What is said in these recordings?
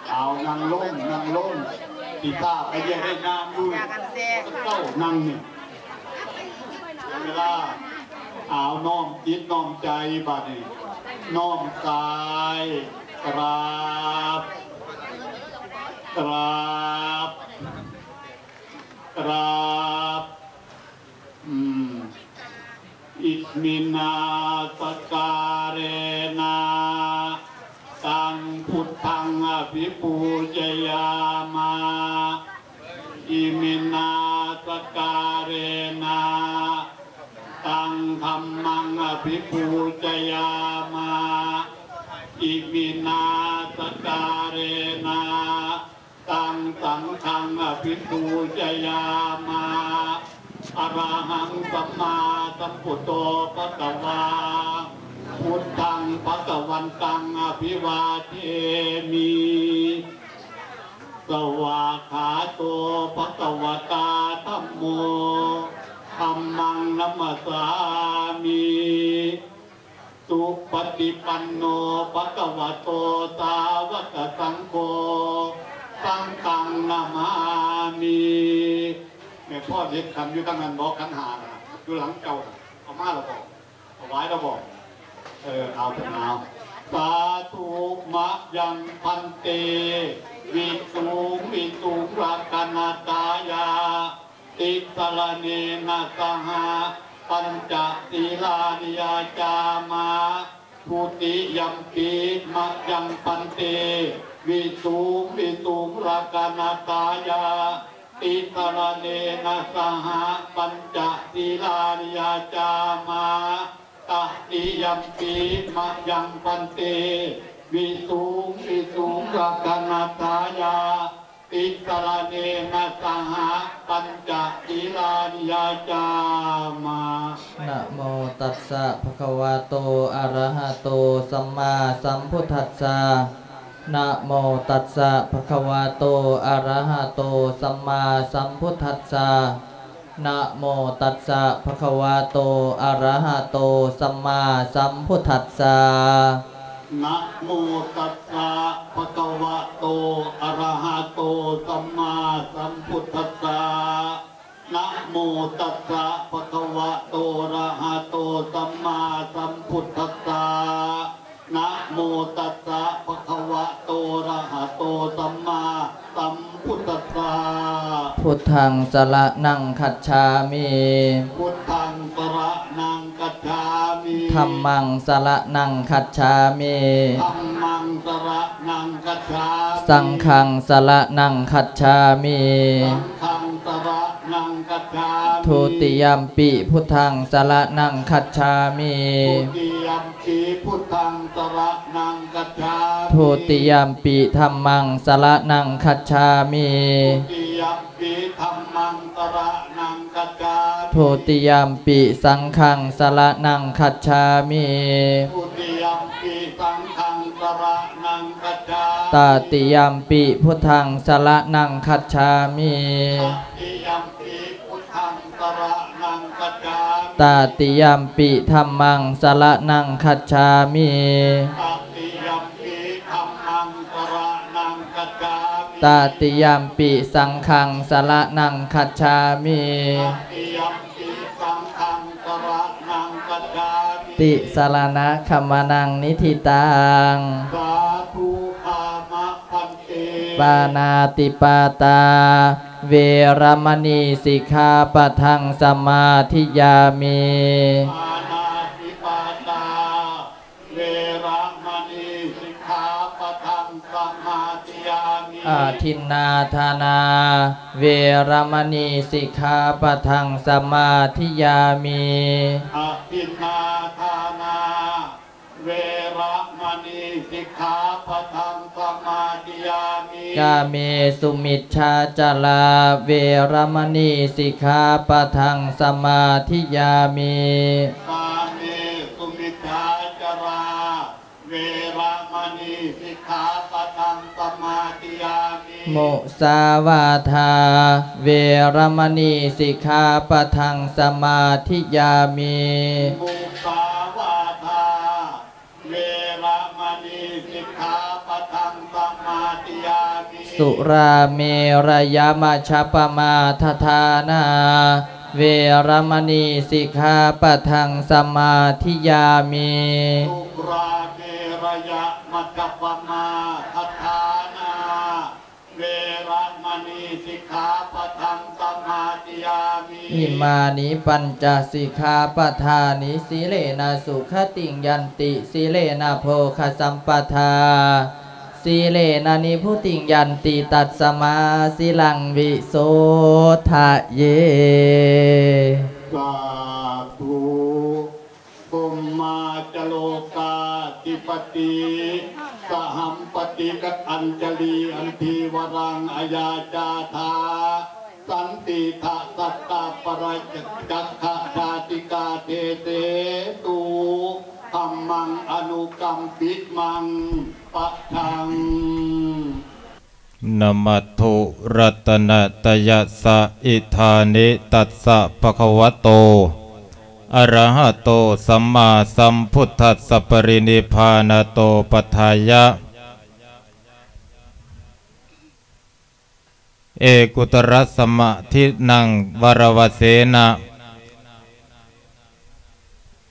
ເອົາ ນັ່ງລົງ ນັ່ງລົງ ຊິຖ້າໄປເວຍກເຮັດງານຢູ່ ເຈົ້ານັ່ງນີ້ ເວລາ ເອົາ ນ້ອມຈິດນ້ອມໃຈ ບາດນີ້ ນ້ອມກາຍ ກາບ ກາບ ກາບ ອືມ ອິມມິນາສະກາເຣນະ ຕັງພຸດທັງອະພິປູຈະຍາມະ ອິມມິນາສະກາເຣນະ ຕັງທຳມັງອະພິປູຈະຍາມະ ອິມມິນາສະກາເຣນະ ຕັງສັງຄັງອະພິປູຈະຍາມະ ອະລະຫັງສຳມາສຳພຸດໂທພະຄະວາ ພຸດທັງພະຄະວັນຕັງອະພິວາເທມິ ສະວາກຂາໂຕພະຄະວະຕາທຳໂມ ທຳມັງນະມັດສາມິ ສຸປະຕິປັນໂນ ພະຄະວະໂຕ ສາວະກະສັງໂຄ ສັງຄັງນະມາມິ ແມ່ນພໍ່ເດັກຂັນຢູ່ທາງນັ້ນບໍ່ ຂັນຫ້ານະ ຢູ່ຫຼັງເຈົ້ານະ ເອົາມາແລ້ວບໍ່ ຖວາຍແລ້ວບໍ່ ເອີ ເອົາເຖາະເນາະ ສາທຸ ມະຍັງພັນເຕ ວິສຸງ ວິສຸງ ລັກຂະນະທາຍາ ຕິສະລະເນນະສະຫະ ປັນຈະສີລານິຍາຈາມະ ທຸຕິຍຳປີ ມະຍັງພັນເຕ ວິສຸງ ວິສຸງ ລັກຂະນະທາຍາ ຕິສະລະເນນະສະຫະ ປັນຈະສີລານິຍາຈາມະ ຕະຕິຍຳປີ ມະຍັງພັນເຕ ວິສຸງ ວິສຸງ ລັກຂະນະທາຍາ ຕິສະລະເນນະສະຫະ ປັນຈະສີລານິຍາຈາມະ ນະໂມຕັດສະ ພະຄະວະໂຕ ອະລະຫະໂຕ ສຳມາສຳພຸດທັດສະ ນະໂມຕັດສະ ພະຄະວະໂຕ ອະລະຫະໂຕ ສຳມາສຳພຸດທັດສະ ນະໂມຕັດສະ ພະຄະວະໂຕ ອະລະຫະໂຕ ສຳມາສຳພຸດທັດສະ ນະໂມຕັດສະ ພະຄະວະໂຕ ອະລະຫະໂຕ ສຳມາສຳພຸດທັດສະ ນະໂມຕັດສະ ພະຄະວະໂຕ ອະລະຫະໂຕ ສຳມາສຳພຸດທັດສະ ນະໂມຕັດສະ ພະຄະວະໂຕ ອະລະຫະໂຕ ສຳມາສຳພຸດທັດສະ ພຸດທັງສະລະນັງຄັດສາມິ ພຸດທັງສະລະນັງຄັດສາມິ ທຳມັງສະລະນັງຄັດສາມິ ທຳມັງສະລະນັງຄັດສາມິ ສັງຄັງສະລະນັງຄັດສາມິ ສັງຄັງສະລະນັງຄັດສາມິ ທຸຕິຍຳປີ ພຸດທັງສະລະນັງຄັດສາມິ ທຸຕິຍຳປີ ພຸດທັງສະລະນັງຄັດສາມິ ທຸຕິຍຳປີ ທຳມັງສະລະນັງຄັດສາມິ ທຸຕິຍຳປີ ທຳມັງສະລະນັງຄັດສາມິ ທຸຕິຍຳປີ ສັງຄັງສະລະນັງຄັດສາມິ ທຸຕິຍຳປີ ສັງຄັງສະລະນັງຄັດສາມິ ຕະຕິຍຳປີ ພຸດທັງສະລະນັງຄັດສາມິ ຕະຕິຍຳປີ ພຸດທັງສະລະນັງຄັດສາມິ ຕະຕິຍຳປີ ທຳມັງສະລະນັງຄັດສາມິ ຕະຕິຍຳປີ ທຳມັງສະລະນັງຄັດສາມິ ຕະຕິຍຳປີ ສັງຄັງສະລະນັງຄັດສາມິ ຕະຕິຍຳປີ ສັງຄັງສະລະນັງຄັດສາມິ ຕິສະລະນະຄະມະນັງ ນິທິຕັງ ສາທຸ ຄາມະພັນເຕ ປານາຕິປາຕາ ເວລະມະນີ ສິກຂາປະທັງ ສະມາທິຍາມິ ປານາຕິປາຕາ ເວລະມະນີ ສິກຂາປະທັງ ສະມາທິຍາມິ ອະທິນນາທານາ ເວລະມະນີ ສິກຂາປະທັງ ສະມາທິຍາມິ ອະທິນນາທານາ ເວລະມະນີ ສິກຂາປະທັງ ສະມາທິຍາມິ ກາເມສຸມິດສາຈາລາ ເວລະມະນີ ສິກຂາປະທັງ ສະມາທິຍາມິ ກາເມສຸມິດສາຈາລາ ເວລະມະນີ ສິກຂາປະທັງ ສະມາທິຍາມິ ມຸສາວາທາ ເວລະມະນີ ສິກຂາປະທັງ ສະມາທິຍາມິ ມຸສາວາທາ ເວລະມະນີ ສິກຂາປະທັງ ສະ ສຸລາເມລະຍະມັດຈະປະມາດຖານາ ເວລະມະນີສິກຂາປະທັງສະມາທິຍາມິ. ສຸລາເມລະຍະມັດຈະປະມາດຖານາ ເວລະມະນີສິກຂາປະທັງສະມາທິຍາມິ. ອິມານິປັນຈະສິກຂາປະທານິ ສີເລນະສຸຂະຕິງຍັນຕິ ສີເລນະໂພຄະສຳປະທາ ສີເລນະນິບພຸຕິງຍັນຕິ ຕັດສະມາສີລັງວິໂສທະເຍ. ສາທຸ. ພົມມາຈະໂລກາທິປະຕິ ສະຫັມປະຕິກະອັນຈະລີ ອັນທີວະລັງອາຍາຈາທາ ສັນຕິທະສັດຕາປະຣາຈັກຂະຈາຕິກາເທເສຕຸ ທຳມັງອະນຸກຳປິມັງປະທັງ. Namatthu ratanattayassa. Idāni tassa bhagavato arahato sammāsambuddhassa parinibbānato paṭṭhāya ekuttarasamādhinnaṃ varavassena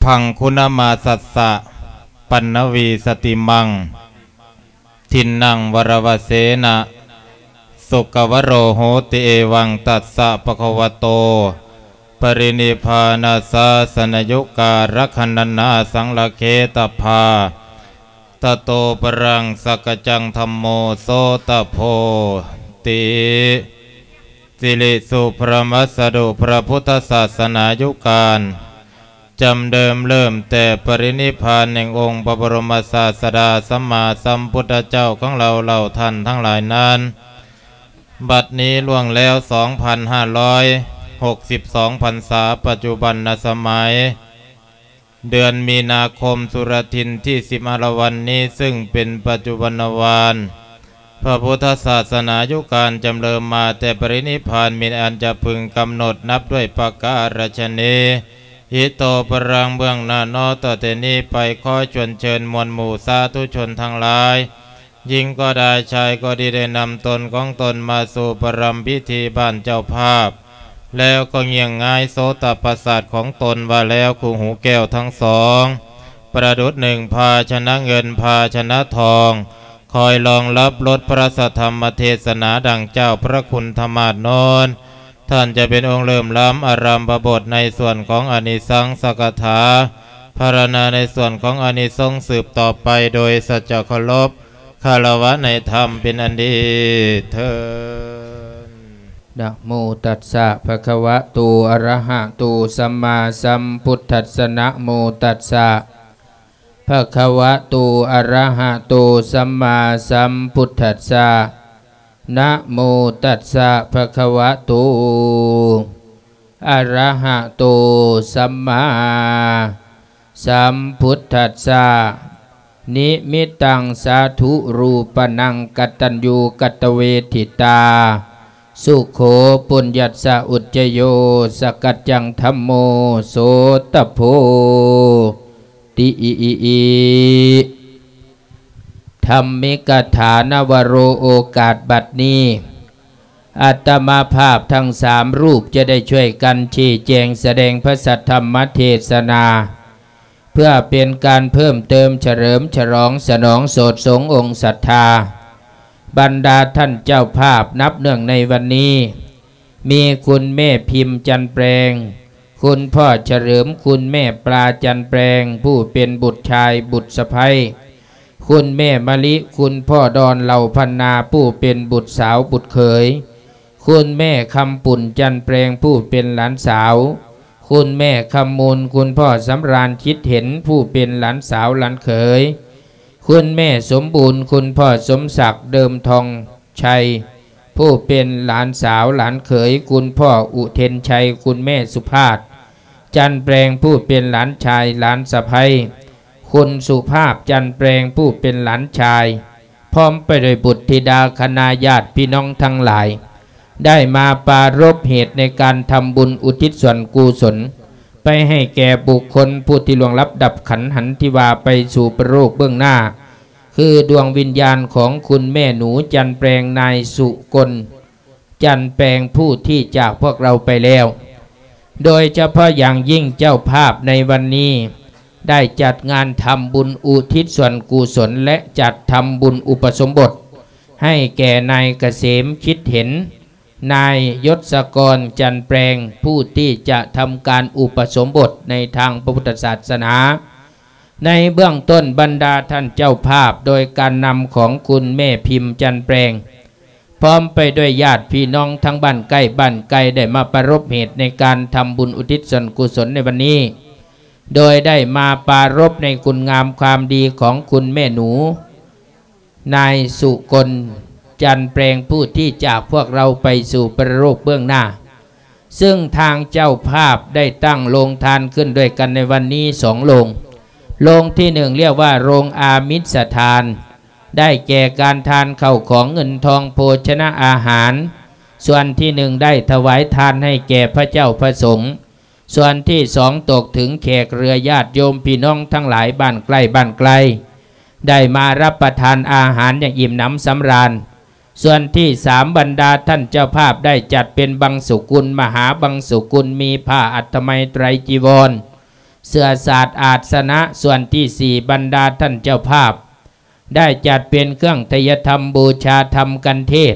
bhaggunamāsassa paṇṇavīsatimaṃ dhinnaṃ varavassena sukkavaro hoti. Evaṃ tassa bhagavato parinibbānasāsanayugārakkhanattayassaṃlakkhetabba. Tato paraṃ sakkaccaṃ dhammo hoti. ສິລິສຸພະລະມັດສະດຸ ພະພຸດທະສາສະໜາຍຸການ ຈຳເດີມເລີ່ມແຕ່ປະລິນິບພານແຫ່ງອົງພະບໍລົມະສາດສະດາສຳມາສຳພຸດທະເຈົ້າຂອງເຮົາເຫຼົ່າທ່ານທັງຫຼາຍນັ້ນ ບັດນີ້ລ່ວງແລ້ວສອງພັນຫ້າຮ້ອຍຫົກສິບສອງພັນສາ ປັດຈຸບັນນະສະໄໝ ເດືອນມີນາຄົມ ສຸລະທິນທີສິບຫ້າລະວັນນີ້ ຊຶ່ງເປັນປັດຈຸບັນນະວານ ພະພຸດທະສາສະໜາຍຸການຈຳເລີ່ມມາແຕ່ປະລິນິບພານ ມີອັນຈະເພິ່ງກຳນົດນັບດ້ວຍປະການລັດຊະນີ. ຫິໂຕ ພະລັງ ເບື້ອງໜ້າເນາະ ຕໍ່ແຕ່ນີ້ໄປ ຂໍຊວນເຊີນມວນໝູ່ສາທຸຊົນທັງຫຼາຍ ຍິງກໍໄດ້ ຊາຍກໍດີ ໄດ້ນຳຕົນຂອງຕົນມາສູ່ປະລຳພິທີບ້ານເຈົ້າພາບ ແລ້ວກໍງ່ຽງງາຍໂສຕະປະສາດຂອງຕົນວ່າແລ້ວ ຄູ່ຫູແກ້ວທັງສອງ ປະດຸດໜຶ່ງພາຊະນະເງິນ ພາຊະນະທອງ ຄອຍລອງຮັບລົດພະລາຊະທຳມະເທດສະໜາ ດັ່ງເຈົ້າພະຄຸນທະມາດໂນນ ທ່ານຈະເປັນອົງເລີ່ມລຳອາລຳພະບົດໃນສ່ວນຂອງອານິສັງສະກະຖາ ພາລະນາໃນສ່ວນຂອງອານິສົງສືບຕໍ່ໄປ ໂດຍສັດຈະເຄົາລົບ ຄາລະວະໃນທຳເປັນອັນດີເທີ້ນ. ນະໂມຕັດສະ ພະຄະວະໂຕ ອະລະຫະໂຕ ສຳມາສຳພຸດທັດສະ ນະໂມຕັດສະ ພະຄະວະໂຕ ອະລະຫະໂຕ ສຳມາສຳພຸດທັດສະ ນະໂມຕັດສະ ພະຄະວະໂຕ ອະລະຫະໂຕ ສຳມາສຳພຸດທັດສະ ນິມິດຕັງ ສາທຸ ຮູປະນັງ ກະຕັນຍູ ກະຕະເວທິຕາ ສຸໂຂ ປຸນຍັດສະ ອຸດຈະໂຍ ສະກັດຈັງ ທຳໂມ ໂສຕະໂພ ຕິ ທຳມິກະຖານະວະໂຣ ໂອກາດບັດນີ້ ອາດຕະມາພາບທັງສາມຮູບຈະໄດ້ຊ່ວຍກັນຊີ້ແຈງສະແດງພະສັດທຳມະເທດສະໜາ ເພື່ອເປັນການເພີ່ມເຕີມສະເຫຼີມສະຫຼອງສະໜອງໂສດສົງອົງສັດທາ ບັນດາທ່ານເຈົ້າພາບ ນັບເນື່ອງໃນວັນນີ້ ມີຄຸນແມ່ພິມ ຈັນແປງ, ຄຸນພໍ່ສະເຫຼີມ, ຄຸນແມ່ປາ ຈັນແປງ ຜູ້ເປັນບຸດຊາຍບຸດສະໃພ້, ຄຸນແມ່ມະລິ, ຄຸນພໍ່ດອນ ເຫຼົ່າພັນນາ ຜູ້ເປັນບຸດສາວບຸດເຂີຍ, ຄຸນແມ່ຄຳປຸ້ນ ຈັນແປງ ຜູ້ເປັນຫຼານສາວ, ຄຸນແມ່ຄຳມູນ, ຄຸນພໍ່ສຳລານ ຈິດເຫັນ ຜູ້ເປັນຫຼານສາວຫຼານເຂີຍ, ຄຸນແມ່ສົມບູນ, ຄຸນພໍ່ສົມສັກ ເດີມທອງໄຊ ຜູ້ເປັນຫຼານສາວຫຼານເຂີຍ, ຄຸນພໍ່ອຸເທັນໄຊ, ຄຸນແມ່ສຸພາດ ຈັນແປງ ຜູ້ເປັນຫຼານຊາຍຫຼານສະໃພ້, ຄຸນສຸພາບ ຈັນແປງ ຜູ້ເປັນຫຼານຊາຍ ພ້ອມໄປດ້ວຍບຸດທິດາຄະນະຍາດພີ່ນ້ອງທັງຫຼາຍ ໄດ້ມາປາລົບເຫດໃນການທຳບຸນອຸທິດສ່ວນກຸສົນ ໄປໃຫ້ແກ່ບຸກຄົນຜູ້ທີ່ລ່ວງລັບດັບຂັນຫັນທີ່ວ່າໄປສູ່ປະໂລກເບື້ອງໜ້າ ຄືດວງວິນຍານຂອງຄຸນແມ່ໜູ ຈັນແປງ ນາຍສຸກົນ ຈັນແປງ ຜູ້ທີ່ຈາກພວກເຮົາໄປແລ້ວ. ໂດຍສະເພາະຢ່າງຍິ່ງເຈົ້າພາບໃນວັນນີ້ ໄດ້ຈັດງານທຳບຸນອຸທິດສ່ວນກຸສົນ ແລະ ຈັດທຳບຸນອຸປະສົມບົດ ໃຫ້ແກ່ນາຍກະເສມຄິດເຫັນ ນາຍຍົດສະກອນ ຈັນແປງ ຜູ້ທີ່ຈະທຳການອຸປະສົມບົດໃນທາງພະພຸດທະສາສະໜາ. ໃນເບື້ອງຕົ້ນ ບັນດາທ່ານເຈົ້າພາບ ໂດຍການນຳຂອງຄຸນແມ່ພິມ ຈັນແປງ ພ້ອມໄປດ້ວຍຍາດພີ່ນ້ອງທັງບ້ານໃກ້ບ້ານໄກ ໄດ້ມາປະລົບເຫດໃນການທຳບຸນອຸທິດສ່ວນກຸສົນໃນວັນນີ້ ໂດຍໄດ້ມາປາລົບໃນຄຸນງາມຄວາມດີຂອງຄຸນແມ່ໜູ ນາຍສຸກົນ ຈັນແປງ ຜູ້ທີ່ຈາກພວກເຮົາໄປສູ່ປະໂລກເບື້ອງໜ້າ. ເຊິ່ງທາງເຈົ້າພາບໄດ້ຕັ້ງໂລງທານຂຶ້ນດ້ວຍກັນໃນວັນນີ້ສອງໂລງ. ໂລງທີໜຶ່ງ ລຽກວ່າໂລງອາມິດສະທານ, ໄດ້ແກ່ການທານເຂົ້າຂອງເງິນທອງໂພຊະນະອາຫານ. ສ່ວນທີໜຶ່ງ ໄດ້ຖວາຍທານໃຫ້ແກ່ພະເຈົ້າພະສົງ. ສ່ວນທີສອງ ຕົກເຖິງແຂກເຫຼືອຍາດໂຍມພີ່ນ້ອງທັງຫຼາຍບ້ານໃກ້ບ້ານໄກ ໄດ້ມາຮັບປະທານອາຫານຢ່າງອີ່ມໜຳສຳລານ. ສ່ວນທີສາມ ບັນດາທ່ານເຈົ້າພາບໄດ້ຈັດເປັນບັງສຸກຸນ ມະຫາບັງສຸກຸນ ມີຜ້າອັດຖະໄມໄຕຣຈີວອນ ເສື້ອສາດອາດສະນະ. ສ່ວນທີສີ່ ບັນດາທ່ານເຈົ້າພາບ ໄດ້ຈັດເປັນເຄື່ອງໄຕຍະທຳບູຊາທຳກັນເທດ.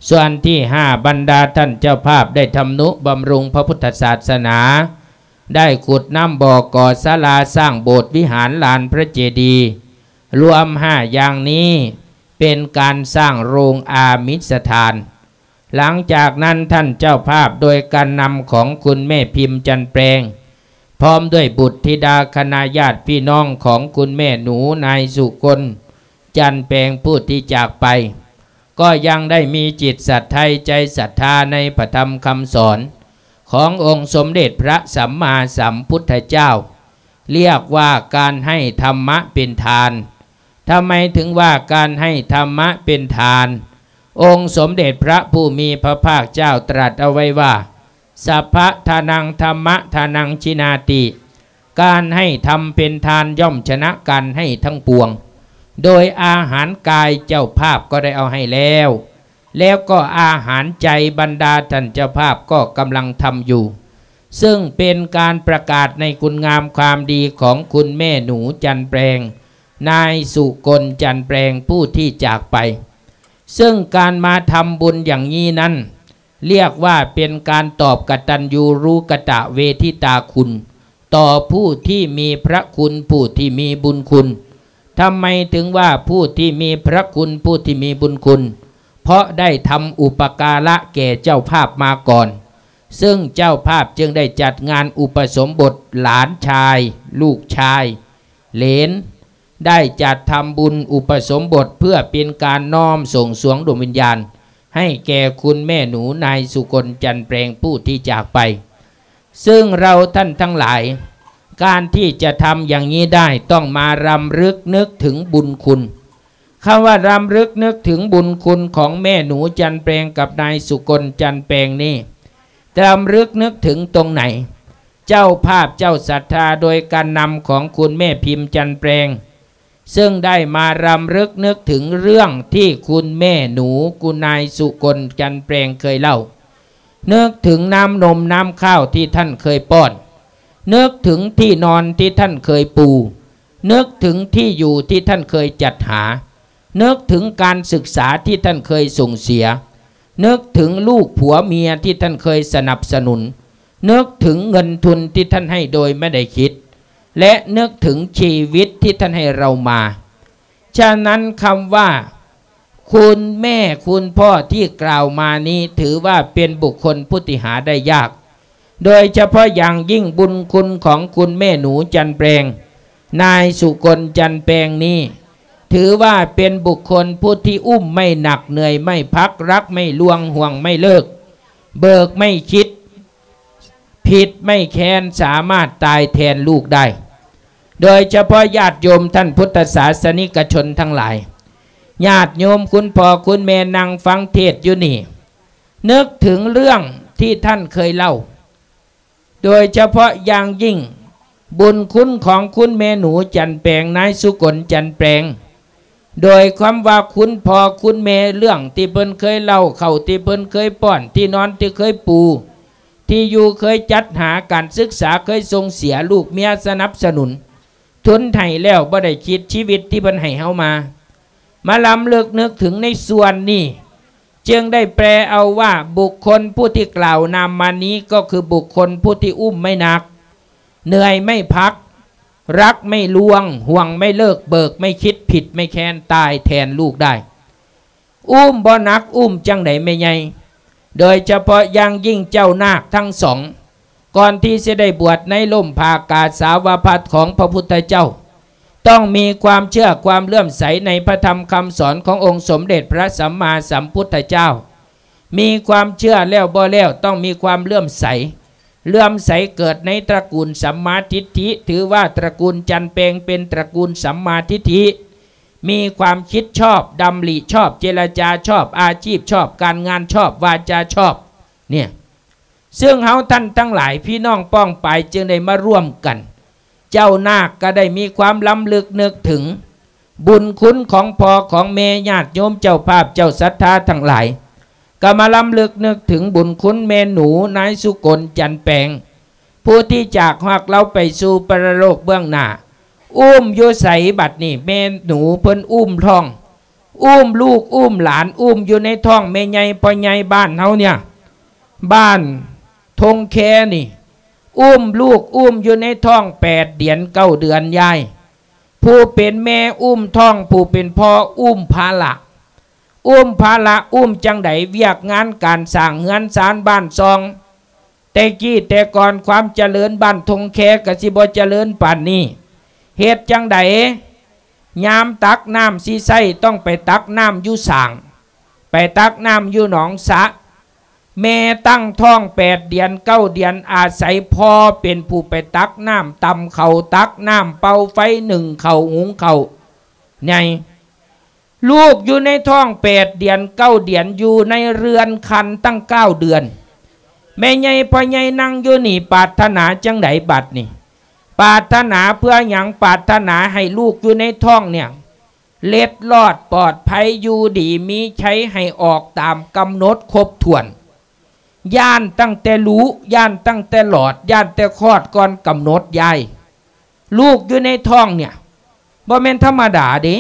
ສ່ວນທີຫ້າ ບັນດາທ່ານເຈົ້າພາບໄດ້ທຳນຸບຳລຸງພະພຸດທະສາສະໜາ, ໄດ້ຂຸດນ້ຳບໍ່, ກໍ່ສາລາ, ສ້າງໂບດວິຫານ, ລານພະເຈດີ, ລວມຫ້າຢ່າງນີ້ເປັນການສ້າງໂລງອາມິດສະຖານ. ຫຼັງຈາກນັ້ນທ່ານເຈົ້າພາບໂດຍການນຳຂອງຄຸນແມ່ພິມຈັນແປງ ພ້ອມດ້ວຍບຸດທິດາຄະນະຍາດພີ່ນ້ອງຂອງຄຸນແມ່ໜູນາຍສຸກົນຈັນແປງຜູ້ທີ່ຈາກໄປ ກໍຍັງໄດ້ມີຈິດສັດໃຈໃຈສັດທາໃນພະທຳຄຳສອນຂອງອົງສົມເດັດພະສຳມາສຳພຸດທະເຈົ້າ ລຽກວ່າການໃຫ້ທຳມະເປັນທານ. ທຳໄມເຖິງວ່າການໃຫ້ທຳມະເປັນທານ? ອົງສົມເດັດພະຜູ້ມີພະພາກເຈົ້າຕລັດເອົາໄວ້ວ່າ ສັບພະທານັງທຳມະທານັງຈິນາຕິ ການໃຫ້ທຳເປັນທານຍ່ອມຊະນະການໃຫ້ທັງປວງ. ໂດຍອາຫານກາຍເຈົ້າພາບກໍໄດ້ເອົາໃຫ້ແລ້ວ ແລ້ວກໍອາຫານໃຈບັນດາທ່ານເຈົ້າພາບກໍກຳລັງທຳຢູ່ ເຊິ່ງເປັນການປະກາດໃນຄຸນງາມຄວາມດີຂອງຄຸນແມ່ໜູຈັນແປງ ນາຍສຸກົນ ຈັນແປງ ຜູ້ທີ່ຈາກໄປ. ເຊິ່ງການມາທຳບຸນຢ່າງນີ້ນັ້ນ ລຽກວ່າເປັນການຕອບກະຕັນຍູຣູກະຕະເວທິຕາຄຸນ ຕໍ່ຜູ້ທີ່ມີພະຄຸນ ຜູ້ທີ່ມີບຸນຄຸນ. ທຳໄມເຖິງວ່າຜູ້ທີ່ມີພະຄຸນ ຜູ້ທີ່ມີບຸນຄຸນ? ເພາະໄດ້ທຳອຸປະກາລະແກ່ເຈົ້າພາບມາກ່ອນ ເຊິ່ງເຈົ້າພາບຈຶ່ງໄດ້ຈັດງານອຸປະສົມບົດຫຼານຊາຍ ລູກຊາຍ ເຫຼນ ໄດ້ຈັດທຳບຸນອຸປະສົມບົດ ເພື່ອເປັນການນ້ອມສົ່ງສວງດວງວິນຍານໃຫ້ແກ່ຄຸນແມ່ໜູນາຍສຸກົນ ຈັນແປງ ຜູ້ທີ່ຈາກໄປ. ເຊິ່ງເຮົາທ່ານທັງຫຼາຍ ການທີ່ຈະທຳຢ່າງນີ້ໄດ້ ຕ້ອງມາລຳລຶກນຶກເຖິງບຸນຄຸນ. ຄຳວ່າລຳລຶກນຶກເຖິງບຸນຄຸນຂອງແມ່ໜູຈັນແປງກັບນາຍສຸກົນ ຈັນແປງນີ້ ລຳລຶກນຶກເຖິງຕົງໃດ? ເຈົ້າພາບເຈົ້າສັດທາໂດຍການນຳຂອງຄຸນແມ່ພິມຈັນແປງ ເຊິ່ງໄດ້ມາລຳລຶກນຶກເຖິງເລື່ອງທີ່ຄຸນແມ່ໜູ ຄຸນນາຍສຸກົນ ຈັນແປງ ເຄີຍເລົ່າ, ນຶກເຖິງນ້ຳນົມນ້ຳຂ້າວທີ່ທ່ານເຄີຍປ້ອນ, ນຶກເຖິງທີ່ນອນທີ່ທ່ານເຄີຍປູ, ນຶກເຖິງທີ່ຢູ່ທີ່ທ່ານເຄີຍຈັດຫາ, ນຶກເຖິງການສຶກສາທີ່ທ່ານເຄີຍສົ່ງເສຍ, ນຶກເຖິງລູກຜົວເມຍທີ່ທ່ານເຄີຍສະໜັບສະໜູນ, ນຶກເຖິງເງິນທຶນທີ່ທ່ານໃຫ້ໂດຍບໍ່ໄດ້ຄິດ ແລະ ນຶກເຖິງຊີວິດທີ່ທ່ານໃຫ້ເຮົາມາ. ສະນັ້ນ ຄຳວ່າຄຸນແມ່ຄຸນພໍ່ທີ່ກ່າວມານີ້ ຖືວ່າເປັນບຸກຄົນຜູ້ທີ່ຫາໄດ້ຍາກ, ໂດຍສະເພາະຢ່າງຍິ່ງບຸນຄຸນຂອງຄຸນແມ່ໜູຈັນແປງ, ນາຍສຸກົນ ຈັນແປງນີ້ ຖືວ່າເປັນບຸກຄົນຜູ້ທີ່ອຸ້ມໄມ່ໜັກ ເໜື່ອຍໄມ່ພັກ ລັກໄມ່ລ່ວງ ຫ່ວງໄມ່ເລີກ ເບີກໄມ່ຄິດ ຜິດໄມ່ແຄ້ນ ສາມາດຕາຍແທນລູກໄດ້. ໂດຍສະເພາະຍາດໂຍມທ່ານພຸດທະສາສະນິກະຊົນທັງຫຼາຍ, ຍາດໂຍມຄຸນພໍ່ຄຸນແມ່ນັ່ງຟັງເທດຢູ່ນີ້, ນຶກເຖິງເລື່ອງທີ່ທ່ານເຄີຍເລົ່າ, ໂດຍສະເພາະຢ່າງຍິ່ງບຸນຄຸນຂອງຄຸນແມ່ໜູຈັນແປງ, ນາຍສຸກົນ ຈັນແປງ, ໂດຍຄວາມວ່າຄຸນພໍ່ຄຸນແມ່ ເລື່ອງທີ່ເພິ່ນເຄີຍເລົ່າ, ເຂົ້າທີ່ເພິ່ນເຄີຍປ້ອນ, ທີ່ນອນທີ່ເຄີຍປູ, ທີ່ຢູ່ເຄີຍຈັດຫາ, ການສຶກສາເຄີຍສົ່ງເສຍ, ລູກເມຍສະໜັບສະໜູນ, ທຸນໃຫ້ແລ້ວບໍ່ໄດ້ຄິດຊີວິດທີ່ເພິ່ນໃຫ້ເຮົາມາ. ມາລຳເລິກນຶກເຖິງໃນສ່ວນນີ້ ຈຶ່ງໄດ້ແປເອົາວ່າ ບຸກຄົນຜູ້ທີ່ກ່າວນາມມານີ້ ກໍຄືບຸກຄົນຜູ້ທີ່ອຸ້ມໄມ່ໜັກ, ເໜື່ອຍໄມ່ພັກ, ລັກໄມ່ລ່ວງ, ຫ່ວງໄມ່ເລີກ, ເບີກໄມ່ຄິດ, ຜິດໄມ່ແຄ້ນ, ຕາຍແທນລູກໄດ້. ອຸ້ມບໍ່ໜັກ, ອຸ້ມຈັ່ງໃດແມ່ໃຫຍ່? ໂດຍສະເພາະຢ່າງຍິ່ງເຈົ້ານາກທັງສອງ ກ່ອນທີ່ຊິໄດ້ບວດໃນຮົ່ມຜ້າກາສາວະພັດຂອງພະພຸດທະເຈົ້າ, ຕ້ອງມີຄວາມເຊື່ອຄວາມເຫຼື້ອມໃສໃນພະທຳຄຳສອນຂອງອົງສົມເດັດພະສຳມາສຳພຸດທະເຈົ້າ. ມີຄວາມເຊື່ອແລ້ວບໍ່ແລ້ວ ຕ້ອງມີຄວາມເຫຼື້ອມໃສ. ເຫຼື້ອມໃສເກີດໃນຕະກູນສຳມາທິດຖິ, ຖືວ່າຕະກູນຈັນແປງເປັນຕະກູນສຳມາທິດຖິ. ມີຄວາມຄິດຊອບ, ດຳລິຊອບ, ເຈລະຈາຊອບ, ອາຊີບຊອບ, ການງານຊອບ, ວາຈາຊອບ ເນຍ. ເຊິ່ງເຮົາທ່ານທັງຫຼາຍ ພີ່ນ້ອງປ້ອງປາຍ ຈຶ່ງໄດ້ມາຮ່ວມກັນ. ເຈົ້ານາກກໍໄດ້ມີຄວາມລຳລຶກນຶກເຖິງບຸນຄຸນຂອງພໍ່ຂອງແມ່, ຍາດໂຍມເຈົ້າພາບເຈົ້າສັດທາທັງຫຼາຍ ກໍມາລຳລຶກນຶກເຖິງບຸນຄຸນແມ່ໜູ ນາຍສຸກົນ ຈັນແປງ ຜູ້ທີ່ຈາກຮັກລາວໄປສູ່ປະລະໂລກເບື້ອງໜ້າ. ອຸ້ມຢູ່ໃສບັດນີ້? ແມ່ໜູເພິ່ນອຸ້ມທ້ອງ, ອຸ້ມລູກອຸ້ມຫຼານ, ອຸ້ມຢູ່ໃນທ້ອງແມ່ໃຫຍ່ພໍ່ໃຫຍ່ບ້ານເຮົາເນຍ, ບ້ານທົ່ງແຄນີ້. ອຸ້ມລູກອຸ້ມຢູ່ໃນທ້ອງແປດເດືອນເກົ້າເດືອນຍາຍ. ຜູ້ເປັນແມ່ອຸ້ມທ້ອງ, ຜູ້ເປັນພໍ່ອຸ້ມພາລະ. ອຸ້ມພາລະອຸ້ມຈັ່ງໃດ? ວຽກງານການສ້າງເຮືອນຊານບ້ານຊ່ອງ. ແຕ່ກີ້ແຕ່ກ່ອນຄວາມຈະເລີນບ້ານທົ່ງແຄກໍຊິບໍ່ຈະເລີນປານນີ້. ເຮັດຈັ່ງໃດ? ຍາມຕັກນ້ຳຊິໃຊ້ ຕ້ອງໄປຕັກນ້ຳຢູ່ສ້າງ, ໄປຕັກນ້ຳຢູ່ໜອງສະ. ແມ່ຕັ້ງທ້ອງແປດເດືອນເກົ້າເດືອນ ອາໄສພໍ່ເປັນຜູ້ໄປຕັກນ້ຳ, ຕຳເຂົ້າ, ຕັກນ້ຳ, ເປົ່າໄຟ, ໜຶ້ງເຂົ້າ, ຫຸງເຂົ້າໃຫຍ່. ລູກຢູ່ໃນທ້ອງແປດເດືອນເກົ້າເດືອນ ຢູ່ໃນເຮືອນຄັນຕັ້ງເກົ້າເດືອນ. ແມ່ໃຫຍ່ພໍ່ໃຫຍ່ນັ່ງຢູ່ນີ້ ປາດຖະໜາຈັ່ງໃດບັດນີ້? ປາດຖະໜາເພື່ອຫຍັງ? ປາດຖະໜາໃຫ້ລູກຢູ່ໃນທ້ອງເນຍ ເລັດລອດປອດໄພ ຢູ່ດີມີໄຊ ໃຫ້ອອກຕາມກຳນົດຄົບຖ້ວນ. ຢ້ານຕັ້ງແຕ່ລຸ, ຢ້ານຕັ້ງແຕ່ຫຼອດ, ຢ້ານແຕ່ຄອດກ່ອນກຳນົດຍາຍ. ລູກຢູ່ໃນທ້ອງເນຍ ບໍ່ແມ່ນທຳມະດາເດ້.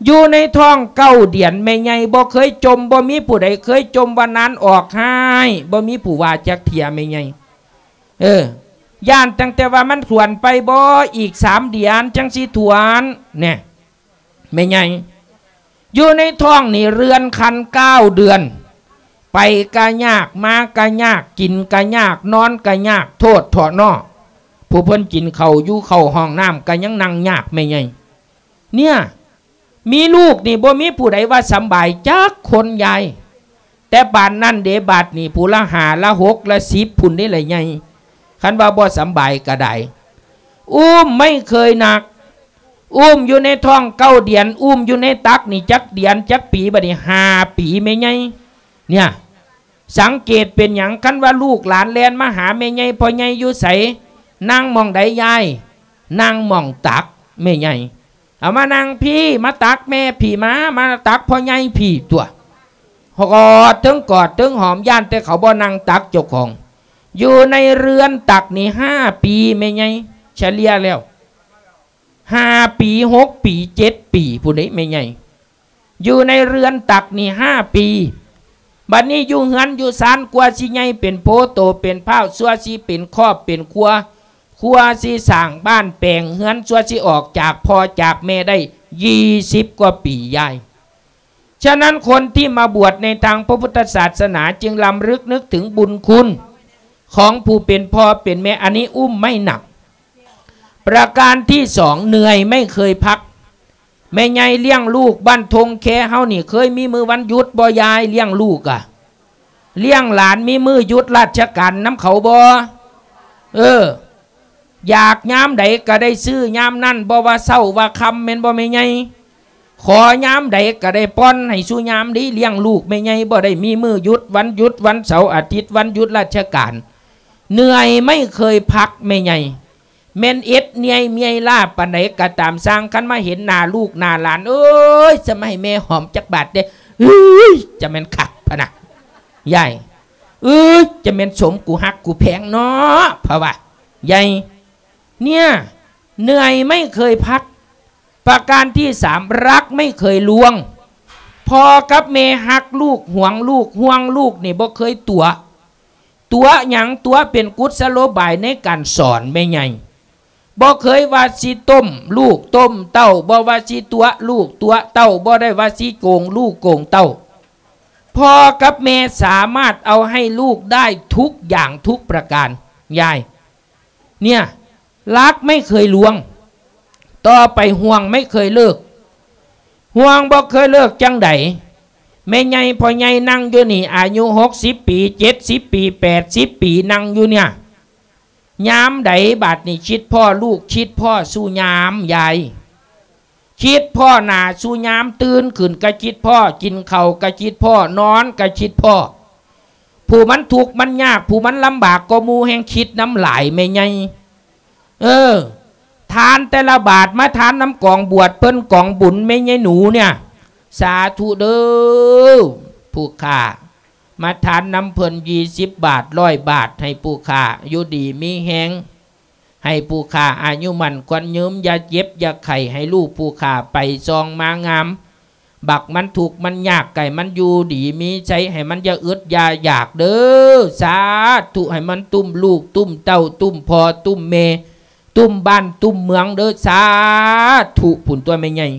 ຢູ່ໃນທ້ອງເກົ້າເດືອນ ແມ່ໃຫຍ່ບໍ່ເຄີຍຈົ່ມ, ບໍ່ມີຜູ້ໃດເຄີຍຈົ່ມວ່ານານອອກຮ້າຍ, ບໍ່ມີຜູ້ວ່າຈັກເທື່ອແມ່ໃຫຍ່. ເອີ ຢ້ານຕັ້ງແຕ່ວ່າມັນຖ້ວນໄປບໍ່, ອີກສາມເດືອນຈັ່ງຊິຖ້ວນ ແນ່. ແມ່ໃຫຍ່ ຢູ່ໃນທ້ອງນີ້ເຮືອນຄັນເກົ້າເດືອນ, ໄປກະຍາກ, ມາກະຍາກ, ກິນກະຍາກ, ນອນກະຍາກ, ໂທດເຖາະເນາະ ຜູ້ເພິ່ນກິນເຂົ້າຢູ່ເຂົ້າຫ້ອງນ້ຳກະຍັງນັ່ງຍາກແມ່ໃຫຍ່. ເນຍ ມີລູກນີ້ບໍ່ມີຜູ້ໃດວ່າສຳບາຍຈັກຄົນຍາຍ. ແຕ່ປານນັ້ນເດ ບາດນີ້ຜູ້ລະຫ້າ ລະຫົກ ລະສິບພຸ້ນເດ້ລະໃຫຍ່. ຄັນວ່າບໍ່ສຳບາຍກະໄດ້. ອຸ້ມໄມ່ເຄີຍໜັກ, ອຸ້ມຢູ່ໃນທ້ອງເກົ້າເດືອນ, ອຸ້ມຢູ່ໃນຕັກນີ້ຈັກເດືອນຈັກປີ? ບາດນີ້ຫ້າປີແມ່ໃຫຍ່. ເນຍ ສັງເກດເປັນຫຍັງ? ຄັນວ່າລູກຫຼານແລ່ນມາຫາແມ່ໃຫຍ່, ພໍ່ໃຫຍ່ຢູ່ໃສ? ນັ່ງໝ່ອງໃດຍາຍ? ນັ່ງໝ່ອງຕັກແມ່ໃຫຍ່. ເອົາມານັ່ງພີ້, ມາຕັກແມ່ພີ້, ມາ, ມາຕັກພໍ່ໃຫຍ່ພີ້ຕົວະ. ກອດ, ເຖິງກອດເຖິງຫອມ, ຢ້ານແຕ່ເຂົາບໍ່ນັ່ງຕັກເຈົ້າຂອງ. ຢູ່ໃນເຮືອນຕັກນີ້ຫ້າປີແມ່ໃຫຍ່, ສະເລ່ຍແລ້ວ ຫ້າປີ, ຫົກປີ, ເຈັດປີພຸ້ນເດ້ແມ່ໃຫຍ່. ຢູ່ໃນເຮືອນຕັກນີ້ຫ້າປີ. ບັດນີ້ຢູ່ເຮືອນຢູ່ຊານ ກວ່າຊິໃຫຍ່ເປັນໂພໂຕເປັນພ້າວ, ຊົ່ວຊິເປັນຄອບເປັນຄົວ, ຄົວຊິສ້າງບ້ານແປງເຮືອນ, ຊົ່ວຊິອອກຈາກພໍ່ຈາກແມ່ໄດ້ ຊາວກວ່າປີຍາຍ. ສະນັ້ນ ຄົນທີ່ມາບວດໃນທາງພະພຸດທະສາສະໜາຈຶ່ງລຳລຶກນຶກເຖິງບຸນຄຸນຂອງຜູ້ເປັນພໍ່ເປັນແມ່. ອັນນີ້ອຸ້ມໄມ້ໜັກ. ປະການທີສອງ ເໜື່ອຍໄມ່ເຄີຍພັກ. ແມ່ໃຫຍ່ລ້ຽງລູກບ້ານທົ່ງແຄເຮົານີ້ ເຄີຍມີມື້ວັນຢຸດບໍ່ຍາຍ? ລ້ຽງລູກອະ ລ້ຽງຫຼານ ມີມື້ຢຸດລາຊະການນຳເຂົາບໍ່? ເອີ ຢາກຍາມໃດກະໄດ້ຊື້ຍາມນັ້ນ, ບໍ່ວ່າເຊົ້າວ່າຄ່ຳ ແມ່ນບໍ່ແມ່ໃຫຍ່? ຂໍຍາມໃດກະໄດ້ປ່ອນໃຫ້ສູ່ຍາມເດ້. ລ້ຽງລູກແມ່ໃຫຍ່ບໍ່ໄດ້ມີມື້ຢຸດ, ວັນຢຸດ, ວັນເສົາອາທິດ, ວັນຢຸດລາຊະການ. ເໜື່ອຍໄມ່ເຄີຍພັກແມ່ໃຫຍ່. ແມ່ນເອັດເນຍເມຍລ້າປານໃດກໍຕາມຊ່າງ ຄັນມາເຫັນໜ້າລູກໜ້າຫຼານ ເອີຍ ຈະມາໃຫ້ແມ່ຫອມຈັກບາດເດ້ ເອີຍ ຈະແມ່ນຄັກພະນະ ຍາຍ ເອີຍ ຈະແມ່ນສົມກູຮັກກູແພງເນາະ ເພາະວ່າ ຍາຍ ເນຍ ເໜື່ອຍໄມ່ເຄີຍພັກ ປະການທີສາມ ຮັກໄມ່ເຄີຍລ່ວງ ພໍ່ກັບແມ່ຮັກລູກ ຫວງລູກ ຫ່ວງລູກນີ້ບໍ່ເຄີຍຕົວະ ຕົວະຫຍັງ? ຕົວະເປັນກຸດສະໂລບາຍໃນການສອນແມ່ໃຫຍ່ ບໍ່ເຄີຍວ່າຊິຕົ້ມລູກຕົ້ມເຕົ້າ ບໍ່ວ່າຊິຕົວະລູກຕົວະເຕົ້າ ບໍ່ໄດ້ວ່າຊິໂກງລູກໂກງເຕົ້າ ພໍ່ກັບແມ່ສາມາດເອົາໃຫ້ລູກໄດ້ທຸກຢ່າງທຸກປະການ ຍາຍ ເນຍ ຮັກໄມ່ເຄີຍລ່ວງ ຕໍ່ໄປຫ່ວງໄມ່ເຄີຍເລີກ ຫ່ວງບໍ່ເຄີຍເລີກຈັ່ງໃດ? ແມ່ໃຫຍ່ພໍ່ໃຫຍ່ນັ່ງຢູ່ນີ້ ອາຍຸຫົກສິບປີ ເຈັດສິບປີ ແປດສິບປີ ນັ່ງຢູ່ເນຍ ຍາມໃດບາດນີ້ຄິດພໍ້ລູກ ຄິດພໍ້ສູ່ຍາມ ຍາຍ ຄິດພໍ້ໜ້າສູ່ຍາມ ຕື່ນຂຶ້ນກະຄິດພໍ້ ກິນເຂົ້າກະຄິດພໍ້ ນອນກະຄິດພໍ້ ຜູ້ມັນທຸກມັນຍາກ ຜູ້ມັນລຳບາກກວ່າໝູ່ແຮ່ງຄິດນຳຫຼາຍແມ່ໃຫຍ່ ເອີ ທານແຕ່ລະບາດມາທານນຳກອງບວດເພິ່ນ ກອງບຸນແມ່ໃຫຍ່ໜູເນຍ ສາທຸເດີ ຜູ້ຂ້າ ມາທານນຳເພິ່ນ ຊາວບາດ ຮ້ອຍບາດ ໃຫ້ຜູ້ຂ້າຢູ່ດີມີແຮງ ໃຫ້ຜູ້ຂ້າອາຍຸໝັ້ນຂວັນຍືນ ຢ່າເຈັບຢ່າໄຂ້ ໃຫ້ລູກຜູ້ຂ້າໄປຊ່ອງມາງາມ ບັກມັນທຸກມັນຍາກ ໃຫ້ມັນຢູ່ດີມີໄຊ ໃຫ້ມັນຢ່າອຶດຢ່າຢາກເດີ ສາທຸ ໃຫ້ມັນຕຸ້ມລູກຕຸ້ມເຕົ້າ ຕຸ້ມພໍ່ຕຸ້ມແມ່ ຕຸ້ມບ້ານຕຸ້ມເມືອງເດີ ສາທຸ ພຸ້ນຕົວະແມ່ໃຫຍ່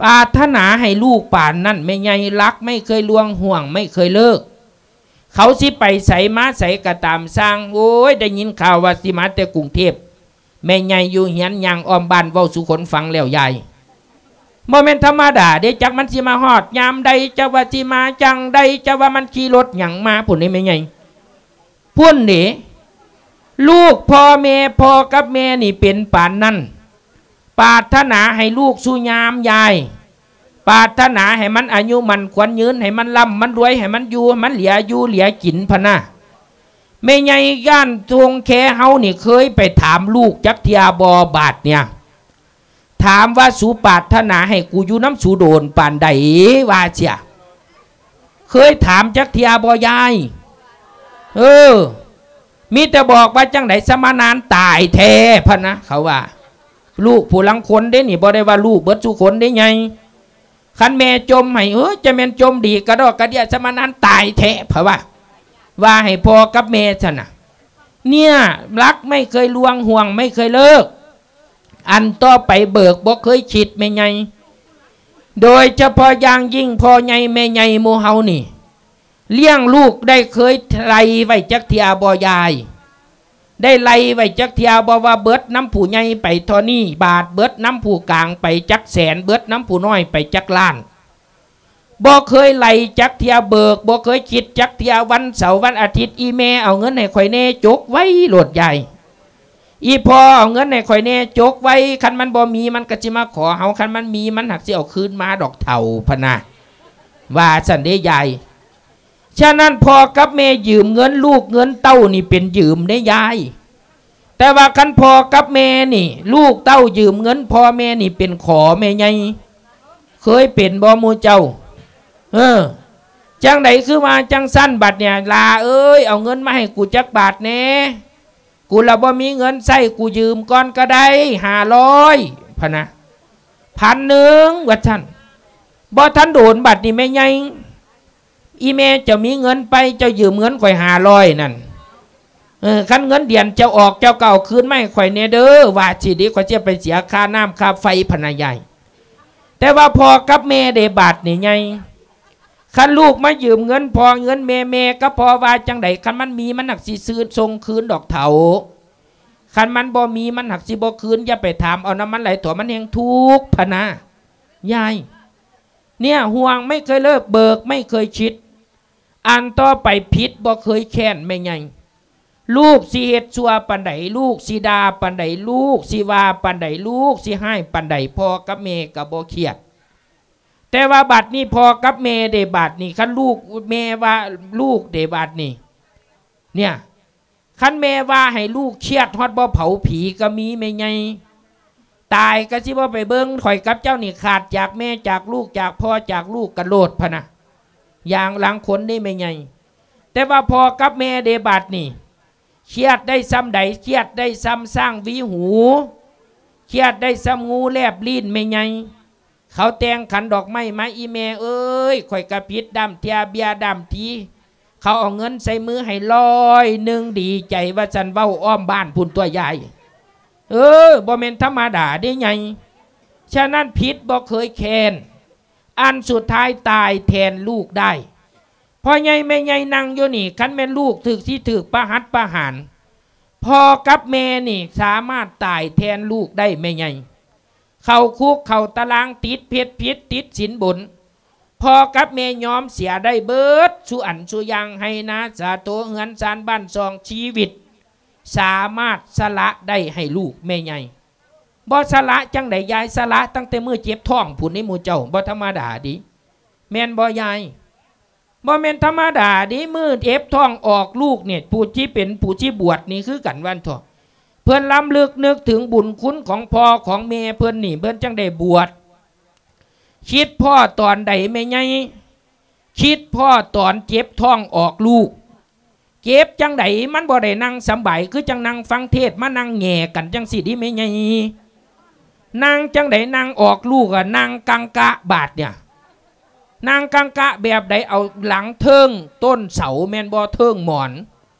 ປາດຖະໜາໃຫ້ລູກປານນັ້ນແມ່ໃຫຍ່ ຮັກໄມ່ເຄີຍລ່ວງ ຫ່ວງໄມ່ເຄີຍເລີກ ເຂົາຊິໄປໃສມາໃສກໍຕາມຊ່າງ ໂອ້ຍ ໄດ້ຍິນຂ່າວວ່າຊິມາແຕ່ກຸງເທບ ແມ່ໃຫຍ່ຢູ່ເຮືອນຍ່າງອ້ອມບ້ານເວົ້າສູ່ຄົນຟັງແລ້ວ ຍາຍ ບໍ່ແມ່ນທຳມະດາເດ້ ຈັກມັນຊິມາຮອດຍາມໃດ ຈັກວ່າຊິມາຈັ່ງໃດ ຈັກວ່າມັນຂີ່ລົດຫຍັງມາພຸ້ນເດ້ແມ່ໃຫຍ່ ພຸ້ນເດ້ ລູກພໍ່ແມ່ ພໍ່ກັບແມ່ນີ້ເປັນປານນັ້ນ ປາດຖະໜາໃຫ້ລູກສູ່ຍາມ ຍາຍ ປາດຖະໜາໃຫ້ມັນອາຍຸໝັ້ນຂວັນຍືນ ໃຫ້ມັນລ່ຳມັນລວຍ ໃຫ້ມັນຢູ່ ໃຫ້ມັນເຫຼືອຢູ່ເຫຼືອກິນພະນະ ແມ່ໃຫຍ່ບ້ານທົ່ງແຄເຮົານີ້ເຄີຍໄປຖາມລູກຈັກເທື່ອບໍ່? ບາດເນຍ ຖາມວ່າ ສູປາດຖະໜາໃຫ້ກູຢູ່ນຳສູໂດນປານໃດ? ວ່າເສຍ ເຄີຍຖາມຈັກເທື່ອບໍ່ຍາຍ? ເອີ ມີແຕ່ບອກວ່າຈັ່ງໃດ ສະມານານຕາຍແທ້ພະນະ ເຂົາວ່າ ລູກຜູ້ລາງຄົນເດ້ນີ້ ບໍ່ໄດ້ວ່າລູກເບິດສູ່ຄົນເດ້ໃຫຍ່ ຄັນແມ່ຈົ່ມໃຫ້ ເອີ ຈະແມ່ນຈົ່ມດີກະດອກກະເດຍ ສະມານານຕາຍແທ້ ເຂົາວ່າ ວ່າໃຫ້ພໍ່ກັບແມ່ຊັ້ນນະ ເນຍ ຮັກໄມ່ເຄີຍລ່ວງ ຫ່ວງໄມ່ເຄີຍເລີກ ອັນຕໍ່ໄປເບີກບໍ່ເຄີຍຄິດແມ່ໃຫຍ່ ໂດຍສະເພາະຢ່າງຍິ່ງພໍ່ໃຫຍ່ແມ່ໃຫຍ່ໝູ່ເຮົານີ້ ລ້ຽງລູກໄດ້ເຄີຍໄລ່ໄວ້ຈັກເທື່ອບໍ່ຍາຍ? ໄດ້ໄລ່ໄວ້ຈັກເທື່ອບໍ່ວ່າເບິດນຳຜູ້ໃຫຍ່ໄປເທົ່ານີ້ບາດ ເບິດນຳຜູ້ກາງໄປຈັກແສນ ເບິດນຳຜູ້ນ້ອຍໄປຈັກລ້ານ? ບໍ່ເຄີຍໄລ່ຈັກເທື່ອ ເບີກບໍ່ເຄີຍຄິດຈັກເທື່ອ ວັນເສົາວັນອາທິດ ອີ່ແມ່ເອົາເງິນໃຫ້ຂ້ອຍແດ່ ຈົກໄວ້ໂລດຍາຍ ອີ່ພໍ່ເອົາເງິນໃຫ້ຂ້ອຍແດ່ ຈົກໄວ້ ຄັນມັນບໍ່ມີມັນກະຊິມາຂໍເຮົາ ຄັນມັນມີມັນຫາກຊິເອົາຄືນມາດອກເຖົ້າ ພະນະ ວ່າຊັ້ນເດ້ຍາຍ. ສະນັ້ນພໍ່ກັບແມ່ຢືມເງິນລູກເງິນເຕົ້ານີ້ເປັນຢືມເດ້ຍາຍ ແຕ່ວ່າຄັນພໍ່ກັບແມ່ນີ້ ລູກເຕົ້າຢືມເງິນພໍ່ແມ່ນີ້ເປັນຂໍແມ່ໃຫຍ່ ເຄີຍເປັນບໍ່ໝູ່ເຈົ້າ? ເອີ ຈັ່ງໃດຄືວ່າຈັ່ງຊັ້ນ? ບັດນີ້ ຫຼ້າເອີຍ ເອົາເງິນມາໃຫ້ກູຈັກບາດແດ່ ກູລະບໍ່ມີເງິນໃຊ້ ກູຢືມກ່ອນກໍໄດ້ ຫ້າຮ້ອຍ ພະນະ ພັນໜຶ່ງ ວ່າຊັ້ນ. ບໍ່ທັນໂດນ ບັດນີ້ແມ່ໃຫຍ່ ອີ່ແມ່ເຈົ້າມີເງິນໄປ ເຈົ້າຢືມເງິນຂ້ອຍຫ້າຮ້ອຍນັ້ນ ເອີ ຄັນເງິນເດືອນເຈົ້າອອກ ເຈົ້າກໍເອົາຄືນມາໃຫ້ຂ້ອຍແດ່ເດີ ວ່າຊິເດ ຂ້ອຍຊິໄປເສຍຄ່ານ້ຳຄ່າໄຟ ພະນະຍາຍ. ແຕ່ວ່າພໍ່ກັບແມ່ເດ ບາດນີ້ໃຫຍ່ ຄັນລູກມາຢືມເງິນພໍ່ເງິນແມ່ ແມ່ກັບພໍ່ວ່າຈັ່ງໃດ? ຄັນມັນມີມັນຫາກຊິຊື້ ສົ່ງຄືນດອກເຖົ້າ ຄັນມັນບໍ່ມີມັນຫາກຊິບໍ່ຄືນ ຢ່າໄປຖາມເອົານຳມັນຫຼາຍ ເຖາະມັນແຮ່ງທຸກ ພະນະຍາຍ. ເນຍ ຫ່ວງໄມ່ເຄີຍເລີກ ເບີກໄມ່ເຄີຍຄິດ ອັນຕໍ່ໄປຜິດບໍ່ເຄີຍແຄ້ນແມ່ໃຫຍ່ ລູກຊິເຮັດຊົ່ວປານໃດ ລູກຊິດ່າປານໃດ ລູກຊິວ່າປານໃດ ລູກຊິຮ້າຍປານໃດ ພໍ່ກັບແມ່ກໍບໍ່ຄຽດ. ແຕ່ວ່າບັດນີ້ພໍ່ກັບແມ່ເດ ບາດນີ້ ຄັນລູກ ແມ່ວ່າລູກເດ ບາດນີ້ ເນຍ ຄັນແມ່ວ່າໃຫ້ລູກຄຽດຮອດບໍ່ເຜົາຜີກໍມີແມ່ໃຫຍ່. ຕາຍກໍຊິບໍ່ໄປເບິ່ງ ຂ້ອຍກັບເຈົ້ານີ້ຂາດຈາກແມ່ຈາກລູກຈາກພໍ່ຈາກລູກກັນໂລດພະນະ. ຢ່າງລາງຄົນນີ້ແມ່ໃຫຍ່ ແຕ່ວ່າພໍ່ກັບແມ່ເດບາດນີ້ ຄຽດໄດ້ຊ່ຳໃດ ຄຽດໄດ້ຊ່ຳຊ້າງຫວີຫູ ຄຽດໄດ້ຊ່ຳງູແລບລີ້ນແມ່ໃຫຍ່. ເຂົາແຕ່ງຂັນດອກໄມ້ມາ ອີ່ແມ່ເອີຍ ຂ້ອຍກະຜິດດ້າມເທື່ອເບ້ຍດ້າມທີ ເຂົາເອົາເງິນໃສ່ມືໃຫ້ຮ້ອຍໜຶ່ງ ດີໃຈວ່າຊັ້ນ ເວົ້າອ້ອມບ້ານພຸ້ນຕົວະຍາຍ. ເອີ ບໍ່ແມ່ນທຳມະດາເດ້ໃຫຍ່. ສະນັ້ນຜິດບໍ່ເຄີຍແຄ້ນ ອັນສຸດທ້າຍຕາຍແທນລູກໄດ້. ພໍ່ໃຫຍ່ແມ່ໃຫຍ່ນັ່ງຢູ່ນີ້ ຄັນແມ່ນລູກຖືກ ຊິຖືກປະຫັດປະຫານ ພໍ່ກັບແມ່ນີ້ສາມາດຕາຍແທນລູກໄດ້ແມ່ໃຫຍ່. ເຂົ້າຄຸກເຂົ້າຕາລາງ ຕິດເຮັດຜິດ ຕິດສິນບົນ ພໍ່ກັບແມ່ຍອມເສຍໄດ້ເບິດສູ່ອັນສູ່ຢ່າງ ໄຮ່ນາສາໂຕ ເຮືອນຊານບ້ານຊ່ອງ ຊີວິດ ສາມາດສະຫຼະໄດ້ໃຫ້ລູກແມ່ໃຫຍ່. ບໍ່ສະຫຼະຈັ່ງໃດຍາຍ ສະຫຼະຕັ້ງແຕ່ມື້ເຈັບທ້ອງພຸ້ນນີ້ ໝູ່ເຈົ້າ ບໍ່ທຳມະດາເດ້ ແມ່ນບໍ່ຍາຍ? ບໍ່ແມ່ນທຳມະດາເດ້ ມື້ເຈັບທ້ອງອອກລູກນີ້ ຜູ້ທີ່ເປັນ ຜູ້ທີ່ບວດນີ້ຄືກັນວ່າຊັ້ນເຖາະ ເພິ່ນລຳລຶກນຶກເຖິງບຸນຄຸນຂອງພໍ່ຂອງແມ່ເພິ່ນນີ້ ເພິ່ນຈັ່ງໄດ້ບວດ. ຄິດພໍ້ຕອນໃດແມ່ໃຫຍ່? ຄິດພໍ້ຕອນເຈັບທ້ອງອອກລູກ. ເຈັບຈັ່ງໃດ ມັນບໍ່ໄດ້ນັ່ງສຳບາຍ ຄືຈັ່ງນັ່ງຟັງເທດ ມານັ່ງແຫງ່ກັນຈັ່ງຊີ້ເດ້ແມ່ໃຫຍ່. ນັ່ງຈັ່ງໃດ ນັ່ງອອກລູກອະ ນັ່ງກັງກະບາດເນຍ. ນັ່ງກັງກະແບບໃດ? ເອົາຫຼັງເທິງຕົ້ນເສົາແມ່ນບໍ່? ເທິງໝອນ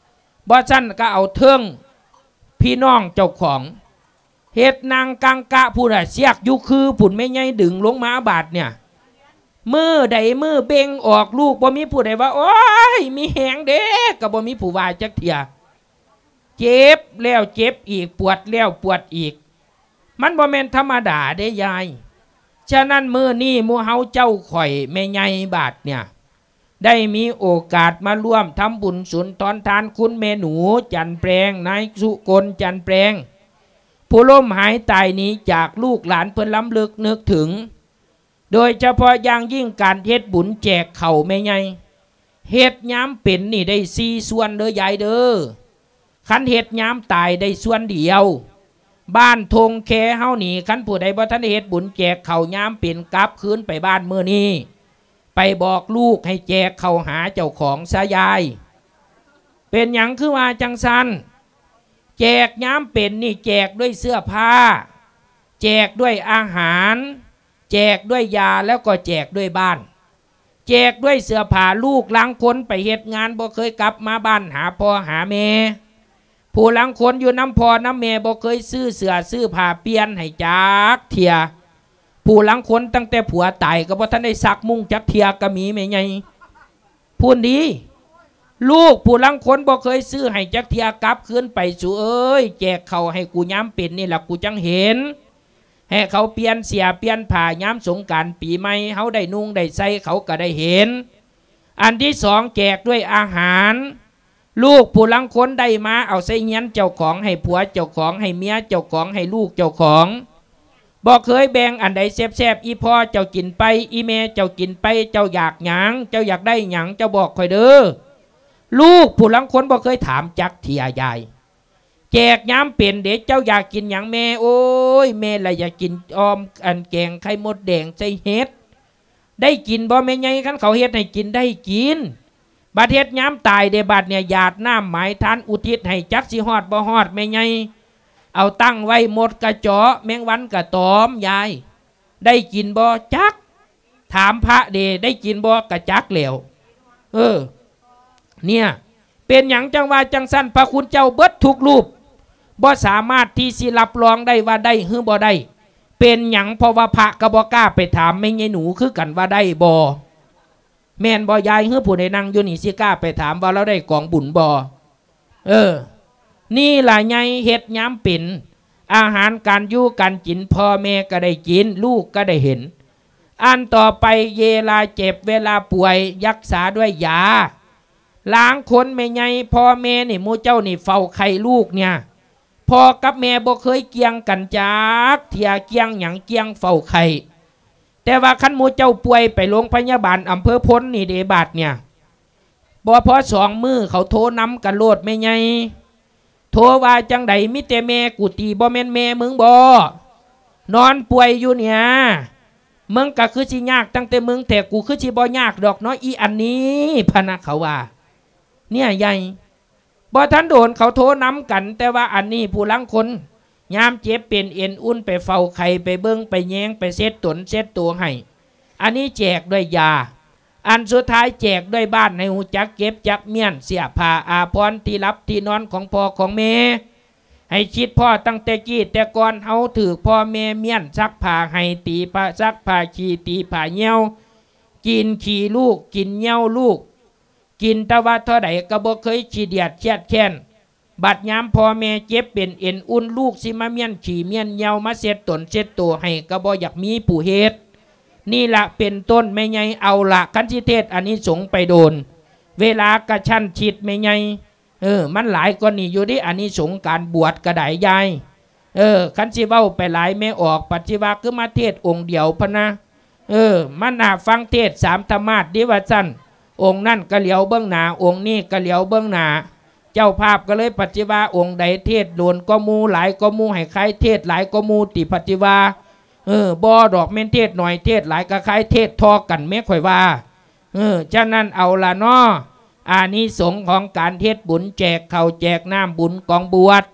ບໍ່ຊັ້ນກໍເອົາເທິງພີ່ນ້ອງເຈົ້າຂອງ ເຮັດນັ່ງກັງກະພຸ້ນນະ ເຊືອກຢູ່ຄືພຸ້ນ ແມ່ໃຫຍ່ດຶງລົງມາບາດເນຍ. ມື້ໃດມື້ເບັ່ງອອກລູກ ບໍ່ມີຜູ້ໃດວ່າ ໂອ້ຍ ມີແຮງເດ້ ກໍບໍ່ມີຜູ້ວ່າຈັກເທື່ອ. ເຈັບແລ້ວເຈັບອີກ ປວດແລ້ວປວດອີກ ມັນບໍ່ແມ່ນທຳມະດາເດ້ຍາຍ. ສະນັ້ນມື້ນີ້ໝູ່ເຮົາເຈົ້າຂ້ອຍແມ່ໃຫຍ່ບາດເນຍ ໄດ້ມີໂອກາດມາຮ່ວມທຳບຸນສຸນທອນທານຄຸນແມ່ໜູ ຈັນແປງ ນາຍສຸກົນ ຈັນແປງ ຜູ້ລົ້ມຫາຍຕາຍໜີຈາກລູກຫຼານເພິ່ນລຳລຶກນຶກເຖິງ ໂດຍສະເພາະຢ່າງຍິ່ງການເຮັດບຸນແຈກເຂົ້າແມ່ໃຫຍ່ ເຮັດຍາມເປັນນີ້ໄດ້ສີ່ສ່ວນເດີຍາຍເດີ. ຄັນເຮັດຍາມຕາຍໄດ້ສ່ວນດຽວ. ບ້ານທົ່ງແຄເຮົານີ້ ຄັນຜູ້ໃດບໍ່ທັນໄດ້ເຮັດບຸນແຈກເຂົ້າຍາມເປັນ ກັບຄືນໄປບ້ານມື້ນີ້ ໄປບອກລູກໃຫ້ແຈກເຂົ້າຫາເຈົ້າຂອງຊະຍາຍ. ເປັນຫຍັງຄືວ່າຈັ່ງຊັ້ນ? ແຈກຍາມເປັນນີ້ແຈກດ້ວຍເສື້ອຜ້າ ແຈກດ້ວຍອາຫານ ແຈກດ້ວຍຢາ ແລ້ວກໍແຈກດ້ວຍບ້ານ. ແຈກດ້ວຍເສື້ອຜ້າ ລູກລາງຄົນໄປເຮັດງານບໍ່ເຄີຍກັບມາບ້ານຫາພໍ່ຫາແມ່. ຜູ້ລາງຄົນຢູ່ນຳພໍ່ນຳແມ່ບໍ່ເຄີຍຊື້ເສື້ອຊື້ຜ້າປ່ຽນໃຫ້ຈັກເທື່ອ. ຜູ້ລາງຄົນຕັ້ງແຕ່ຜົວຕາຍກໍບໍ່ທັນໄດ້ຊັກມຸ້ງຈັກເທື່ອກໍມີແມ່ໃຫຍ່. ພຸ້ນດີ ລູກຜູ້ລາງຄົນບໍ່ເຄີຍຊື້ໃຫ້ຈັກເທື່ອ ກັບຄືນໄປ ສູເອີຍ ແຈກເຂົ້າໃຫ້ກູຍາມເປັນນີ້ລະ ກູຈັ່ງເຫັນ ໃຫ້ເຂົາປ່ຽນເສື້ອປ່ຽນຜ້າຍາມສົງການປີໃໝ່ ເຮົາໄດ້ນຸ່ງໄດ້ໃສ່ ເຂົາກໍໄດ້ເຫັນ. ອັນທີສອງ ແຈກດ້ວຍອາຫານ ລູກຜູ້ລາງຄົນໄດ້ມາເອົາໃສ່ຮຽນເຈົ້າຂອງ ໃຫ້ຜົວເຈົ້າຂອງ ໃຫ້ເມຍເຈົ້າຂອງ ໃຫ້ລູກເຈົ້າຂອງ. ບໍ່ເຄີຍແບ່ງອັນໃດແຊບໆ ອີ່ພໍ່ເຈົ້າກິນໄປ ອີ່ແມ່ເຈົ້າກິນໄປ ເຈົ້າຢາກຫຍັງ ເຈົ້າຢາກໄດ້ຫຍັງ ເຈົ້າບອກຂ້ອຍເດີ. ລູກຜູ້ລາງຄົນບໍ່ເຄີຍຖາມຈັກເທື່ອຍາຍ. ແຈກຍາມເປັນເດ ເຈົ້າຢາກກິນຫຍັງແມ່? ໂອ້ຍ ແມ່ລະຢາກກິນອອມ ອັນແກງໄຂ່ມົດແດງໃສ່ເຫັດ. ໄດ້ກິນບໍ່ແມ່ໃຫຍ່? ຄັນເຂົາເຮັດໃຫ້ກິນໄດ້ກິນ. ບັດເຮັດຍາມຕາຍເດ ບັດເນຍ ຢາດນ້ຳໝາຍທານອຸທິດໃຫ້ ຈັກຊິຮອດບໍ່ຮອດແມ່ໃຫຍ່. ເອົາຕັ້ງໄວ້ ມົດກະເຈາະ ແມງວັນກະຕອມ ຍາຍ ໄດ້ກິນບໍ່? ຈັກ. ຖາມພະເດ ໄດ້ກິນບໍ່? ກະຈັກແລ້ວ. ເອີ ເນຍ ເປັນຫຍັງຈັ່ງວ່າຈັ່ງຊັ້ນ? ພະຄຸນເຈົ້າເບິດທຸກຮູບ ບໍ່ສາມາດທີ່ຊິຮັບຮອງໄດ້ວ່າໄດ້ ຫຼື ບໍ່ໄດ້. ເປັນຫຍັງ? ເພາະວ່າພະກໍບໍ່ກ້າໄປຖາມແມ່ໃຫຍ່ໜູຄືກັນວ່າໄດ້ບໍ່. ແມ່ນບໍ່ຍາຍ? ຫຼື ຜູ້ໃດນັ່ງຢູ່ນີ້ຊິກ້າໄປຖາມວ່າລາວໄດ້ກອງບຸນບໍ່? ເອີ ນີ້ລະໃຫຍ່ເຮັດຍາມເປັນ ອາຫານການຢູ່ການກິນ ພໍ່ແມ່ກໍໄດ້ກິນ ລູກກໍໄດ້ເຫັນ. ອັນຕໍ່ໄປ ເວລາເຈັບເວລາປ່ວຍ ຮັກສາດ້ວຍຢາ. ລາງຄົນແມ່ໃຫຍ່ ພໍ່ແມ່ນີ້ ໝູ່ເຈົ້ານີ້ເຝົ້າໄຂ້ລູກເນຍ ພໍ່ກັບແມ່ບໍ່ເຄີຍກ່ຽງກັນຈັກເທື່ອ. ກ່ຽງຫຍັງ? ກ່ຽງເຝົ້າໄຂ້. ແຕ່ວ່າຄັນໝູ່ເຈົ້າປ່ວຍໄປໂລງພະຍາບານອຳເພີໂພນນີ້ເດ ບາດເນຍ ບໍ່ພໍສອງມື້ເຂົາໂທນຳກັນໂລດ ແມ່ໃຫຍ່ ໂທວ່າຈັ່ງໃດ? ມີແຕ່ແມ່ກູຕີ ບໍ່ແມ່ນແມ່ມຶງບໍ? ນອນປ່ວຍຢູ່ເນ່ຍ ມຶງກະຄືຊິຍາກຕັ້ງແຕ່ມຶງແທ້ ກູຄືຊິບໍ່ຍາກດອກເນາະ ອີອັນນີ້ ພະນະ ເຂົາວ່າ. ເນຍໃຫຍ່ ບໍ່ທັນໂດນເຂົາໂທນຳກັນ ແຕ່ວ່າອັນນີ້ຜູ້ລາງຄົນ ຍາມເຈັບເປັນເອັນອຸ່ນ ໄປເຝົ້າໄຂ້ ໄປເບິ່ງໄປແຍງ ໄປເຊັດຕົນເຊັດໂຕໃຫ້. ອັນນີ້ແຈກດ້ວຍຢາ. ອັນສຸດທ້າຍແຈກດ້ວຍບ້ານ ໃຫ້ຮູ້ຈັກເກັບຈັກມ້ຽນ ເສື້ອຜ້າອາພອນ ທີ່ຫຼັບທີ່ນອນຂອງພໍ່ຂອງແມ່ ໃຫ້ຄິດພໍ້ຕັ້ງແຕ່ກີ້ແຕ່ກ່ອນ ເຮົາຖືກພໍ່ແມ່ມ້ຽນຊັກຜ້າໃຫ້ ຕີຜ້າ ຊັກຜ້າຂີ້ ຕີຜ້າຍ່ຽວ ກິນຂີ້ລູກ ກິນຍ່ຽວລູກ ກິນແຕ່ວ່າເທົ່າໃດກໍບໍ່ເຄີຍຂີ້ດຽດຄຽດແຄ້ນ. ບັດຍາມພໍ່ແມ່ເຈັບເປັນເອັນອຸ່ນ ລູກຊິມາມ້ຽນຂີ້ມ້ຽນຍ່ຽວ ມາເຊັດຕົນເຊັດໂຕໃຫ້ ກໍບໍ່ຢາກມີຜູ້ເຮັດ. ນີ້ລະເປັນຕົ້ນແມ່ໃຫຍ່. ເອົາລະ ຄັນຊິເທດອານິສົງໄປໂດນ ເວລາກະຊັ້ນຊິດແມ່ໃຫຍ່. ເອີ ມັນຫຼາຍກວ່ານີ້ຢູ່ເດ້ ອານິສົງການບວດກະໄດ້ຍາຍ. ເອີ ຄັນຊິເວົ້າໄປຫຼາຍ ແມ່ອອກປັດຊິວ່າຄືມາເທດອົງດຽວພະນະ. ເອີ ມາໜ້າຟັງເທດສາມທຳມາດເດ້ວ່າຊັ້ນ. ອົງນັ້ນກະຫຼຽວເບິ່ງໜ້າ ອົງນີ້ກະຫຼຽວເບິ່ງໜ້າ. ເຈົ້າພາບກະເລີຍປັດຊິວ່າ ອົງໃດເທດໂດນກວ່າໝູ່ ຫຼາຍກວ່າໝູ່ ໃຫ້ຄາຍເທດຫຼາຍກວ່າໝູ່ຕິ ປັດຊິວ່າ. ເອີ ບໍ່ດອກ ແມ່ນເທດໜ້ອຍເທດຫຼາຍກະຄາຍເທດທໍ່ກັນແມ້ ຂ້ອຍວ່າ. ເອີ ສະນັ້ນເອົາລະເນາະ ອານິສົງຂອງການເຮັດບຸນ ແຈກເຂົ້າແຈກນ້ຳ ບຸນກອງບວດ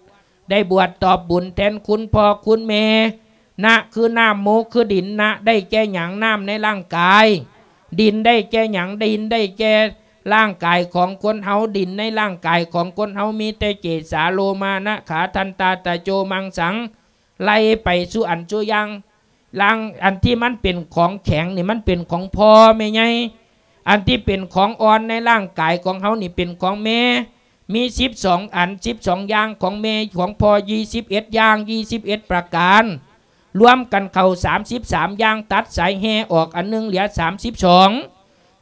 ໄດ້ບວດຕອບບຸນແທນຄຸນພໍ່ຄຸນແມ່. ນະ ຄືນ້ຳ ໂມ ຄືດິນ. ນະ ໄດ້ແກ່ຫຍັງ? ນ້ຳໃນຮ່າງກາຍ. ດິນໄດ້ແກ່ຫຍັງ? ດິນໄດ້ແກ່ຮ່າງກາຍຂອງຄົນເຮົາ. ດິນໃນຮ່າງກາຍຂອງຄົນເຮົາມີແຕ່ເກສາ ໂລມາ ນະ ຂາ ທັນຕາ ຕະໂຈ ມັງສັງ ໄລ່ໄປສູ່ອັນສູ່ຢ່າງ. ຮ່າງ ອັນທີ່ມັນເປັນຂອງແຂງນີ້ ມັນເປັນຂອງພໍ່ແມ່ໃຫຍ່. ອັນທີ່ເປັນຂອງອ່ອນໃນຮ່າງກາຍຂອງເຮົານີ້ ເປັນຂອງແມ່. ມີສິບສອງອັນ ສິບສອງຢ່າງຂອງແມ່ ຂອງພໍ່ ຊາວເອັດຢ່າງ ຊາວເອັດປະການ ລວມກັນເຂົ້າສາມສິບສາມຢ່າງ ຕັດສາຍແຮ່ອອກອັນໜຶ່ງ ເຫຼືອສາມສິບສອງ.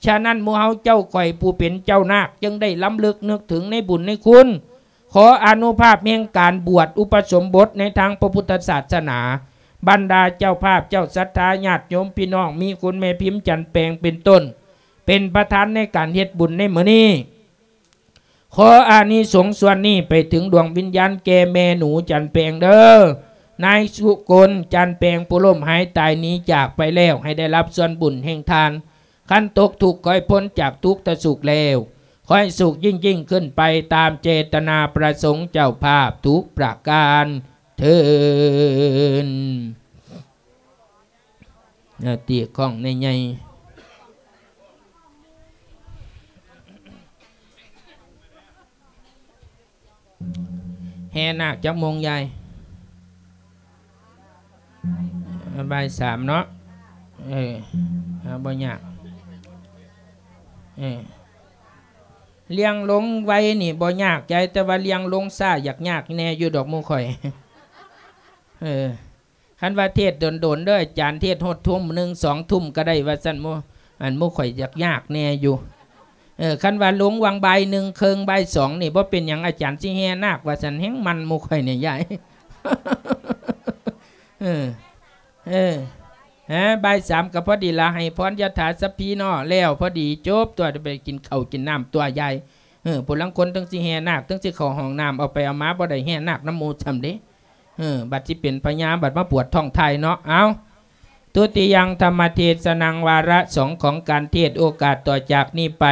ສະນັ້ນ ໝູ່ເຮົາເຈົ້າຂ້ອຍຜູ້ເປັນເຈົ້ານາກ ຈຶ່ງໄດ້ລຳລຶກນຶກເຖິງໃນບຸນໃນຄຸນ. ຂໍອະນຸພາບແຫ່ງການບວດອຸປະສົມບົດໃນທາງພະພຸດທະສາສະໜາ, ບັນດາເຈົ້າພາບເຈົ້າສັດທາ ຍາດໂຍມພີ່ນ້ອງ ມີຄຸນແມ່ພິມ ຈັນແປງ ເປັນຕົ້ນ ເປັນປະທານໃນການເຮັດບຸນໃນມື້ນີ້. ຂໍອານິສົງສ່ວນນີ້ໄປເຖິງດວງວິນຍານແກ່ແມ່ໜູ ຈັນແປງ ເດີ້. ນາຍສຸກົນ ຈັນແປງ ຜູ້ລົ້ມຫາຍຕາຍໜີຈາກໄປແລ້ວ ໃຫ້ໄດ້ຮັບສ່ວນບຸນແຫ່ງທ່ານ. ຄັນຕົກທຸກ ຂໍໃຫ້ພົ້ນຈາກທຸກທະສຸກແລ້ວ ຂໍໃຫ້ສຸກຍິ່ງໆຂຶ້ນໄປ ຕາມເຈຕນາປະສົງເຈົ້າພາບທຸກປະການເທີ້ນ. ເອົາ ຕີຂອງໃຫຍ່ໆ. ແຫ່ນາກຈັກໂມງຍາຍ? ບ່າຍສາມເນາະ. ເອີ ເອົາ ບໍ່ຍາກ. ເອີ ລ່ຽງລົງໄວນີ້ບໍ່ຍາກໃຈ, ແຕ່ວ່າລ່ຽງລົງຊ້າຢາກຍາກແດ່ຢູ່ດອກໝູ່ຂ້ອຍ. ເອີ ຄັນວ່າເທດໂດນໆເດີ້ ອາຈານເທດຮອດທຸ່ມໜຶ່ງ ສອງທຸ່ມກໍໄດ້ວ່າຊັ້ນ. ໝູ່ ອັນໝູ່ຂ້ອຍຢາກຍາກແດ່ຢູ່. ເອີ ຄັນວ່າລົງຫວ່າງບ່າຍໜຶ່ງເຄິ່ງ ບ່າຍສອງນີ້ ບໍ່ເປັນຫຍັງ ອາຈານຊິແຫ່ນາກວ່າຊັ້ນ. ແຮ່ງມັນໝູ່ຂ້ອຍນີ້ຍາຍ. ເອີ ເອີ ຮະ ບ່າຍສາມກໍພໍດີລະ ໃຫ້ພອນຍະຖາສັບພີເນາະ ແລ້ວພໍດີຈົບຕົວະ ໄປກິນເຂົ້າກິນນ້ຳຕົວະຍາຍ. ເອີ ຜູ້ລາງຄົນເຖິງຊິແຫ່ນາກ ເຖິງຊິເຂົ້າຫ້ອງນ້ຳ ເອົາໄປເອົາມາບໍ່ໄດ້ແຫ່ນາກນຳໝູ່ຊ້ຳເດ້. ເອີ ບັດຊິເປັນພະຍາ ບັດມາປວດທ້ອງຖ່າຍເນາະ. ເອົາ ທຸຕິຍັງທຳມະເທສະນັງ ວາລະສອງຂອງການເທດ ໂອກາດຕໍ່ຈາກນີ້ໄປ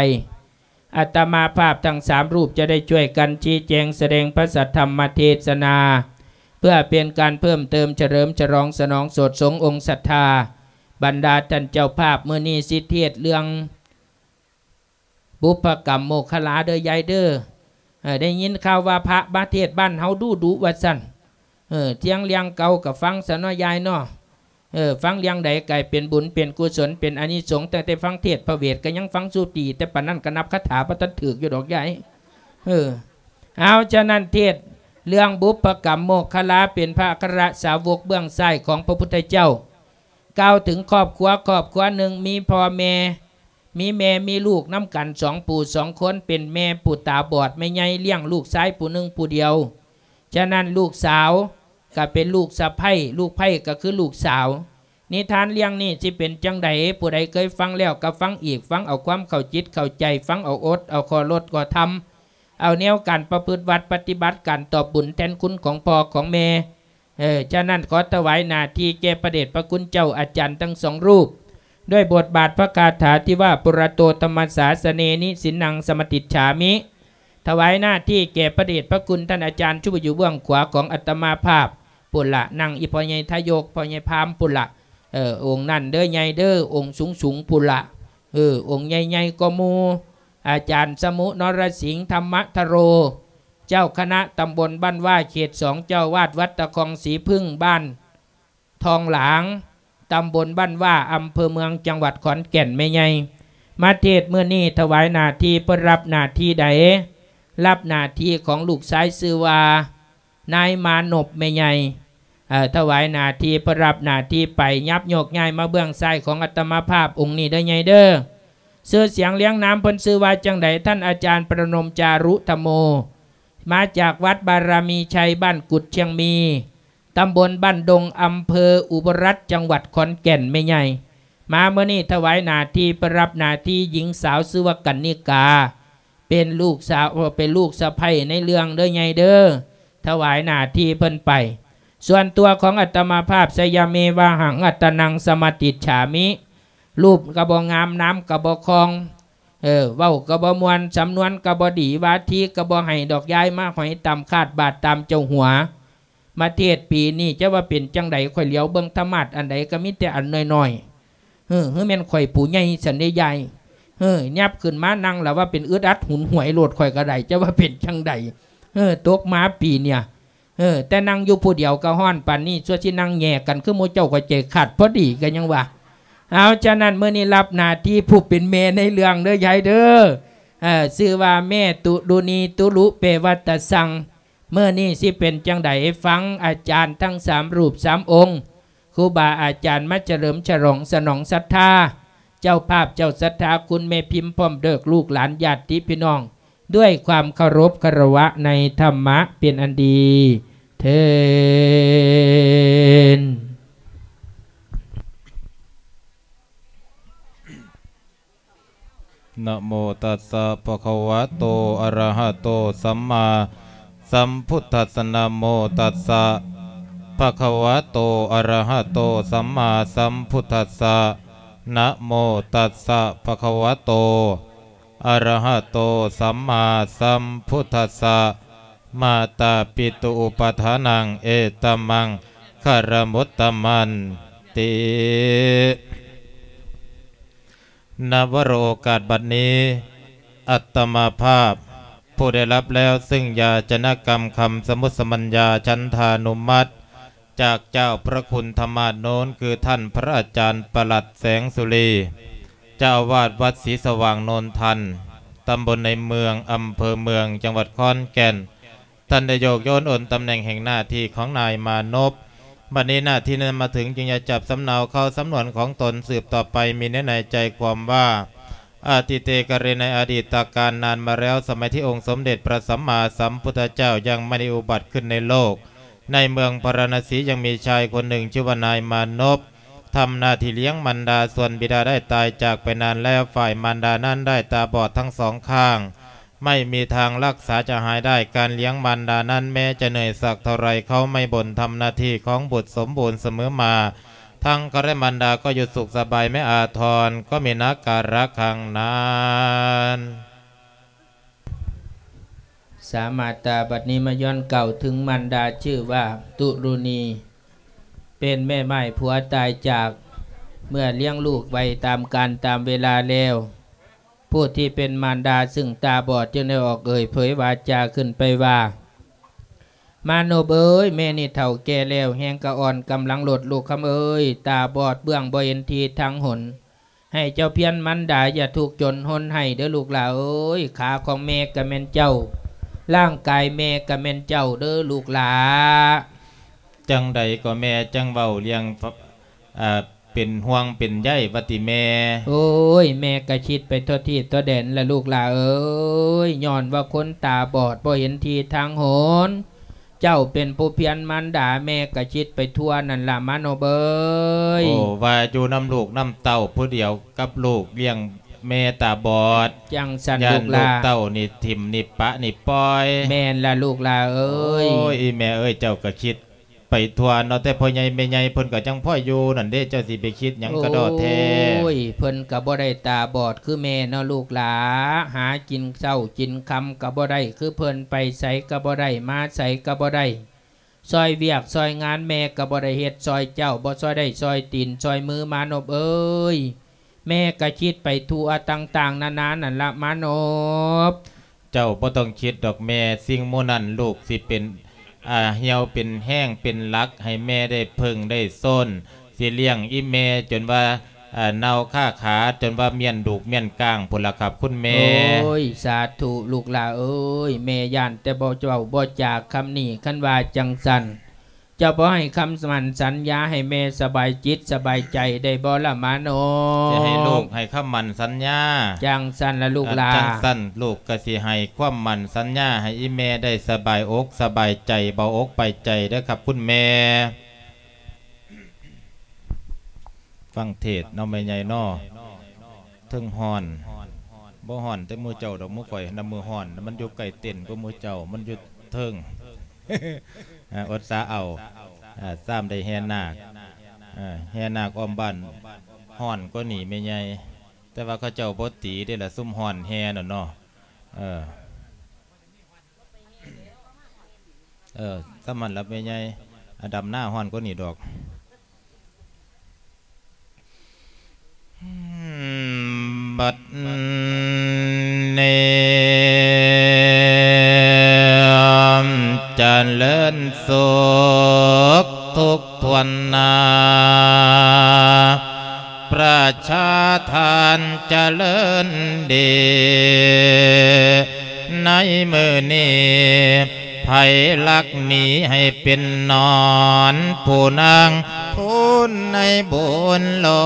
ອາດຕະມາພາບທັງສາມຮູບຈະໄດ້ຊ່ວຍກັນຊີ້ແຈງສະແດງພະສັດທຳມະເທສະນາ ເພື່ອເປັນການເພີ່ມເຕີມ ສະເຫຼີມສະຫຼອງ ສະໜອງໂສດສົງອົງສັດທາ. ບັນດາທ່ານເຈົ້າພາບ ມື້ນີ້ຊິເທດເລື່ອງ ບຸບພະກຳໂມກຂະລາເດີ້ຍາຍເດີ້. ເອີ ໄດ້ຍິນຂ່າວວ່າພະມາເທດບ້ານເຮົາດຸໆວ່າຊັ້ນ. ເອີ ທຽງລຽງເກົ່າກໍຟັງຊະເນາະຍາຍເນາະ. ເອີ ຟັງລຽງໃດກາຍເປັນບຸນເປັນກຸສົນ ເປັນອານິສົງ. ຕັ້ງແຕ່ຟັງເທດພະເວດກໍຍັງຟັງສຸຕີ ແຕ່ປານນັ້ນກໍນັບຄາຖາບໍ່ທັນຖືກຢູ່ດອກຍາຍ. ເອີ ເອົາ ສະນັ້ນເທດເລື່ອງບຸບພະກຳໂມກຂະລາ ເປັນພະອັກຄະສາວົກເບື້ອງຊ້າຍຂອງພະພຸດທະເຈົ້າ ກ່າວເຖິງຄອບຄົວ ຄອບຄົວໜຶ່ງ ມີພໍ່ແມ່ ມີແມ່ ມີລູກນຳກັນສອງຜູ້ສອງຄົນ. ເປັນແມ່ຜູ້ຕາບອດ ແມ່ໃຫຍ່ລ້ຽງລູກຊາຍຜູ້ໜຶ່ງຜູ້ດຽວ. ສະນັ້ນລູກສາວກໍເປັນລູກສະໃພ້ ລູກໃພ້ກໍຄືລູກສາວ. ນິທານເລື່ອງນີ້ຊິເປັນຈັ່ງໃດ ຜູ້ໃດເຄີຍຟັງແລ້ວກໍຟັງອີກ ຟັງເອົາຄວາມເຂົ້າຈິດເຂົ້າໃຈ ຟັງເອົາອົດເອົາຂໍ້ລົດຂໍ້ທຳ. ເອົາແນວການປະພຶດວັດປະຕິບັດ ການຕອບບຸນແທນຄຸນຂອງພໍ່ຂອງແມ່. ເອີ ສະນັ້ນ ຂໍຖວາຍໜ້າທີ່ແກ່ພະເດດພະຄຸນເຈົ້າອາຈານທັງສອງຮູບ ດ້ວຍບົດບາດພະຄາຖາທີ່ວ່າ ປຸຣະໂຕທຳມະສາສະເນ ນິສິນນັງສະມາຕິດສາມິ. ຖວາຍໜ້າທີ່ແກ່ພະເດດພະຄຸນທ່ານອາຈານ ທີ່ຢູ່ເບື້ອງຂວາຂອງອາດຕະມາພາບພຸ້ນລະ, ນັ່ງອີ່ພໍ່ໃຫຍ່ທະຍົກ ພໍ່ໃຫຍ່ພາມພຸ້ນລະ. ເອີ ອົງນັ້ນເດີໃຫຍ່ເດີ ອົງສູງໆພຸ້ນລະ. ເອີ ອົງໃຫຍ່ໆກວ່າໝູ່ ອາຈານສະມຸ ນໍລະສິງ ທຳມະທະໂຣ ເຈົ້າຄະນະຕຳບົນບ້ານວ່າ ເຂດສອງ ເຈົ້າອາວາດວັດຕະຄອງສີຜຶ້ງ ບ້ານທອງຫຼາງ ຕຳບົນບ້ານວ່າ ອຳເພີເມືອງ ຈັງຫວັດຂອນແກ່ນ. ແມ່ໃຫຍ່ມາເທດມື້ນີ້ ຖວາຍໜ້າທີ່ ເພິ່ນຮັບໜ້າທີ່ໃດ? ຮັບໜ້າທີ່ຂອງລູກຊາຍຊື່ວ່າ ນາຍມານົບ ແມ່ໃຫຍ່. ເອີ ຖວາຍໜ້າທີ່ ເພິ່ນຮັບໜ້າທີ່ໄປ ຫຍັບໂຍກຍ້າຍມາເບື້ອງຊ້າຍຂອງອາດຕະມາພາບອົງນີ້ເດີໃຫຍ່ເດີ. ຊື່ສຽງລຽງນາມເພິ່ນຊື່ວ່າຈັ່ງໃດ? ທ່ານອາຈານປະນົມຈາລຸທຳໂມ ມາຈາກວັດບາລະມີໄຊ ບ້ານກຸດຊຽງມີ ຕຳບົນບ້ານດົງ ອຳເພີອຸບົລລັດ ຈັງຫວັດຂອນແກ່ນ. ແມ່ໃຫຍ່ມາມື້ນີ້ ຖວາຍໜ້າທີ່ ເພິ່ນຮັບໜ້າທີ່ ຍິງສາວຊື່ວ່າກັນນິກາ ເປັນລູກສາວ ເອີ ເປັນລູກສະໃພ້ໃນເລື່ອງເດີໃຫຍ່ເດີ. ຖວາຍໜ້າທີ່ເພິ່ນໄປ. ສ່ວນຕົວຂອງອາດຕະມາພາບ ຊະຍະເມວະຫັງ ອາດຕະນັງສະມາຕິດສາມິ ຮູບກໍບໍ່ງາມ ນາມກໍບໍ່ຄອງ ເອີ ເວົ້າກໍບໍ່ມ່ວນ ສຳນວນກໍບໍ່ດີ ວາທີກໍບໍ່ໃຫ້ດອກ ຍ້າຍມາຫອຍຕາມຄາດບາດຕາມເຈົ້າຫົວ. ມາເທດປີນີ້ຈະວ່າເປັນຈັ່ງໃດ? ຂ້ອຍຫຼຽວເບິ່ງທຳມາດອັນໃດກໍມີແຕ່ອັນນ້ອຍໆ. ເອີ ຫຼືແມ່ນຂ້ອຍຜູ້ໃຫຍ່ຊັ້ນເດຍາຍ? ເອີ ຫຍັບຂຶ້ນມານັ່ງລະວ່າເປັນອຶດອັດຫຸນຫວຍໂລດ ຂ້ອຍກໍໄດ້ ຈະວ່າເປັນຈັ່ງໃດ? ເອີ ຕົກມາປີເນີ້ຍ ເອີ ແຕ່ນັ່ງຢູ່ຜູ້ດຽວກໍຮ້ອນປານນີ້ ຊົ່ວຊິນັ່ງແຍ່ກັນຄືໝູ່ເຈົ້າ ຂ້ອຍໃຈຂາດພໍດີກໍຍັງວ່າ. ເອົາ ສະນັ້ນ ມື້ນີ້ຮັບໜ້າທີ່ຜູ້ເປັນແມ່ໃນເລື່ອງເດີຍາຍເດີ. ເອີ ຊື່ວ່າແມ່ຕຸລຸນີ ຕຸລຸແປວ່າຕາຊັງ. ມື້ນີ້ຊິເປັນຈັ່ງໃດ? ຟັງອາຈານທັງສາມຮູບສາມອົງ ຄູບາອາຈານມາສະເຫຼີມສະຫຼອງສະໜອງສັດທາ ເຈົ້າພາບເຈົ້າສັດທາ ຄຸນແມ່ພິມ ພ້ອມເດີກລູກຫຼານຍາດຕິພີ່ນ້ອງ ດ້ວຍຄວາມເຄົາລົບຄາລະວະໃນທຳມະເປັນອັນດີເທີ້ນ. ນະໂມຕັດສະ ພະຄະວະໂຕ ອະຣະຫະໂຕ ສຳມາສຳພຸດທັດສະ ນະໂມຕັດສະ ພະຄະວະໂຕ ອະຣະຫະໂຕ ສຳມາສຳພຸດທັດສະ ນະໂມຕັດສະ ພະຄະວະໂຕ ອະຣະຫະໂຕ ສຳມາສຳພຸດທັດສະ ມາຕາປິຕຸອຸປະຖານັງ ເອຕະມັງຄະລະມຸດຕະມັນຕິ. ນະວະໂລກາດບັດນີ້ ອັດຕະມາພາບ ຜູ້ໄດ້ຮັບແລ້ວເຊິ່ງຢາຈະນະກຳຄຳສະມຸດສະບັນຍາ ສັນທານຸມັດ ຈາກເຈົ້າພະຄຸນທະມາດໂນນ ຄືທ່ານພະອາຈານປະຫຼັດແສງສຸລີ ເຈົ້າອາວາດວັດສີສະຫວ່າງໂນນທັນ ຕຳບົນໃນເມືອງ ອຳເພີເມືອງ ຈັງຫວັດຂອນແກ່ນ. ທ່ານໄດ້ໂຍກໂຍນໂອນຕຳແໜ່ງແຫ່ງໜ້າທີ່ຂອງນາຍມານົບ. ບັດນີ້ໜ້າທີ່ນັ້ນມາເຖິງ ຈຶ່ງຈະຈັບສຳເນົາເຂົ້າສຳນວນຂອງຕົນສືບຕໍ່ໄປ. ມີເນື້ອໃນໃຈຄວາມວ່າ ອະຕິເຕກະເຣ ໃນອະດີດຕະການນານມາແລ້ວ ສະໄໝທີ່ອົງສົມເດັດພະສຳມາສຳພຸດທະເຈົ້າຍັງບໍ່ໄດ້ອຸບັດຂຶ້ນໃນໂລກ, ໃນເມືອງພາລານະສີຍັງມີຊາຍຄົນໜຶ່ງຊື່ວ່ານາຍມານົບ ທຳໜ້າທີ່ລ້ຽງມານດາ. ສ່ວນບິດາໄດ້ຕາຍຈາກໄປນານແລ້ວ, ຝ່າຍມານດານັ້ນໄດ້ຕາບອດທັງສອງຂ້າງ, ໄມ່ມີທາງລັກສາຈະຫາຍໄດ້. ການລ້ຽງມານດານັ້ນແມ້ຈະເໜື່ອຍສັກເທົ່າໃດ, ເຂົາໄມ້ບົນທຳໜ້າທີ່ຂອງບຸດສົມບູນສະເໝີມາ, ທັງເຂົາແລະມານດາກໍຢູ່ສຸກສະບາຍ, ແມ່ອາທອນກໍມີໜ້າກາລະຄັງນັ້ນ. ສາມາດຕາບັດນີ້ມາຍ້ອນກ່າວເຖິງມານດາ ຊື່ວ່າຕຸລຸນີ ເປັນແມ່ໝ້າຍຜົວຕາຍຈາກ ເມື່ອລ້ຽງລູກໄວ້ຕາມການຕາມເວລາແລ້ວ, ຜູ້ທີ່ເປັນມານດາຊຶ່ງຕາບອດຈຶ່ງໄດ້ອອກເອີ່ຍເຜີຍວາຈາຂຶ້ນໄປວ່າ, ມານົບເອີຍ, ແມ່ນີ້ເຖົ້າແກ່ແລ້ວ, ແຮງກະອ່ອນ, ກຳລັງລົດ, ລູກຄຳເອີຍ, ຕາບອດເບື້ອງ, ບໍ່ເຫັນທີ່ທາງຫົນ. ໃຫ້ເຈົ້າພຽນມານດາຢ່າທຸກຈົນຮົນໄຫ້ເດີລູກຫຼ້າເອີຍ, ຂາຂອງແມ່ກະແມ່ນເຈົ້າ, ຮ່າງກາຍແມ່ກະແມ່ນເຈົ້າເດີລູກຫຼ້າ. ຈັ່ງໃດກໍແມ່ຈັ່ງເວົ້າລ້ຽງ ເປັນຫ່ວງເປັນໃຍວ່າຕິແມ່? ໂອ້ຍ, ແມ່ກະຄິດໄປທົ່ວທີບທົ່ວແດນລະລູກຫຼ້າເອີຍ, ຍ້ອນວ່າຄົນຕາບອດບໍ່ເຫັນທີ່ທາງຫົນ. ເຈົ້າເປັນຜູ້ພຽນມານດາ, ແມ່ກະຄິດໄປທົ່ວນັ້ນລະມານົບເອີຍ. ໂອ້, ວ່າຢູ່ນຳລູກນຳເຕົ້າຜູ້ດຽວກັບລູກລ້ຽງ ແມ່ຕາບອດ ຈັ່ງຊັ້ນລູກຫຼ້າ ຢ້ານລູກເຕົ້ານີ້ຖິ້ມນີ້ປະນີ້ປ່ອຍ. ແມ່ນລະລູກຫຼ້າເອີຍ. ໂອ້ຍ ອີ່ແມ່ເອີຍ ເຈົ້າກໍຄິດໄປທົ່ວເນາະ ແຕ່ພໍ່ໃຫຍ່ແມ່ໃຫຍ່ເພິ່ນກໍຍັງພໍຢູ່ນັ້ນເດ້ ເຈົ້າຊິໄປຄິດຫຍັງກະດໍ້ແທ້. ໂອ້ຍ ເພິ່ນກໍບໍ່ໄດ້ຕາບອດຄືແມ່ເນາະລູກຫຼ້າ ຫາກິນເຊົ້າກິນຄ່ຳກໍບໍ່ໄດ້ຄືເພິ່ນ ໄປໃສກໍບໍ່ໄດ້ ມາໃສກໍບໍ່ໄດ້. ຊ່ອຍວຽກຊ່ອຍງານແມ່ກໍບໍ່ໄດ້ເຮັດຊ່ອຍເຈົ້າ ບໍ່ຊ່ອຍໄດ້ຊ່ອຍຕີນຊ່ອຍມືມານົບເອີຍ. ແມ່ກໍຄິດໄປທົ່ວຕ່າງໆນານານັ້ນລະມານົບ. ເຈົ້າບໍ່ຕ້ອງຄິດດອກແມ່ ສິ່ງໝູ່ນັ້ນລູກຊິເປັນ ອ່າ ຮຽວເປັນແຮງເປັນຫຼັກໃຫ້ແມ່ໄດ້ເພິ່ງໄດ້ໂຊນ. ຊິລ້ຽງອີ່ແມ່ຈົນວ່າ ເອີ ເນົ່າຄາຂາ ຈົນວ່າມ້ຽນດູກມ້ຽນກ້າງພຸ້ນລະຄັບຄຸນແມ່. ໂອ້ຍ ສາທຸລູກຫຼ້າເອີຍ ແມ່ຢ້ານແຕ່ບໍ່ເວົ້າບໍ່ຈາຄຳນີ້. ຄັນວ່າຈັ່ງຊັ້ນ ເຈົ້າບໍ່ໃຫ້ຄຳໝັ້ນສັນຍາໃຫ້ແມ່ສະບາຍຈິດສະບາຍໃຈໄດ້ບໍ່ລະມານົບ? ຊິໃຫ້ລູກໃຫ້ຄຳໝັ້ນສັນຍາ. ຈັ່ງຊັ້ນລະລູກຫຼ້າ. ເອີ ຈັ່ງຊັ້ນລູກກໍຊິໃຫ້ຄວາມໝັ້ນສັນຍາໃຫ້ອີ່ແມ່ໄດ້ສະບາຍອົກສະບາຍໃຈ ເບົາອົກເບົາໃຈເດີຄັບຄຸນແມ່. ຟັງເທດເນາະແມ່ໃຫຍ່ເນາະ ເທິງຮ້ອນ ບໍ່ຮ້ອນແຕ່ໝູ່ເຈົ້າດອກ ໝູ່ຂ້ອຍນຳມືຮ້ອນ ມັນຢູ່ໃກ້ເຕັນກວ່າໝູ່ເຈົ້າ ມັນຢູ່ເທິງ ອາ ອົດສາເອົາ ອາ ຊ້ຳໄດ້ແຫ່ນາກ ອາ ແຫ່ນາກອ້ອມບ້ານຮ້ອນກວ່ານີ້ແມ່ໃຫຍ່ ແຕ່ວ່າເຂົາເຈົ້າບໍ່ຕີເດ້ລະ ຊຸມຮ້ອນແຫ່ນັ້ນເນາະ ເອີ. ເອີ ສ່ຳນັ້ນລະແມ່ໃຫຍ່ ອາ ດຳນາຮ້ອນກວ່ານີ້ດອກ. ບັດນີ້ຈະເລີນສຸກທຸກ ຖ້ວນໜ້າ ປະຊາທ່ານຈະເລີນດີ ໃນມື້ນີ້ ໃຜລັກໜີໃຫ້ເປັນໜອນ ຜູ້ນາງຄູນໃນບຸນຫຼອ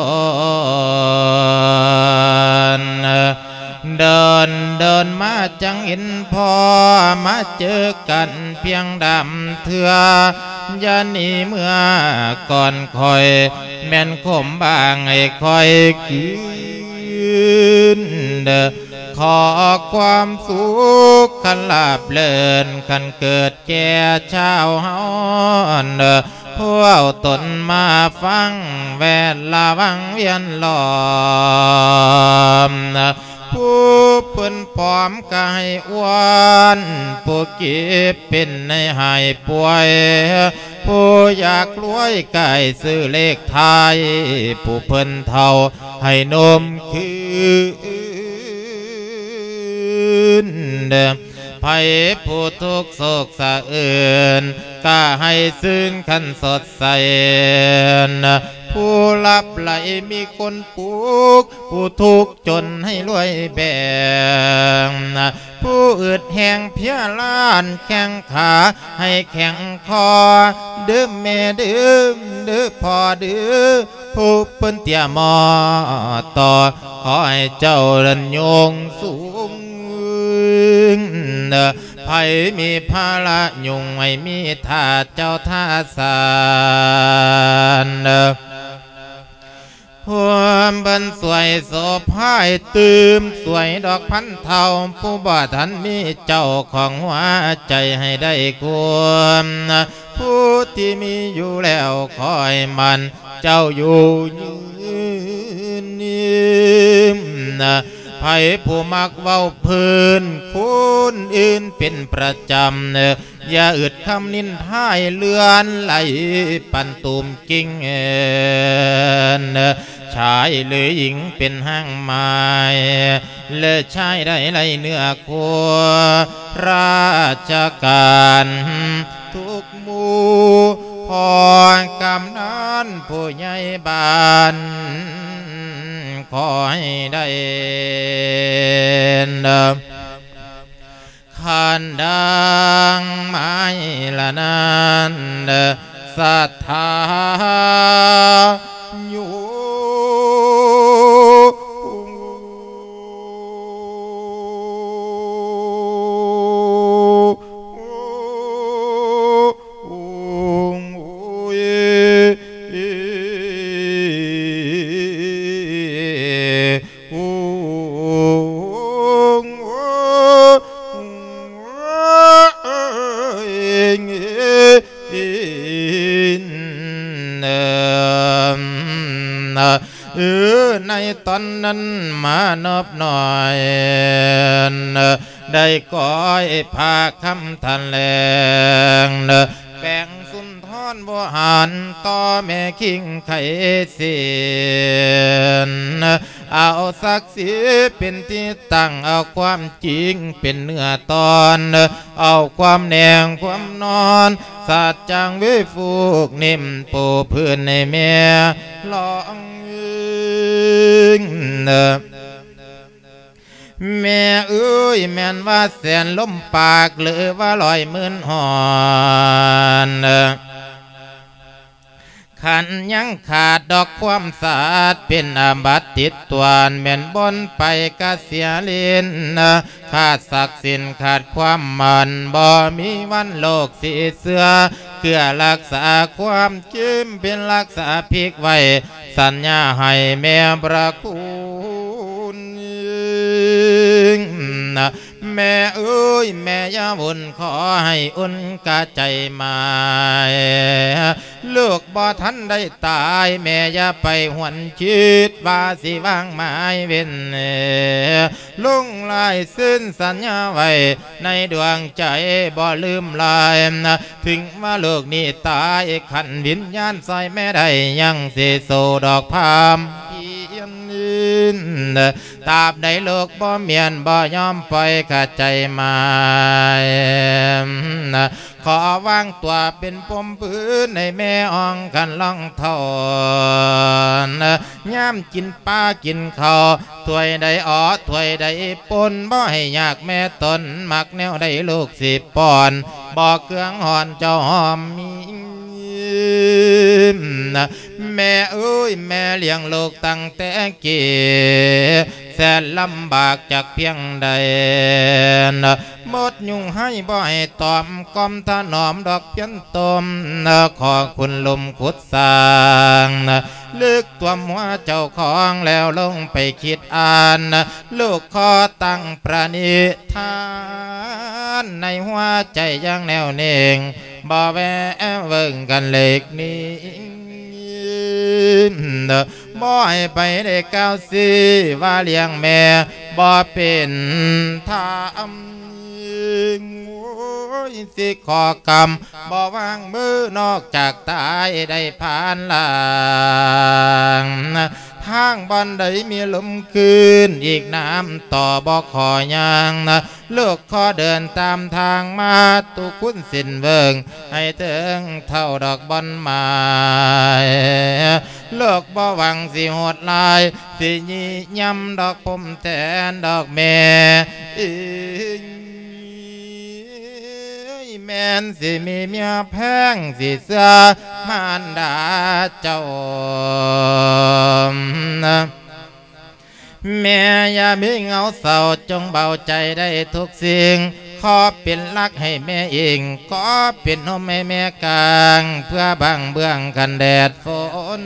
ນ. ເດີນເດີນມາຈັ່ງເຫັນພໍ້ ມາເຈີກັນພຽງດຳເທື່ອ ຢ່າໜີເມືອກ່ອນຂ້ອຍ ແມ່ນຄົມບາງໃຫ້ຂ້ອຍຄືນເດີ ຂໍຄວາມສຸກຄັນລາບເລີນ ຄັນເກີດແກ່ຊາວເຮົາເດີ ຜູ້ເອົາຕົນມາຟັງແວດລະວັງວຽນລ້ອມ ຜູ້ເພິ່ນຜອມກະໃຫ້ອ້ວນ ຜູ້ເຈັບເປັນໃຫ້ຫາຍປ່ວຍ ຜູ້ຢາກລວຍກະໃຫ້ຊື້ເລກທ້າຍ ຜູ້ເພິ່ນເຖົ້າໃຫ້ໜຸ່ມຄືນ ໃຜຜູ້ທຸກໂສກສະເອີນ ກະໃຫ້ຊື່ນຄັນສົດໃສ ຜູ້ຫຼັບໄຫຼມີຄົນປຸກ ຜູ້ທຸກຈົນໃຫ້ລວຍແບ່ງ ຜູ້ອຶດແຮງເພຍລ້ານແຂ້ງຂາໃຫ້ແຂງຄໍ ເດີແມ່ເດີ ເດີພໍ່ເດີ ຜູ້ເພິ່ນເຕ້ຍໝໍ່ຕໍ່ ຂໍໃຫ້ເຈົ້ານັ້ນຍົງສູງ ໃຜມີພາລະຍຸງໃຫ້ມີທ່າເຈົ້າທ່າສານ ພວມເພິ່ນສວຍໂສພາຍຕື່ມ ສວຍດອກພັນເທົ່າ ຜູ້ບໍ່ທັນມີເຈົ້າຂອງຫົວໃຈໃຫ້ໄດ້ຄວາມ ຜູ້ທີ່ມີຢູ່ແລ້ວຂໍໃຫ້ໝັ້ນ ເຈົ້າຢູ່ຍືນ ໃຜຜູ້ມັກເວົ້າພື້ນ ຄົນອື່ນເປັນປະຈຳ ຢ່າອຶດຄຳນິນທາໃຫ້ເລື່ອນໄຫຼ ປັນຕູມກິ່ງເອີນ ຊາຍຫຼືຍິງເປັນຫ້າງໝາຍ ແລະຊາຍໃດໄລເນື້ອຄູ່ ລາຊະການ ທຸກໝູ່ ພໍ່ກຳນັນຜູ້ໃຫຍ່ບ້ານ ຂໍໃຫ້ໄດ້ຄັນດັ່ງໝາຍລະນັ້ນ ສັດທາໂຍ ຄືໃນຕອນນັ້ນມານອບນ້ອຍ ໄດ້ກ້ອຍພາຄຳຖະແຫຼງ ແປງສຸນທອນວໍຫານຕໍ່ແມ່ຄິງໄຄສິນ ເອົາສັກສີເປັນທີ່ຕັ້ງ ເອົາຄວາມຈິງເປັນເນື້ອຕອນ ເອົາຄວາມແນງຄວາມນອນ ສາດຈາງເວຟູກເນັ່ມປູພື້ນໃຫ້ແມ່ລອງອີງ. ແມ່ເອີຍ ແມ່ນວ່າແສນລົມປາກ ຫຼືວ່າຮ້ອຍໝື່ນຮ້ອນ ຄັນຍັງຂາດດອກຄວາມສາດ ເປັນອາບັດຕິດຕົວນ ແມ່ນບ່ອນໄປກະເສຍຫຼິ້ນ ຂາດສັກສິນຂາດຄວາມໝັ້ນ ບໍ່ມີວັນໂລກຊິເຊື່ອ ເພື່ອຮັກສາຄວາມຈິງ ເປັນລັກສາພິກໄວ້ ສັນຍາໃຫ້ແມ່ພະຄຸນ. ແມ່ເອີຍ ແມ່ຢ່າວຸ່ນ ຂໍໃຫ້ອຸ່ນກະໃຈໝາຍ ລູກບໍ່ທັນໄດ້ຕາຍ ແມ່ຢ່າໄປຫວນຄິດ ວ່າຊິວາງໝາຍເວັນ ລົງລາຍເຊັນສັນຍາໄວ້ ໃນດວງໃຈບໍ່ລືມລາຍ ເຖິງວ່າລູກນີ້ຕາຍ ຄັນວິນຍານຊ່ອຍແມ່ໄດ້ ຍັງຊິສູ້ດອກພາມພຽນ ຕາບໃດລູກບໍ່ມ້ຽນ ບໍ່ຍອມປ່ອຍຂະໃຈໝາຍ ຂໍວາງຕົວເປັນພົມພື້ນ ໃຫ້ແມ່ອ່ອງຄັນລອງເທົ່າ ຍາມກິນປາກິນເຂົ້າ ຖ້ວຍໃດອໍ ຖ້ວຍໃດປົນ ບໍ່ໃຫ້ຍາກແມ່ຕົນ ມັກແນວໃດລູກຊິປ້ອນ ບໍ່ເຄືອງຮ້ອນເຈົ້າຫອມມີ ແມ່ເອີຍ ແມ່ລ້ຽງລູກຕັ້ງແຕ່ກີ້ ແສນລຳບາກຈັກພຽງໃດ ໝົດຍຸງໃຫ້ບໍ່ໃຫ້ຕອມ ກອມຖະໜອມດອກພຽນຕົມ ຂໍຂຸດລຸ່ມຂຸດສ້າງ ເລິກຖ້ວມຫົວເຈົ້າຂອງ ແລ້ວລົງໄປຄິດອ່ານ ລູກຂໍຕັ້ງປະນິທານ ໃນຫົວໃຈຢ່າງແນວເໜັງ ບໍ່ແວວເວີງກັນເລັກໜີ ບໍ່ໃຫ້ໃຜໄດ້ກ່າວຊີ້ວ່າລ້ຽງແມ່ບໍ່ເປັນທຳ ໂອ້ຍ ຊິຂໍກຳບໍ່ວາງມື ນອກຈາກຕາຍໄດ້ຜ່ານລ່າງ ທາງບ່ອນໃດມີລົມຄືນ ອີກນ້ຳຕໍ່ບໍ່ຂໍຍ່າງ ລູກຂໍເດີນຕາມທາງມາ ຕຸຄຸນເສັ້ນເວີ້ງ ໃຫ້ເຖິງເທົ່າດອກບ່ອນໝາຍ ລູກບໍ່ຫວັງຊິໂຫດຮ້າຍ ຊິຍິ່ງຍຳດອກພົມແທນດອກແມ່ອີງ ແມ່ນຊິມີເມຍແພງ ຊິເຊື່ອມານດາເຈົ້າ ແມ່ຢ່າມີເຫງົາເສົ້າ ຈົ່ງເບົາໃຈໄດ້ທຸກສິ່ງ ຂໍເປັນຫຼັກໃຫ້ແມ່ອີງ ຂໍເປັນຮົ່ມໃຫ້ແມ່ກາງ ເພື່ອບັງເບື້ອງກັນແດດຝົນ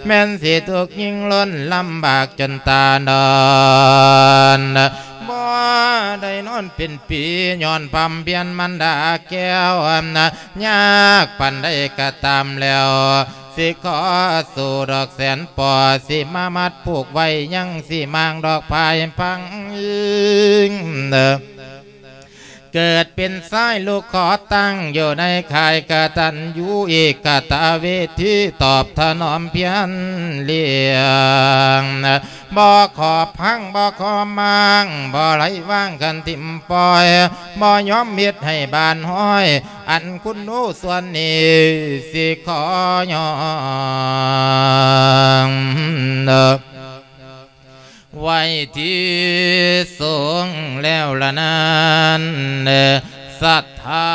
ແມ່ນຊິທຸກຍິ່ງລົ້ນ ລຳບາກຈົນຕານອນ ບໍ່ໄດ້ນອນເປັນປີ ຍ້ອນພຳພຽນມານດາແກ້ວ ຍາກປານໃດກະຕາມແລ້ວ ຊິຂໍສູ້ດອກແສນປໍ ຊິມາມັດຜູກໄວ້ ຍັງຊິມ້າງດອກພາຍພັງ ເກີດເປັນຊາຍລູກຂໍຕັ້ງ ຢູ່ໃນຄ້າຍກະຕັນຍູເອກະຕະເວທີ ຕອບຖະໜອມພຽນລ້ຽງ ບໍ່ຂໍພັງ ບໍ່ຂໍມ້າງ ບໍ່ໄຫຼວາງຄັນຖິ້ມປ່ອຍ ບໍ່ຍອມເຮັດໃຫ້ບ້ານຫ້ອຍ ອັນຄຸນໜູສ່ວນນີ້ ຊິຂໍຍ້ອງ ໄວ້ທີ່ສູງແລ້ວລະນັ້ນ ສັດທາ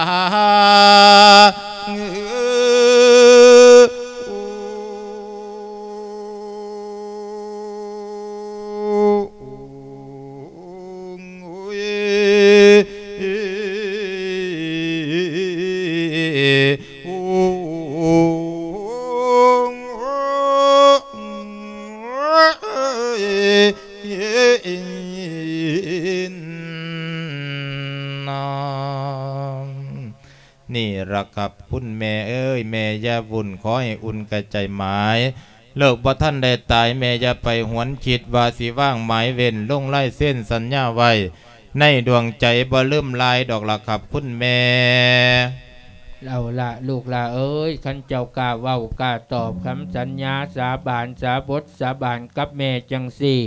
ນີ້ລະຄັບ ຄຸນແມ່ເອີຍ ແມ່ຢ່າວຸ່ນ ຂໍໃຫ້ອຸ່ນກະໃຈໝາຍ ລູກບໍ່ທັນໄດ້ຕາຍ ແມ່ຢ່າໄປຫວນຄິດວ່າຊິວາງໝາຍເວັ້ນ ລົງລາຍເຊັນສັນຍາໄວ້ໃນດວງໃຈ ບໍ່ລືມລາຍດອກລະຄັບຄຸນແມ່. ເອົາລະ ລູກຫຼ້າເອີຍ, ຄັນເຈົ້າກ້າເວົ້າກ້າຕອບຄຳສັນຍາສາບານ ສາບົດສາບານກັບແມ່ຈັ່ງຊີ້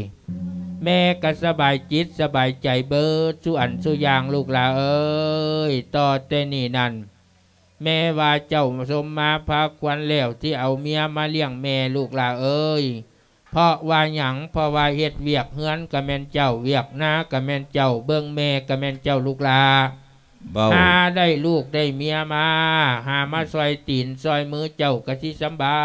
ແມ່ກໍສະບາຍຈິດສະບາຍໃຈເບິດສູ່ອັນສູ່ຢ່າງ ລູກຫຼ້າເອີຍ. ຕໍ່ແຕ່ນີ້ນັ້ນ ແມ່ວ່າເຈົ້າສົມມາພາຄວັນແລ້ວ ທີ່ເອົາເມຍມາລ້ຽງແມ່ລູກຫຼ້າເອີຍ. ເພາະວ່າຫຍັງ? ເພາະວ່າເຮັດວຽກເຮືອນກໍແມ່ນເຈົ້າ, ວຽກນາກໍແມ່ນເຈົ້າ, ເບິ່ງແມ່ກໍແມ່ນເຈົ້າລູກຫຼ້າ. ເວົ້າ ຫາໄດ້ລູກໄດ້ເມຍມາ, ຫາມາຊ່ອຍຕີນຊ່ອຍມືເຈົ້າກໍຊິສຳບາ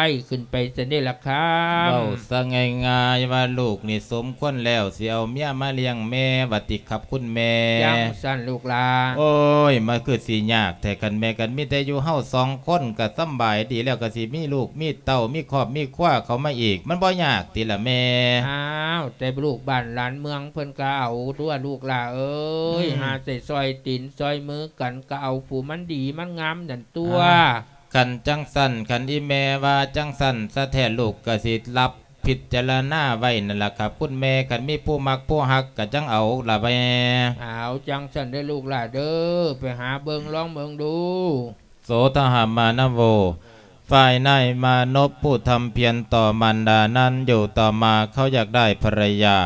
ຍຂຶ້ນໄປຊັ້ນເດ້ລະຄຳ. ເວົ້າຊະງ່າຍໆວ່າລູກນີ້ສົມຄວນແລ້ວ ຊິເອົາເມຍມາລ້ຽງແມ່ວ່າຕິຄັບຄຸນແມ່. ຈັ່ງຊັ້ນລູກຫຼ້າ. ໂອ້ຍ ມັນຄືຊິຍາກແທ້ຄັນແມ່ ຄັນມີແຕ່ຢູ່ເຮົາສອງຄົນກໍສຳບາຍດີແລ້ວ ກໍຊິມີລູກມີເຕົ້າ ມີຄອບມີຄົວເຂົ້າມາອີກ ມັນບໍ່ຍາກຕິລະແມ່? ອ້າວ ແຕ່ລູກບ້ານຫຼານເມືອງເພິ່ນກໍເອົາຕົວະລູກຫຼ້າເອີຍ. ອືມ ຫາໃສ່ຊ່ອຍຕີນຊ່ອຍມືກັນ ກໍເອົາຜູ້ມັນດີມັນງາມນັ້ນຕົວະ. ອ່າ ຄັນຈັ່ງຊັ້ນ ຄັນອີແມ່ວ່າຈັ່ງຊັ້ນສະແທ້ ລູກກໍຊິຮັບພິຈາລະນາໄວ້ນັ້ນລະຄັບຄຸນແມ່. ຄັນມີຜູ້ມັກຜູ້ຮັກກໍຈັ່ງເອົາລະແມ່. ເອົາ ຈັ່ງຊັ້ນເດີລູກຫຼ້າເດີ, ໄປຫາເບິ່ງລອງເບິ່ງດູ. ໂສທະຫະມານະໂວ ຝ່າຍນາຍມານົບຜູ້ທຳພຽນຕໍ່ມານດານັ້ນ ຢູ່ຕໍ່ມາເຂົາຢາກໄດ້ພັນລະຍາ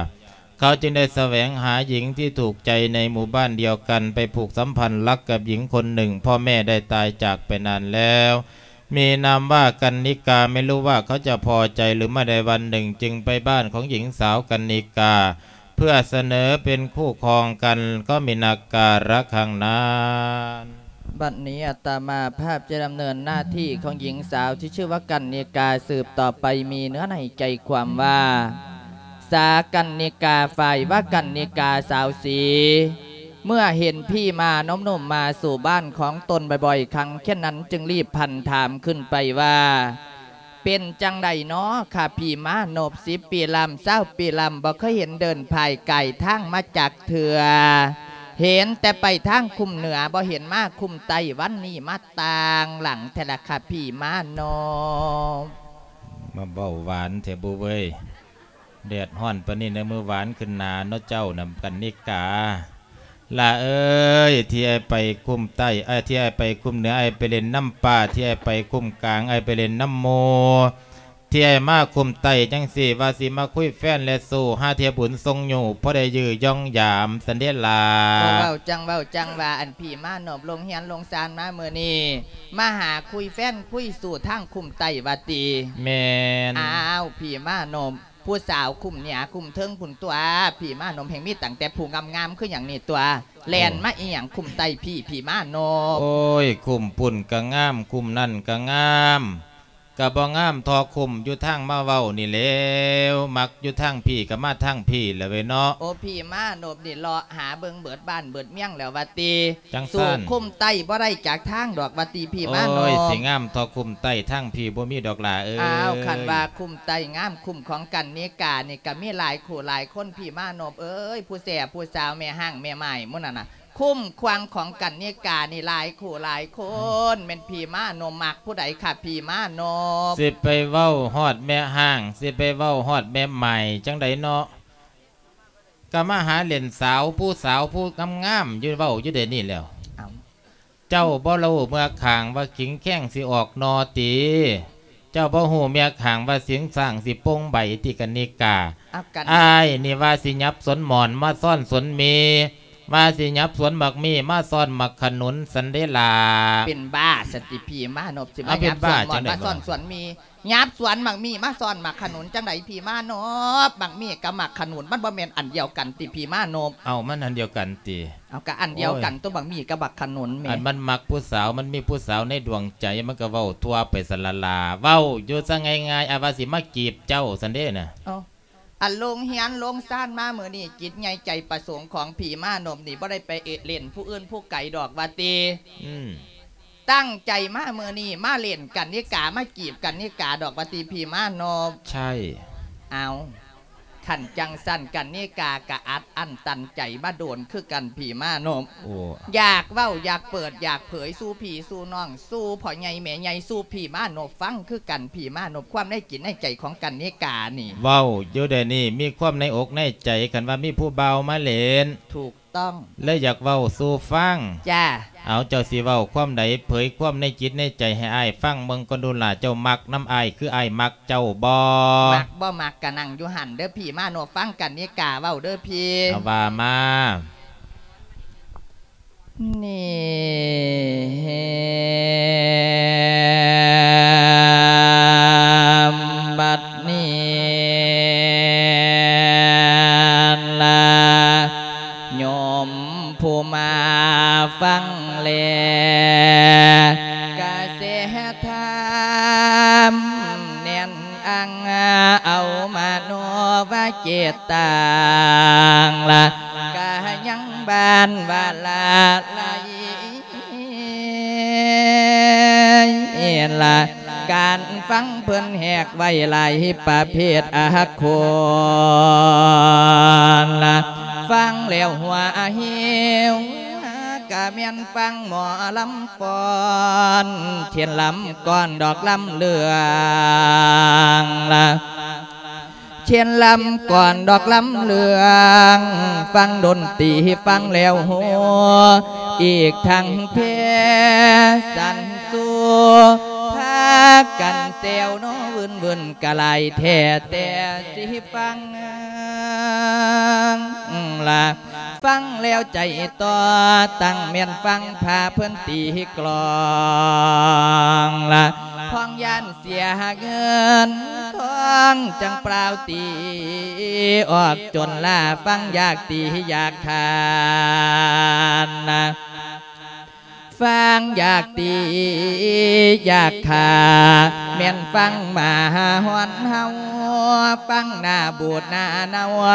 ເຂົາຈຶ່ງໄດ້ສະແຫວງຫາຍິງທີ່ຖືກໃຈໃນໝູ່ບ້ານດຽວກັນ ໄປຜູກສຳພັນລັກກັບຍິງຄົນໜຶ່ງ. ພໍ່ແມ່ໄດ້ຕາຍຈາກໄປນານແລ້ວ ມີນາມວ່າກັນນິກາ. ໄມ່ຮູ້ວ່າເຂົາຈະພໍໃຈຫຼືໄມ່. ໃນວັນໜຶ່ງຈຶ່ງໄປບ້ານຂອງຍິງສາວກັນນິກາ ເພື່ອສະເໜີເປັນຄູ່ຄອງກັນ ກໍມີນາກາລະຄັ້ງນັ້ນ. ບັດນີ້ອາດຕະມາພາບຈະດຳເນີນໜ້າທີ່ຂອງຍິງສາວທີ່ຊື່ວ່າກັນນິກາສືບຕໍ່ໄປ ມີເນື້ອໃນໃຈຄວາມວ່າ ສາກັນນິກາ ຝ່າຍວ່າກັນນິກາສາວສີ ເມື່ອເຫັນຜີມານົບນຸ່ມມາສູ່ບ້ານຂອງຕົນບ່ອຍໆຄັ້ງເຊັ່ນນັ້ນ ຈຶ່ງລີບພັນຖາມຂຶ້ນໄປວ່າ ເປັນຈັ່ງໃດນໍຄະຜີມານົບ ສິບປີລຳ ຊາວປີລຳ ບໍ່ເຄີຍເຫັນເດີນພາຍກາຍທາງມາຈັກເທື່ອ ເຫັນແຕ່ໄປທາງຄຸ້ມເໜືອ ບໍ່ເຫັນມາຄຸ້ມໃຕ້ ວັນນີ້ມາຕ່າງຫຼັງແທ້ລະຄະຜີມານົບ. ມາເວົ້າຫວານແທ້ບຸເວີຍ ແດດຮ້ອນປານນີ້ນະ ມື້ຫວານຂຶ້ນໜາເນາະເຈົ້ານະ ກັນນິກາ. ຫຼ້າເອີຍ ທີ່ອ້າຍໄປຄຸ້ມໃຕ້ ເອີຍ ທີ່ອ້າຍໄປຄຸ້ມເໜືອ ອ້າຍໄປຫຼິ້ນນຳປ່າ ທີ່ອ້າຍໄປຄຸ້ມກາງ ອ້າຍໄປຫຼິ້ນນຳໝູ່ ທີ່ອ້າຍມາຄຸ້ມໃຕ້ຈັ່ງຊີ້ ວ່າຊິມາຄຸຍແຟນແລະຊູ້ ຫາເທື່ອບຸນສົ່ງຍູ້ ພໍໄດ້ຢື້ຢອງຢາມຊັ້ນເດລະ. ເວົ້າຈັ່ງເວົ້າຈັ່ງວ່າ ອັນຜີມານົບລົງເຮືອນລົງຊານມາມື້ນີ້ ມາຫາຄຸຍແຟນຄຸຍຊູ້ທາງຄຸ້ມໃຕ້ວ່າຕິ? ແມ່ນ. ອ້າວ ຜີມານົບ ຜູ້ສາວຄຸ້ມເໜືອຄຸ້ມເທິງພຸ້ນຕົວະ ຜີມານົບແຮ່ງມີຕັ້ງແຕ່ຜູ້ງາມໆຄືຫຍັງນີ້ຕົວະ ແລ່ນມາອີ່ຫຍັງຄຸ້ມໃຕ້ຜີ ຜີມານົບ. ໂອ້ຍ ຄຸ້ມພຸ້ນກະງາມ ຄຸ້ມນັ້ນກະງາມ ກະບໍ່ງາມທໍ່ຄຸ້ມຢູ່ທາງມາເວົ້ານີ້ແລ້ວ ມັກຢູ່ທາງຜີກະມາທາງຜີແຫຼະເວີຍເນາະ. ໂອ້ ຜີມານົບນີ້ເລາະຫາເບິ່ງເບິດບ້ານເບິດເມືອງແລ້ວວ່າຕິ? ຈັ່ງຊັ້ນ ສູ້ຄຸ້ມໃຕ້ບໍ່ໄດ້ຈັກທາງດອກວ່າຕິ ຜີມານົບ. ໂອ້ຍ ຊິງາມທໍ່ຄຸ້ມໃຕ້ທາງຜີບໍ່ມີດອກຫຼ້າເອີຍ. ອ້າວ ຄັນວ່າຄຸ້ມໃຕ້ງາມຄຸ້ມຂອງກັນນິການີ້ກະມີຫຼາຍຄູ່ຫຼາຍຄົນ ຜີມານົບເອີຍ ຜູ້ແສຜູ້ສາວ ແມ່ຮ້າງແມ່ໝ້າຍໝູ່ນັ້ນນະ ຄຸ້ມຄວາງຂອງກັນນິການີ້ຫຼາຍຄູ່ຫຼາຍຄົນ ແມ່ນຜີມານົບມັກຜູ້ໃດຄະ ຜີມານົບ? ຊິໄປເວົ້າຮອດແມ່ຮ້າງ ຊິໄປເວົ້າຮອດແມ່ໝ້າຍຈັ່ງໃດເນາະ ກະມາຫາຫຼິ້ນສາວ ຜູ້ສາວຜູ້ງາມໆຢູ່ ເວົ້າຢູ່ເດນີ້ແລ້ວ. ເຈົ້າບໍ່ຮູ້ເມືອກຂ້າງວ່າຂິງແຄງຊິອອກໜໍ່ຕິ? ເຈົ້າບໍ່ຮູ້ເມືອກຂ້າງວ່າສິງສ້າງຊິປົ່ງໃບຕິ ກັນນິກາ? ອ້າຍນີ້ວ່າຊິຫຍັບສວນໝອນມາຊ້ອນສວນມີ ວ່າຊິຫຍັບສວນໝາກມີມາຊ້ອນໝາກຂະໜູນຊັ້ນເດລະ. ເປັນບ້າຊັ້ນຕິ ຜີມານົບ ຊິມາຫຍັບສວນໝອນມາຊ້ອນສວນມີ? ຫຍັບສວນໝາກມີມາຊ້ອນໝາກຂະໜູນຈັ່ງໃດ ຜີມານົບ? ໝາກມີກັບໝາກຂະໜູນມັນບໍ່ແມ່ນອັນດຽວກັນຕິ ຜີມານົບ? ເອົ້າ ມັນອັນດຽວກັນຕິ? ເອົາ ກະອັນດຽວກັນຕົວະ ໝາກມີກັບໝາກຂະໜູນແໝ່. ອັນມັນມັກຜູ້ສາວ ມັນມີຜູ້ສາວໃນດວງໃຈ ມັນກະເວົ້າທົ່ວໄປຊັ້ນລະລະ ເວົ້າຢູ່ຊະງ່າຍໆ ອ້າຍວ່າຊິມາຈີບເຈົ້າຊັ້ນເດນະ. ອັນລົງເຮືອນລົງຊານມາມື້ນີ້ ຈິດໃຫຍ່ໃຈປະສົງຂອງຜີມານົບນີ້ ບໍ່ໄດ້ໄປເອະເລ່ນຜູ້ອື່ນຜູ້ໄກດອກວ່າຕິ? ອືມ ຕັ້ງໃຈມາມື້ນີ້ ມາຫຼິ້ນກັນນິກາ ມາຈີບກັນນິກາດອກວ່າຕິ ຜີມານົບ? ໃຊ່. ເອົາ ຄັນຈັ່ງຊັ້ນກັນນິກາກະອັດອັ້ນຕັນໃຈມາໂດນຄືກັນພີ່ມານົບ. ໂອ້ ຢາກເວົ້າຢາກເປີດຢາກເຜີຍສູ່ພີ່ສູ່ນ້ອງ ສູ່ພໍ່ໃຫຍ່ແມ່ໃຫຍ່ ສູ່ພີ່ມານົບຟັງຄືກັນພີ່ມານົບ ຄວາມໃນຈິດໃນໃຈຂອງກັນນິການີ້. ເວົ້າຢູ່ດຽວນີ້ມີຄວາມໃນອົກໃນໃຈ ຄັນວ່າມີຜູ້ບ່າວມາຫຼິ້ນ ຖືກຕ້ອງ ເລີຍຢາກເວົ້າສູ່ຟັງ. ຈ້າ. ເອົາ ເຈົ້າຊິເວົ້າຄວາມໃດ ເຜີຍຄວາມໃນຈິດໃນໃຈໃຫ້ອ້າຍຟັງເບິ່ງກ່ອນດູລະ ເຈົ້າມັກນຳອ້າຍຄືອ້າຍມັກ ເຈົ້າບໍ່? ມັກບໍ່ມັກກະນັ່ງຢູ່ຫັ້ນເດີພີ່ມານົບ ຟັງກັນນິກາເວົ້າເດີພີ່. ເອົາ ວ່າມາ. ນີ້ ບັດນີ້ລະ ໂຍມ ຜູ້ມາຟັງແລ ກະເສທຳແໜ້ນອັງ ເອົາມະໂນວະເຈດຕັງລະ ກະຍັງບານວາລາໄລລະ ການຟັງເພິ່ນແຫກໄວ້ຫຼາຍປະເພດອາຄົນລະ ຟັງແລ້ວຫົວຫິວ ກະແມ່ນຟັງໝໍລຳຟ້ອນ ເຊັ່ນລຳກ້ອນດອກລຳເລື່ອງລະ ເຊັ່ນລຳກ້ອນດອກລຳເລື່ອງ ຟັງດົນຕີຟັງແລ້ວໂຮ ອີກທັງແພສັນຊູ ພາກັນແຊວໂນວືນໆ ກະຫຼາຍແທ້ແຕ່ຊິຟັງລະ ຟັງແລ້ວໃຈຕໍ່ ຕັ້ງແມ່ນຟັງພາເພິ່ນຕີກລອງລະ ພ້ອງຢ້ານເສຍເງິນທອງ ຈັ່ງປ່າວຕີອອກຈົນລາ ຟັງຢາກຕີຢາກຂານນະ ຟັງຢາກຕີຢາກຂາ ແມ່ນຟັງໝາຫາຫອນເຫົ່າ ຟັງໜ້າບູດໜ້າເນົ່າ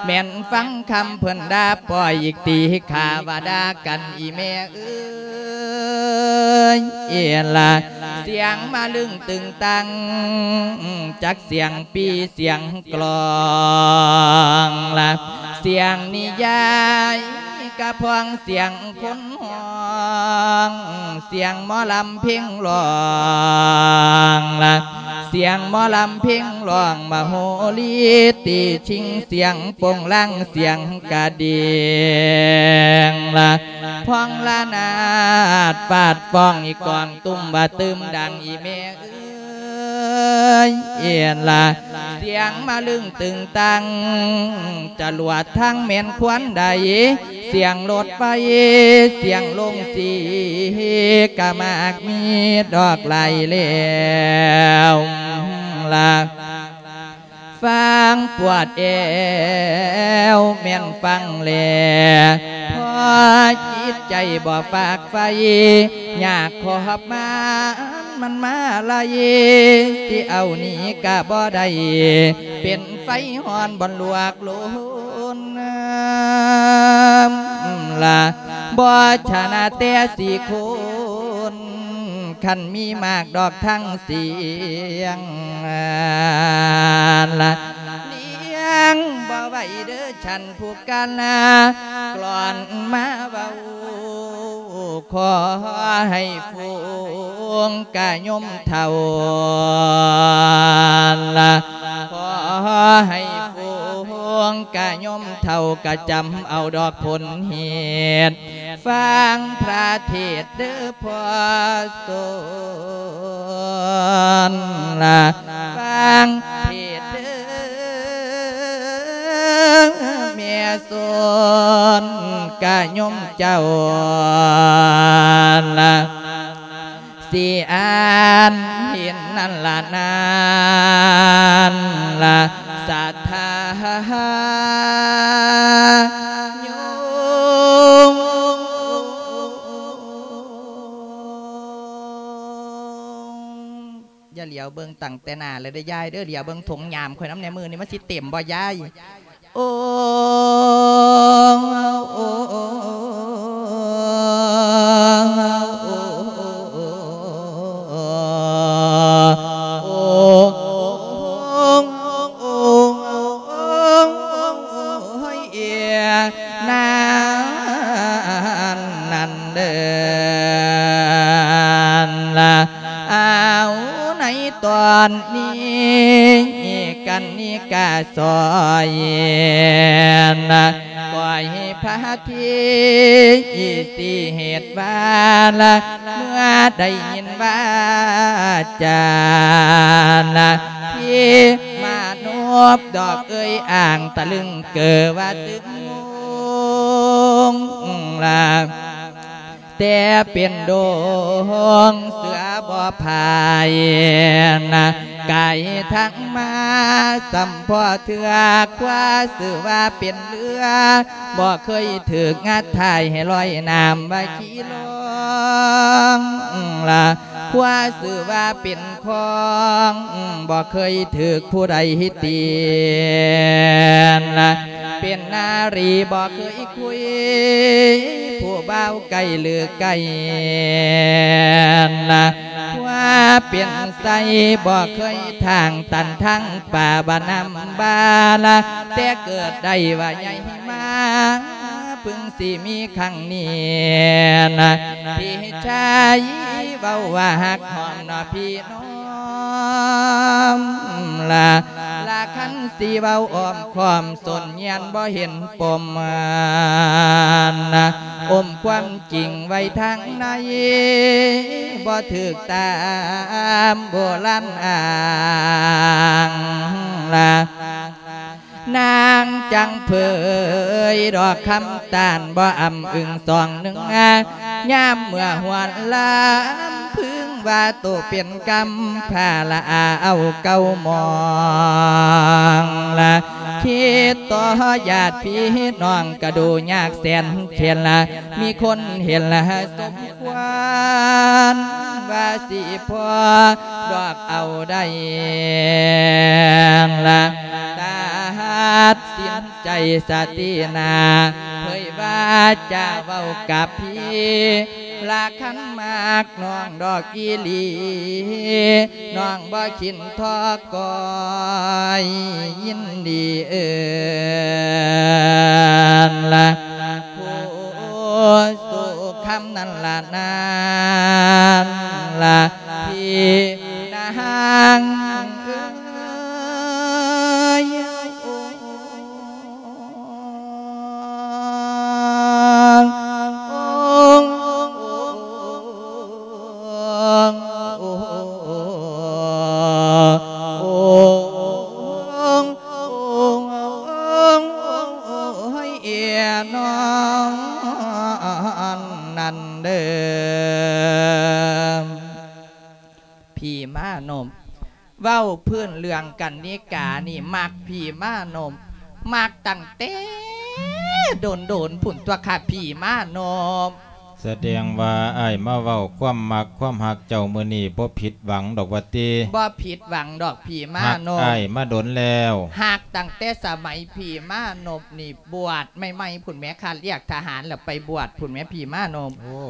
ແມ່ນຟັງຄຳເພິ່ນດ່າ ປ່ອຍອີກຕີຂ້າວ່າດ່າກັນອີແມ່ເອີຍລະ ສຽງມະລຶ້ງຕຶງຕັງ ຈັກສຽງປີສຽງກລອງລະ ສຽງນິຍາຍກະພ້ອງ ສຽງຄົນຮ້ອງ ສຽງໝໍລຳເພັງຮ້ອງລະ ສຽງໝໍລຳເພັງຮ້ອງ ມະໂຫຣີຕີຊິງ ສຽງໂປ່ງລາງ ສຽງກະດິງລະ ພ້ອງລະນາດຟາດຟ້ອງ ອີກອງຕຸ້ມວ່າຕື່ມດັງ ອີແມ່ເອີຍລະ ສຽງມະລຶ້ງຕຶງຕັງ ຈະຫຼວດທາງແມ່ນຄວນໃດ ສຽງລົດໄຟ ສຽງໂລງສີ ກະມາກມີດອກຫຼາຍແລ້ວລະ ຟັງປວດແອວແມ່ນຟັງແລ ພໍຈິດໃຈບໍ່ຟາກໄຟ ຢາກຂອບມາ ມັນມາໄລ່ ຊິເອົາໜີກະບໍ່ໄດ້ ເປັນໄຟຮ້ອນບ່ອນລວກໂລນລະ ບໍ່ຊະນະແຕ່ສີ່ຄົນ ຄັນມີມາກດອກທັງສຽງລະ ລ້ຽງບໍ່ໄຫວເດີ ຊັ້ນຜູ້ການາ ກລອນມາເວົ້າ ຂໍໃຫ້ຝູງກະຍົມເຖົ້າລະ ຂໍໃຫ້ຝູງກະຍົມເຖົ້າ ກະຈຳເອົາດອກຜົນເຫດ ຟັງພະເທດເດີພໍ່ສົນລະ ຟັງເທດເດີແມ່ສົນ ກະໂຍມເຈົ້າລະ ຊິອ່ານເຫັນນັ້ນລະນັ້ນລະ ສາທາໂຍມ ຢ່າຫຼຽວເບິ່ງຕັ້ງແຕ່ໜ້າເລີຍເດີຍາຍເດີ ຫຼຽວເບິ່ງຖົງຍາມຂ້ອຍນຳແດ່ ມື້ນີ້ມັນຊິເຕັມບໍ່ຍາຍ? ໂອ້ ໂອ້ ໂອ້ ໂອ້ ໂອ້ ນິກາສອຍ ກໍໃຫ້ພະທີຊິເຮັດວາລະ ເມື່ອໄດ້ຍິນວາຈານະ ທີ່ມານົບດອກເອີຍອ່າງຕະລຶງເກີວ່າຕຶງງງລະ ແຕ່ເປັນດົງເສືອບໍ່ພາຍນະ ກາຍທັງມາສ່ຳພໍເທື່ອ ຄວ້າຊື່ວ່າເປັນເຮືອ ບໍ່ເຄີຍຖືກງັດຖ່າຍໃຫ້ລອຍນ້ຳວ່າຂີ່ລ່ອງລະ ຄວ້າຊື່ວ່າເປັນ ຂອງ ບໍ່ເຄີຍຖືກຜູ້ໃດຕິນ ເປັນນາຣີບໍ່ເຄີຍຄຸຍ ຜູ້ບ່າວໄກຫຼືໄກ ຄວ້າເປັນໄຊບໍ່ເຄີຍທາງຕັນທາງປ່າບ້ານນ້ຳບາລະ ແຕ່ເກີດໄດ້ວ່າໃຫຍ່ມາ ເພິ່ງຊິມີຄັ້ງນີ້ນະ ພີ່ຊາຍເວົ້າວ່າຮັກຫອມເນາະພີ່ນ້ອງລະ ລະຄັນຊິເວົ້າອ້ອມຄ້ອມສົນຍຽນບໍ່ເຫັນປົມນະ ອົມຄວາມຈິງໄວ້ທາງໃນ ບໍ່ຖືກຕາມໂບລານອ້າງລະ ນາງຈັ່ງເຜີຍດອກຄຳຕານ ບໍ່ອຳອຶງສອງໜຶ່ງ ຍາມເມື່ອຮວນລຳ ເພິ່ງວ່າໂຕເປັນກຳພາລະອາເອົາເກົ່າມອງລະ ຄິດຕໍ່ຍາດພີ່ນ້ອງກະດູຍາກແສນເຂັນລະ ມີຄົນເຫັນລະສົມຄວນ ວ່າຊິພໍດອກເອົາໄດ້ລະ ຕັດສິນ ໃຈສະຕິນາ ເຜີຍວ່າຈະເວົ້າກັບພີ່ ລະຄັນມັກນ້ອງດອກອີ່ຫຼີ ນ້ອງບໍ່ຂີນທໍ້ກ້ອຍ ຍິນດີເອີ້ນລະ ຜູ້ສຸຄຳນັ້ນລະ ນັ້ນລະ ພີ່ນາງເອີຍ. ພີ່ມານົບ ເວົ້າພື້ນເລື່ອງກັນນິການີ້ ມັກພີ່ມານົບ ມັກຕັ້ງແຕ່ດົນໆພຸ້ນຕົວະ ຂ້າພີ່ມານົບ. ສະແດງວ່າອ້າຍມາເວົ້າຄວາມມັກຄວາມຮັກເຈົ້າມື້ນີ້ ບໍ່ຜິດຫວັງດອກວ່າຕິ? ບໍ່ຜິດຫວັງດອກພີ່ມານົບ ຮັກອ້າຍມາດົນແລ້ວ ຮັກຕັ້ງແຕ່ສະໄໝພີ່ມານົບນີ້ບວດໃໝ່ໆພຸ້ນແໝ່ ຄັນລຽກທະຫານແລ້ວໄປບວດພຸ້ນແໝ່ພີ່ມານົບ. ໂອ້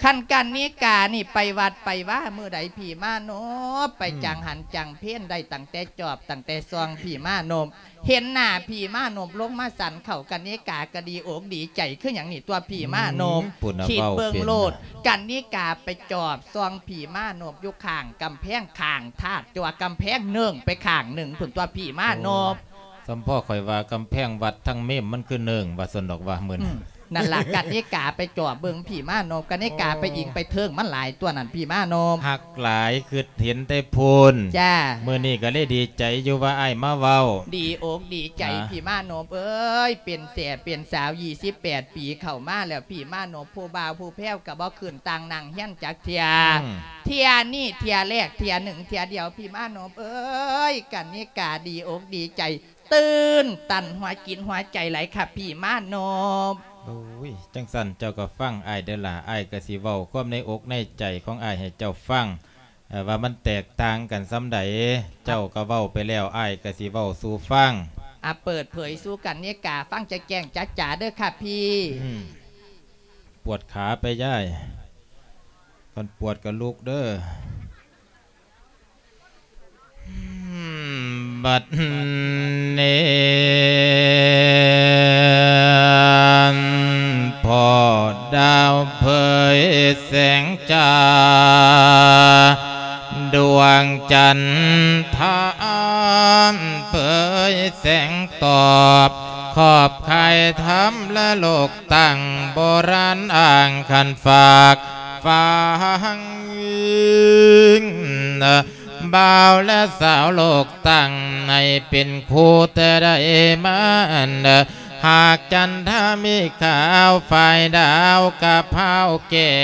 ຄັນກັນນິການີ້ໄປວັດໄປວາມື້ໃດພີ່ມານົບ ໄປ ອືມ ຈັງຫັນຈັງເພນໄດ້ຕັ້ງແຕ່ຈອບຕັ້ງແຕ່ຊ່ອງພີ່ມານົບ ເຫັນໜ້າພີ່ມານົບລົງມາສັນເຂົ້າ ກັນນິກາກະດີອົກດີໃຈຄືຫຍັງນີ້ຕົວະພີ່ມານົບ. ອືມ ຄິດເບິ່ງໂລດ ກັນນິກາໄປຈອບຊ່ອງພີ່ມານົບຢູ່ຂ້າງກຳແພງ ຂ້າງທາດ ຕົວະກຳແພງເໜິ້ງໄປຂ້າງໜຶ່ງພຸ້ນຕົວະພີ່ມານົບ. ໂອ້ ສ່ຳພໍ່ຂ້ອຍວ່າກຳແພງວັດທາງເມມມັນຄືເໜິ້ງວ່າຊັ້ນດອກວ່າມື້ ອືມ ນັ້ນລະ ກັນນິກາໄປຈອບເບິ່ງພີ່ມານົບ ກັນນິກາໄປອີງໄປເທິງມັນຫຼາຍຕົວະນັ້ນພີ່ມານົບ ຮັກຫຼາຍຄຶດເຫັນແຕ່ພຸ້ນ. ຈ້າ ມື້ນີ້ກະເລີຍດີໃຈຢູ່ວ່າອ້າຍມາເວົ້າ ດີອົກດີໃຈພີ່ມານົບເອີຍ ເປັນແສເປັນສາວ ຊາວແປດປີເຂົ້າມາແລ້ວ ພີ່ມານົບ ຜູ້ບ່າວຜູ້ແພ້ວກະບໍ່ຂຶ້ນຕ່າງນັ່ງຮຽນຈັກເທື່ອ ອືມ ເທື່ອນີ້ເທື່ອແລກ ເທື່ອໜຶ່ງເທື່ອດຽວ ພີ່ມານົບເອີຍ ກັນນິກາດີອົກດີໃຈ ຕື່ນຕັນຫົວຈິດຫົວໃຈຫຼາຍຄັບພີ່ມານົບ. ໂອ້ຍ ຈັ່ງຊັ້ນເຈົ້າກະຟັງອ້າຍເດີລະ ອ້າຍກະຊິເວົ້າຄວາມໃນອົກໃນໃຈຂອງອ້າຍໃຫ້ເຈົ້າຟັງ ເອີ ວ່າມັນແຕກຕ່າງກັນສ່ຳໃດ ເຈົ້າກະເວົ້າໄປແລ້ວ ອ້າຍກະຊິເວົ້າສູ່ຟັງ. ອາ ເປີດເຜີຍສູ່ກັນນິກາຟັງແຈ້ງໆຈະໆເດີຄັບພີ່. ອືມ ປວດຂາໄປຍາຍ ຄັນປວດກະລຸກເດີ. ບັດນີ້ ພໍ່ດາວເຜີຍແສງຈ້າ ດວງຈັນທາ ເຜີຍແສງຕອບ ຂອບຄາຍທຳລະໂລກຕັ້ງ ໂບລານອ້າງຂັນຝາກຝັງບ່າວ ແລະ ສາວໂລກຕັ້ງ ໃຫ້ເປັນຄູ່ແຕ່ໃດມາ ຫາກຈັນທາມີຂາວ ຝ່າຍດາວກະພ້າວແກ້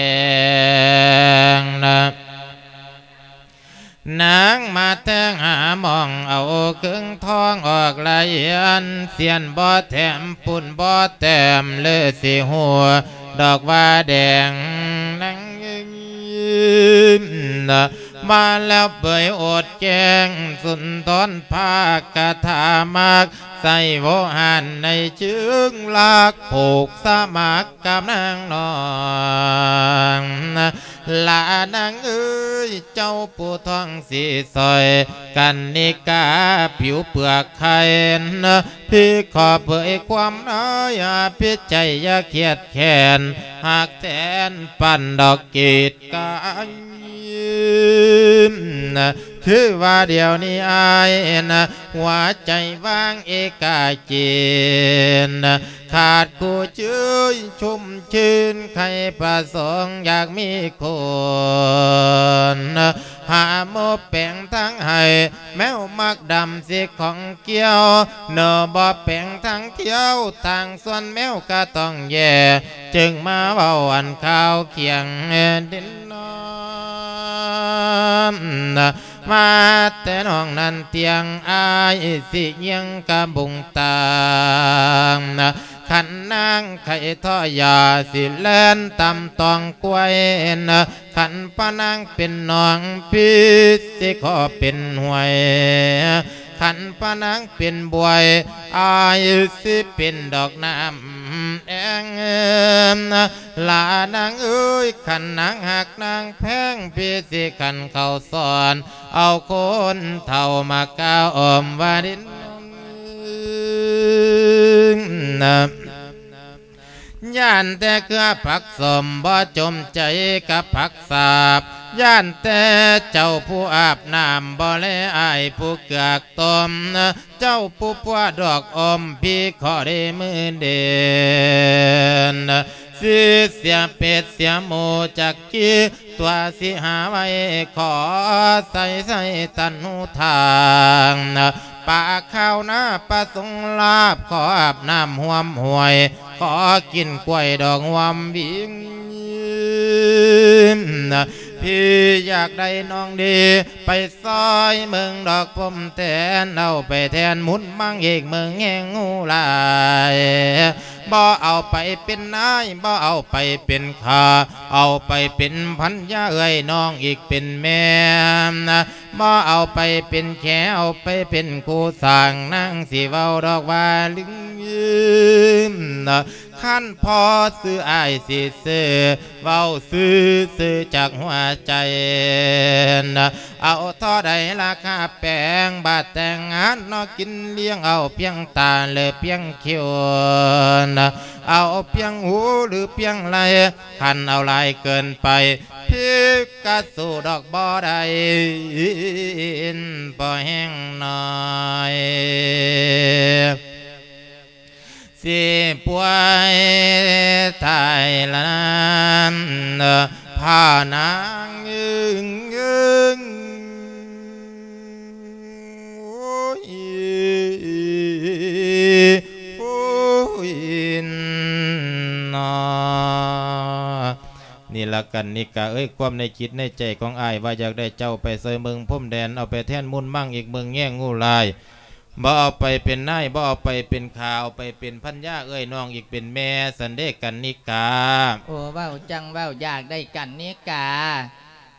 ງ ນາງມາແທງຫາໝ່ອງເອົາເຄື່ອງທອງອອກລະອຽນ ສຽນບໍ່ແຖມປຸ້ນບໍ່ແຕ້ມ ຫຼືຊິຮູ້ດອກວ່າແດງນາງ ມາແລ້ວເປີຍໂອດແຈ້ງ ສຸນທອນພາກກະຖາມັກ ໃສ່ໂວຫານໃນເຊີງລັກ ຜູກສະໝັກກັບນາງນ້ອງ ລະນາງເອີຍ ເຈົ້າຜູ້ທອງສີສອຍ ກັນນິກາຜິວເປືອກໄຂ່ ພີ່ຂໍເຜີຍຄວາມໃນ ອາພິດໃຈຢ່າຄຽດແຄ້ນ ຮັກແທນປານດອກກີດ ກາຍ ຄືວ່າດຽວນີ້ອ້າຍນະ ຫົວໃຈວ່າງເອກາຈີນ ຂາດຄູ່ຈື່ຊຸ່ມຊື່ນ ໃຄ່ປະສົງຢາກມີຄົນ ຫາໝູ່ແປງທາງໃຫ້ ແມວມັກດຳຊິຂອງກ່ຽວ ເນາະບໍ່ແປງທາງທ່ຽວ ທາງສ່ວນແມວກະຕ້ອງແຍ່ ຈຶ່ງມາເວົ້າອັນຂ່າວຄຽງດິນນອນ ມາແຕ່ນ້ອງນັ້ນຕຽງ ອ້າຍຊິຍ່ຽງກະບຸງຕາງ ຄັນນາງໄຂ່ທໍ່ຢາ ຊິແລ່ນຕຳຕອງກວຍ ຄັນພະນາງເປັນໜອງ ພີ່ຊິຂໍເປັນຫ້ວຍ ຄັນພະນາງເປັນບວຍ ອ້າຍຊິເປັນດອກນ້ຳແອງ ລະນາງເອີຍ ຄັນນາງຮັກນາງແພງ ພີ່ຊິຂັນເຂົ້າສອນ ເອົາຄົນເຖົ້າມາກ້າວອ້ອມວ່າດິນ ຢ້ານແຕ່ເຄືອຜັກສົ້ມ ບໍ່ຈົມໃຈກັບຜັກສາບ ຢ້ານແຕ່ເຈົ້າຜູ້ອາບນ້ຳ ບໍ່ແລອ້າຍຜູ້ເກືອກຕົ້ມ ເຈົ້າຜູ້ປົວດອກອົມ ພີ່ຂໍເດມືເດນ ຊິເສຍເປັດເສຍໝູຈັກກີ ຕົວະຊິຫາໄວ້ ຂໍໃສ່ໃສ່ຕັນຫູທາງ ປາຂາວນາປະສົງລາບ ຂໍອາບນ້ຳຮ່ວມຫ້ວຍ ຂໍກິນກ້ວຍດອກຮ່ວມວິງ ພີ່ຢາກໄດ້ນ້ອງດີ ໄປຊ່ອຍເບິ່ງດອກພົມແທນ ເອົາໄປແທນມຸນມັງອີກເບິ່ງແຮງງູຫຼາຍ ບໍ່ເອົາໄປເປັນນາຍ ບໍ່ເອົາໄປເປັນຂ້າ ເອົາໄປເປັນພັນຍາເອື້ອຍນ້ອງອີກເປັນແມ່ ບໍ່ເອົາໄປເປັນແຂ ເອົາໄປເປັນຄູ່ສ້າງ ນາງຊິເວົ້າດອກວ່າລຶງ ຄັນພໍຊື້ອ້າຍຊິຊື້ ເວົ້າຊື່ໆຈາກຫົວໃຈ ເອົາທໍ່ໃດລາຄາແປງ ບາດແຕ່ງງານເນາະ ກິນລ້ຽງເອົາພຽງຕາ ຫຼືພຽງຄິ້ວ ເອົາພຽງຫູ ຫຼືພຽງໄລ່ ຄັນເອົາຫຼາຍເກີນໄປ ພິກກະສູ້ດອກບໍ່ໄດ້ ພໍແຮງໜ້ອຍ ຊິປ່ວຍຕາຍລະນານ ພານາງເອີງເອີງ ໂອ້ຍ ໂອ້ຍ ເນາະ. ນີ້ລະກັນນິກາເອີຍ ຄວາມໃນຈິດໃນໃຈຂອງອ້າຍ ວ່າຢາກໄດ້ເຈົ້າໄປຊ່ອຍເມືອງພົມແດນ ເອົາໄປແທນມຸນມັງອີກເມືອງແຍງງູລາຍ ບໍ່ເອົາໄປເປັນນາຍ ບໍ່ເອົາໄປເປັນຂ້າ ເອົາໄປເປັນພັນຍາເອື້ອຍນ້ອງອີກເປັນແມ່ ຊັ້ນເດກັນນິກາ. ໂອ້ ເວົ້າຈັ່ງເວົ້າ ຢາກໄດ້ກັນນິກາ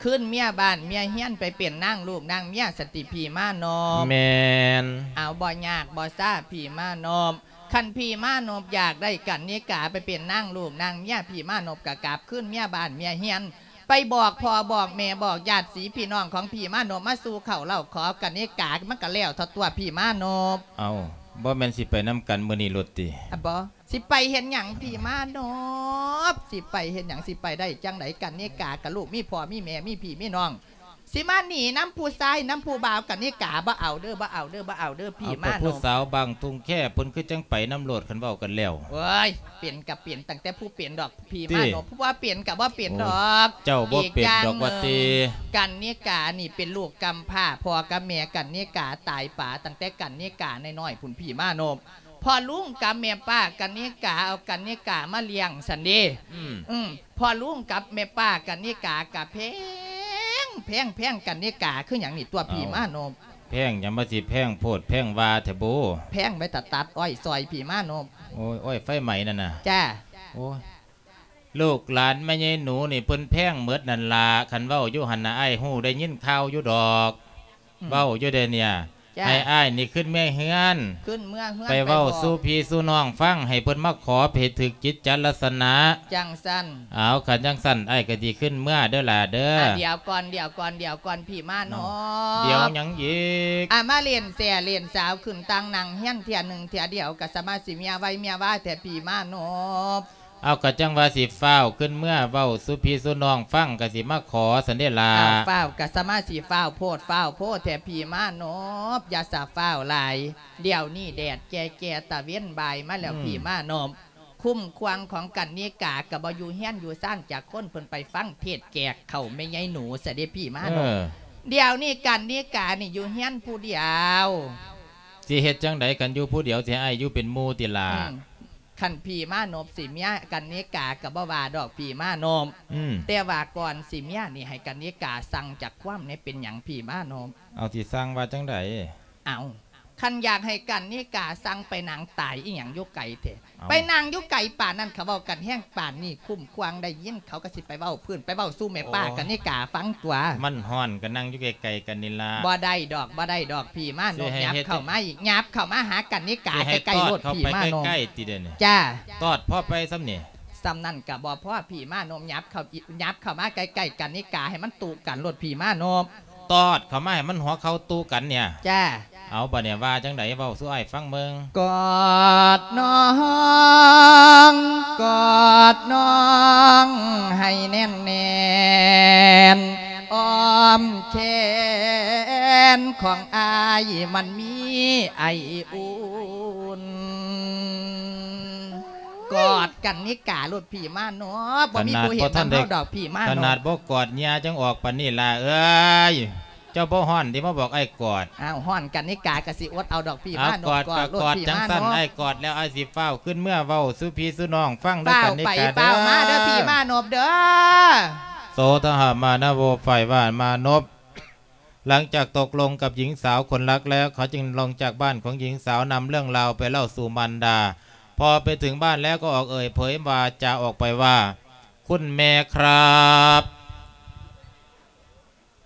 ຄືນເມຍບ້ານເມຍເຮືອນ ໄປເປັນນາງລູກນາງເມຍ ຊັ້ນຕິພີ່ມານົບ? ແມ່ນ. ເອົາ ບໍ່ຍາກບໍ່ຊ້າພີ່ມານົບ ຄັນພີ່ມານົບຢາກໄດ້ກັນນິກາໄປເປັນນາງລູກນາງເມຍ ພີ່ມານົບກະກັບຄືນເມຍບ້ານເມຍເຮືອນ ໄປບອກພໍ່ບອກແມ່ບອກຍາດສີພີ່ນ້ອງຂອງພີ່ມານົບມາສູ່ເຂົ້າເລົ່າຂໍກັນນິກາ ມັນກະແລ້ວເທົ່າຕົວະພີ່ມານົບ. ເອົ້າ ບໍ່ແມ່ນຊິໄປນຳກັນມື້ນີ້ໂລດຕິ? ອະ ບໍ່ ຊິໄປເຮັດຫຍັງພີ່ມານົບ ຊິໄປເຮັດຫຍັງ ຊິໄປໄດ້ຈັ່ງໃດ ກັນນິກາກະລູກມີພໍ່ມີແມ່ມີພີ່ມີນ້ອງ ຊິມາໜີນຳຜູ້ຊາຍ ນຳຜູ້ບ່າວ ກັນນິກາບໍ່ເອົາເດີ ບໍ່ເອົາເດີ ບໍ່ເອົາເດີ ພີ່ມານອບ. ເອົາ ແຕ່ຜູ້ສາວບາງຕຸງແຄ ເພິ່ນຄືຈັ່ງໄປນຳໂລດ ຄັນເວົ້າກັນແລ້ວ. ໂອ້ຍ ເປັນກະເປັນຕັ້ງແຕ່ຜູ້ເປັນດອກ ພີ່ມານອບ ຜູ້ບໍ່ເປັນກະບໍ່ເປັນດອກ. ເຈົ້າບໍ່ເປັນດອກວ່າຕິ. ກັນນິການີ້ເປັນລູກກຳພ້າ ພໍ່ກັບແມ່ກັນນິກາຕາຍປາຕັ້ງແຕ່ກັນນິການ້ອຍໆພຸ້ນ ພີ່ມານອບ. ພໍ່ລຸງກັບແມ່ປ້າກັນນິກາ ເອົາກັນນິກາມາລ້ຽງຊັ້ນເດ. ອືມ ອືມ ພໍ່ລຸງກັບແມ່ປ້າກັນນິກາກະແພງ ແພງ ແພງກັນນິກາຄືຫຍັງນີ້ຕົວະ ພີ່ມານອບ. ແພງຫຍັງ ມາຊິແພງໂພດແພງວ່າແທ້ບໍ? ແພງໄວ້ຖ້າຕັດອ້ອຍຊອຍ ພີ່ມານອບ. ໂອ້ຍ ອ້ອຍໄຟໄໝນັ້ນນະ. ຈ້າ. ໂອ້ຍ ລູກຫຼານແມ່ໃຫຍ່ໜູນີ້ເພິ່ນແພງໝົດນັ້ນລະ ຄັນເວົ້າຢູ່ຫັ້ນນະ ອ້າຍຮູ້ໄດ້ຍິນຂ່າວຢູ່ດອກ. ອືມ ເວົ້າຢູ່ເດເນຍ. ຈ້າ. ໃຫ້ອ້າຍນີ້ຂຶ້ນເມືອເຮືອນ ຂຶ້ນເມືອເຮືອນ ໄປເວົ້າ ໄປບອກສູ່ພີ່ສູ່ນ້ອງຟັງ ໃຫ້ເພິ່ນມາຂໍໃຫ້ຖືກຈິດຈະລັດສະນະ ຈັ່ງຊັ້ນ. ເອົາ ຄັນຈັ່ງຊັ້ນ ອ້າຍກໍຊິຂຶ້ນເມືອເດີຫຼ້າເດີ. ອ່າ ດຽວກ່ອນ ດຽວກ່ອນ ດຽວກ່ອນ ພີ່ມານອບ. ດຽວຫຍັງອີກ? ອ່າ ມາຫຼິ້ນແຊຫຼິ້ນສາວ ຂຶ້ນຕ່າງນັ່ງຮຽນເທື່ອໜຶ່ງເທື່ອດຽວ ກໍສາມາດຊິເມຍໄວເມຍວາແທ້ ພີ່ມານອບ. ເອົາ ກໍຈັ່ງວ່າຊິຟ້າວຂຶ້ນເມືອເວົ້າສູ່ພີ່ສູ່ນ້ອງຟັງ ກໍຊິມາຂໍຊັ້ນເດລະ. ອ້າວ ຟ້າວກໍສາມາຊິຟ້າວໂພດຟ້າວໂພແທ້ພີ່ມານອບ ຢ່າສາຟ້າວຫຼາຍ ດຽວນີ້ແດດແກ່ໆ ຕາເວັນບ່າຍມາແລ້ວ ອືມ ພີ່ມານອບ. ຄຸ້ມຄວາງຂອງກັນນິກາກໍບໍ່ຢູ່ເຮືອນຢູ່ຊານຈັກຄົນ ເພິ່ນໄປຟັງເທດແກກເຂົ້າແມ່ໃຫຍ່ໜູຊະເດພີ່ມານອບ. ເອີ ດຽວນີ້ກັນນິການີ້ຢູ່ເຮືອນຜູ້ດຽວ. ຊິເຮັດຈັ່ງໃດ ຄັນຢູ່ຜູ້ດຽວ ຊິໃຫ້ອ້າຍຢູ່ເປັນໝູ່ຕິລະ? ອືມ ຄັນພີ່ມານອບຊິເມຍກັນນິກາກໍບໍ່ວ່າດອກພີ່ມານອບ. ອືມ ແຕ່ວ່າກ່ອນຊິເມຍນີ້ໃຫ້ກັນນິກາສັ່ງຈັກຄວາມແດ່ ເປັນຫຍັງພີ່ມານອບ? ເອົາ ຊິສັ່ງວ່າຈັ່ງໃດ? ເອົາ ຄັນຢາກໃຫ້ກັນນິກາສັ່ງໄປນັ່ງຕາຍອີ່ຫຍັງຢູ່ໄກແທ້? ເອົາ ໄປນັ່ງຢູ່ໄກປານນັ້ນ ເຂົາເວົ້າກັນແຮງປານນີ້ ຄຸ້ມຄວາງໄດ້ຍິນ ເຂົາກໍຊິໄປເວົ້າພື້ນ ໄປເວົ້າສູ່ແມ່ປ້າ ໂອ້ ກັນນິກາຟັງຕົວະ. ມັນຮ້ອນ ກໍນັ່ງຢູ່ໃກ້ໆກັນນີ້ລະ. ບໍ່ໄດ້ດອກ ບໍ່ໄດ້ດອກ ພີ່ມານອບ. ຫຍັບເຂົ້າມາອີກ ຫຍັບເຂົ້າມາຫາກັນນິກາໃກ້ໆໂລດ ພີ່ມານອບ. ໃຫ້ຕອດເຂົ້າໄປໃກ້ໆຕິເດນີ້? ຈ້າ. ຕອດພໍໄປສ່ຳນີ້? ສ່ຳນັ້ນກໍບໍ່ພໍ ພີ່ມານອບ. ຫຍັບເຂົ້າ ຫຍັບເຂົ້າມາໃກ້ໆກັນນິກາ ໃຫ້ມັນຕຸກັນໂລດ ພີ່ມານອບ. ຕອດເຂົ້າມາໃຫ້ມັນຫົວເຂົ່າຕຸກັນເນຍ. ຈ້າ. ເອົາ ບາດນີ້ວ່າຈັ່ງໃດ ເວົ້າສູ່ອ້າຍຟັງເບິ່ງ. ກອດນ້ອງ ກອດນ້ອງໃຫ້ແໜ້ນໆ ອ້ອມແຂນຂອງອ້າຍມັນມີໄອອຸ່ນ. ກອດກັນນິກາໂລດ ພີ່ມານອບ. ບໍ່ມີຜູ້ເຫັນນຳເຮົາດອກ ພີ່ມານອບ. ຂະໜາດບໍ່ກອດເຫຍື່ອຈັ່ງອອກປານນີ້ລະເອີຍ. ເຈົ້າບໍ່ຮ້ອນຕິ ມາບອກອ້າຍກອດ. ອ້າວ ຮ້ອນກັນນິກາກໍຊິອົດເອົາດອກ ພີ່ມານອບ. ກອດ ກອດໂລດ ກອດ ພີ່ມານອບ. ຈັ່ງຊັ້ນ ອ້າຍກອດແລ້ວ ອ້າຍຊິຟ້າວຂຶ້ນເມືອເວົ້າສູ່ພີ່ສູ່ນ້ອງຟັງເດີ ກັນນິກາເດີ. ຟ້າວໄປຟ້າວມາເດີ ພີ່ມານອບເດີ. ໂສທະຫະມານະໂວ ໄຟວາມານົບ. ຫຼັງຈາກຕົກລົງກັບຍິງສາວຄົນລັກແລ້ວ ເຂົາຈຶ່ງລົງຈາກບ້ານຂອງຍິງສາວ ນຳເລື່ອງລາວໄປເລົ່າສູ່ມານດາ. ພໍໄປເຖິງບ້ານແລ້ວກໍອອກເອີ່ຍເຜີຍວາຈາອອກໄປວ່າ ຄຸນແມ່ຄັບ.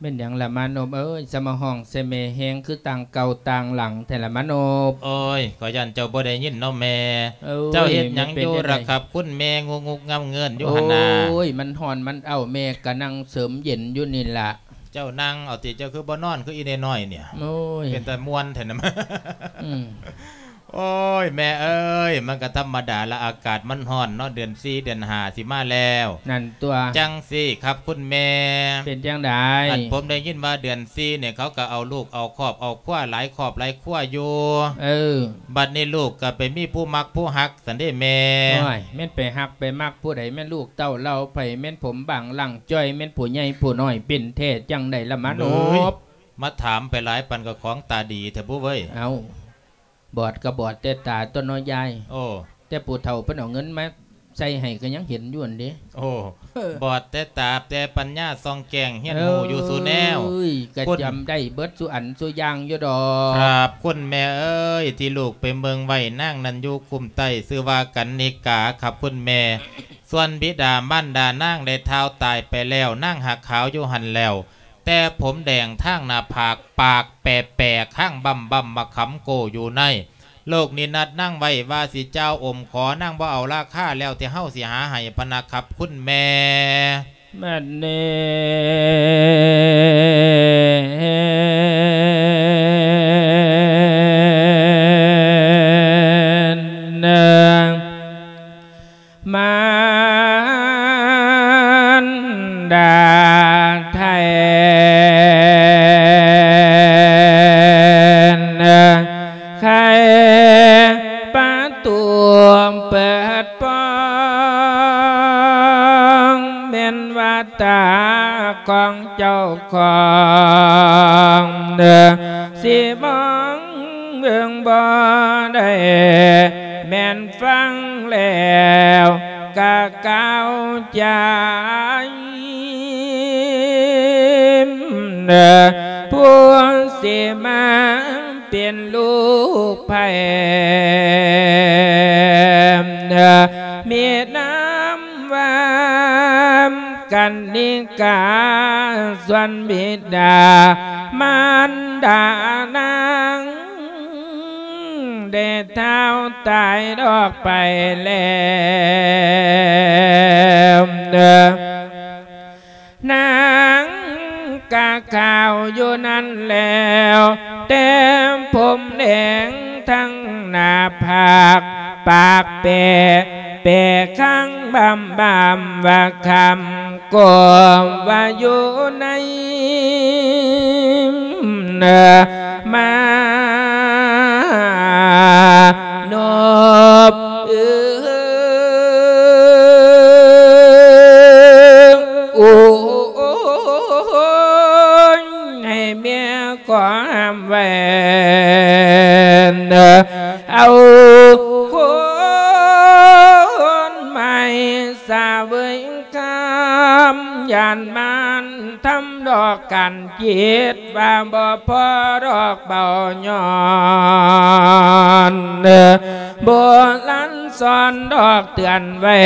ແມ່ນຫຍັງລະມານົບເອີຍ ສະມາຮ້ອງໃສ່ແມ່ແຮງຄືຕ່າງເກົ່າຕ່າງຫຼັງແທ້ລະມານົບ? ໂອ້ຍ ຂ້ອຍຢ້ານເຈົ້າບໍ່ໄດ້ຍິນເນາະແມ່. ເອີຍ ເຈົ້າເຮັດຫຍັງຢູ່ລະຄັບ ຄຸນແມ່ ງຸກງຸກງຳເງິນຢູ່ຫັ້ນນາ. ໂອ້ຍ ມັນຮ້ອນມັນອ້າວ ແມ່ກະນັ່ງເສີມເຢັນຢູ່ນີ້ລະ. ເຈົ້ານັ່ງເອົາຕິ ເຈົ້າຄືບໍ່ນອນຄືອີ່ນ້ອຍໆນີ້? ໂອ້ຍ ເປັນຕາມ່ວນແທ້ນະ. ອືມ ໂອ້ຍ ແມ່ເອີຍ ມັນກະທຳມະດາລະ ອາກາດມັນຮ້ອນເນາະ ເດືອນສີ່ເດືອນຫ້າຊິມາແລ້ວ. ນັ້ນຕົວະ. ຈັ່ງຊີ້ຄັບຄຸນແມ່. ເປັນຈັ່ງໃດ? ອັນ ຜົມໄດ້ຍິນວ່າເດືອນສີ່ນີ້ ເຂົາກະເອົາລູກເອົາຄອບເອົາຄົວ ຫຼາຍຄອບຫຼາຍຄົວຢູ່. ເອີ ບັດນີ້ລູກກະໄປມີຜູ້ມັກຜູ້ຮັກ ຊັ້ນເດແມ່. ໂອ້ຍ ແມ່ນໄປຮັກໄປມັກຜູ້ໃດ ແມ່ນລູກເຕົ້າເຫຼົ່າໃຜ ແມ່ນຜົມບາງລ່າງຈ້ອຍ ແມ່ນຜູ້ໃຫຍ່ຜູ້ນ້ອຍ ເປັນແທ້ຈັ່ງໃດລະມານົບ? ມາຖາມໄປຫຼາຍ ປານກະຂອງຕາດີແທ້ບຸເວີຍ. ເອົ້າ ບອດກະບອດແຕ່ຕາຕົວະເນາະຍາຍ. ໂອ້ ແຕ່ຜູ້ເຖົ້າເພິ່ນເອົາເງິນມາໃສ່ໃຫ້ກະຍັງເຫັນຢູ່ຫັ້ນເດ. ໂອ້ ເອີ ບອດແຕ່ຕາ ແຕ່ປັນຍາສ່ອງແຈ້ງ ຮຽນຮູ້ຢູ່ສູ່ແນວ. ເອີຍ ກະຈຳໄດ້ເບິດສູ່ອັນສູ່ຢ່າງຢູ່ດອກ. ຄັບ ຄຸນແມ່ເອີຍ ທີ່ລູກໄປເບິ່ງໄວ້ ນາງນັ້ນຢູ່ຄຸ້ມໃຕ້ ຊື່ວ່າກັນນິກາຄັບຄຸນແມ່. ສ່ວນບິດາມານດານາງໄດ້ທ້າວຕາຍໄປແລ້ວ ນາງຫາກຂາວຢູ່ຫັ້ນແລ້ວ ແຕ່ຜົມແດງທາງໜ້າຜາກ ປາກແປໆ ຄາງບຳໆ ໝາກຂຳໂກ້ຢູ່ໃນ. ໂລກນີ້ນັດນາງໄວ້ວ່າຊິຈ່າວອົມຂໍ ນາງບໍ່ເອົາລາຄາ ແລ້ວແຕ່ເຮົາຊິຫາໃຫ້ພະນະຄັບຄຸນແມ່. ບັດນີ້ນາງ ມານດາໄທ ປະຕູເປີດປ່ອງ ແມ່ນວ່າຕາຂອງເຈົ້າຂອງ ຊິມອງເບິ່ງບໍ່ໄດ້ ແມ່ນຟັງແລ້ວກະກ່າວຈາ ຜູ້ຊິມາເປັນລູກໃຜ ມີນາມວ່າກັນນິກາ ສ່ວນບິດາມານດານາງ ໄດ້ທ້າວຕາຍດອກໄປແລ້ວ ນາງກະຂາວຢູ່ນັ້ນແລ້ວ ແຕ່ຜົມແດງທັງໜ້າຜາກ ປາກແປ ແປຄ້າງບາມບາມວ່າຄຳ ກໍວ່າຢູ່ໃນ ມາໂນບ ເອີ ໂອ້ຍ ໃຫ້ແມ່ຂໍຫ້າມໄວ້ ເອົາຄົນໃໝ່ສະເຫວີຍຄຳ ຢ້ານມານທຳດອກກັນ ຄິດວ່າບໍ່ພໍດອກເບົາຍ້ອນ ໂບລານສອນດອກເຕືອນໄວ້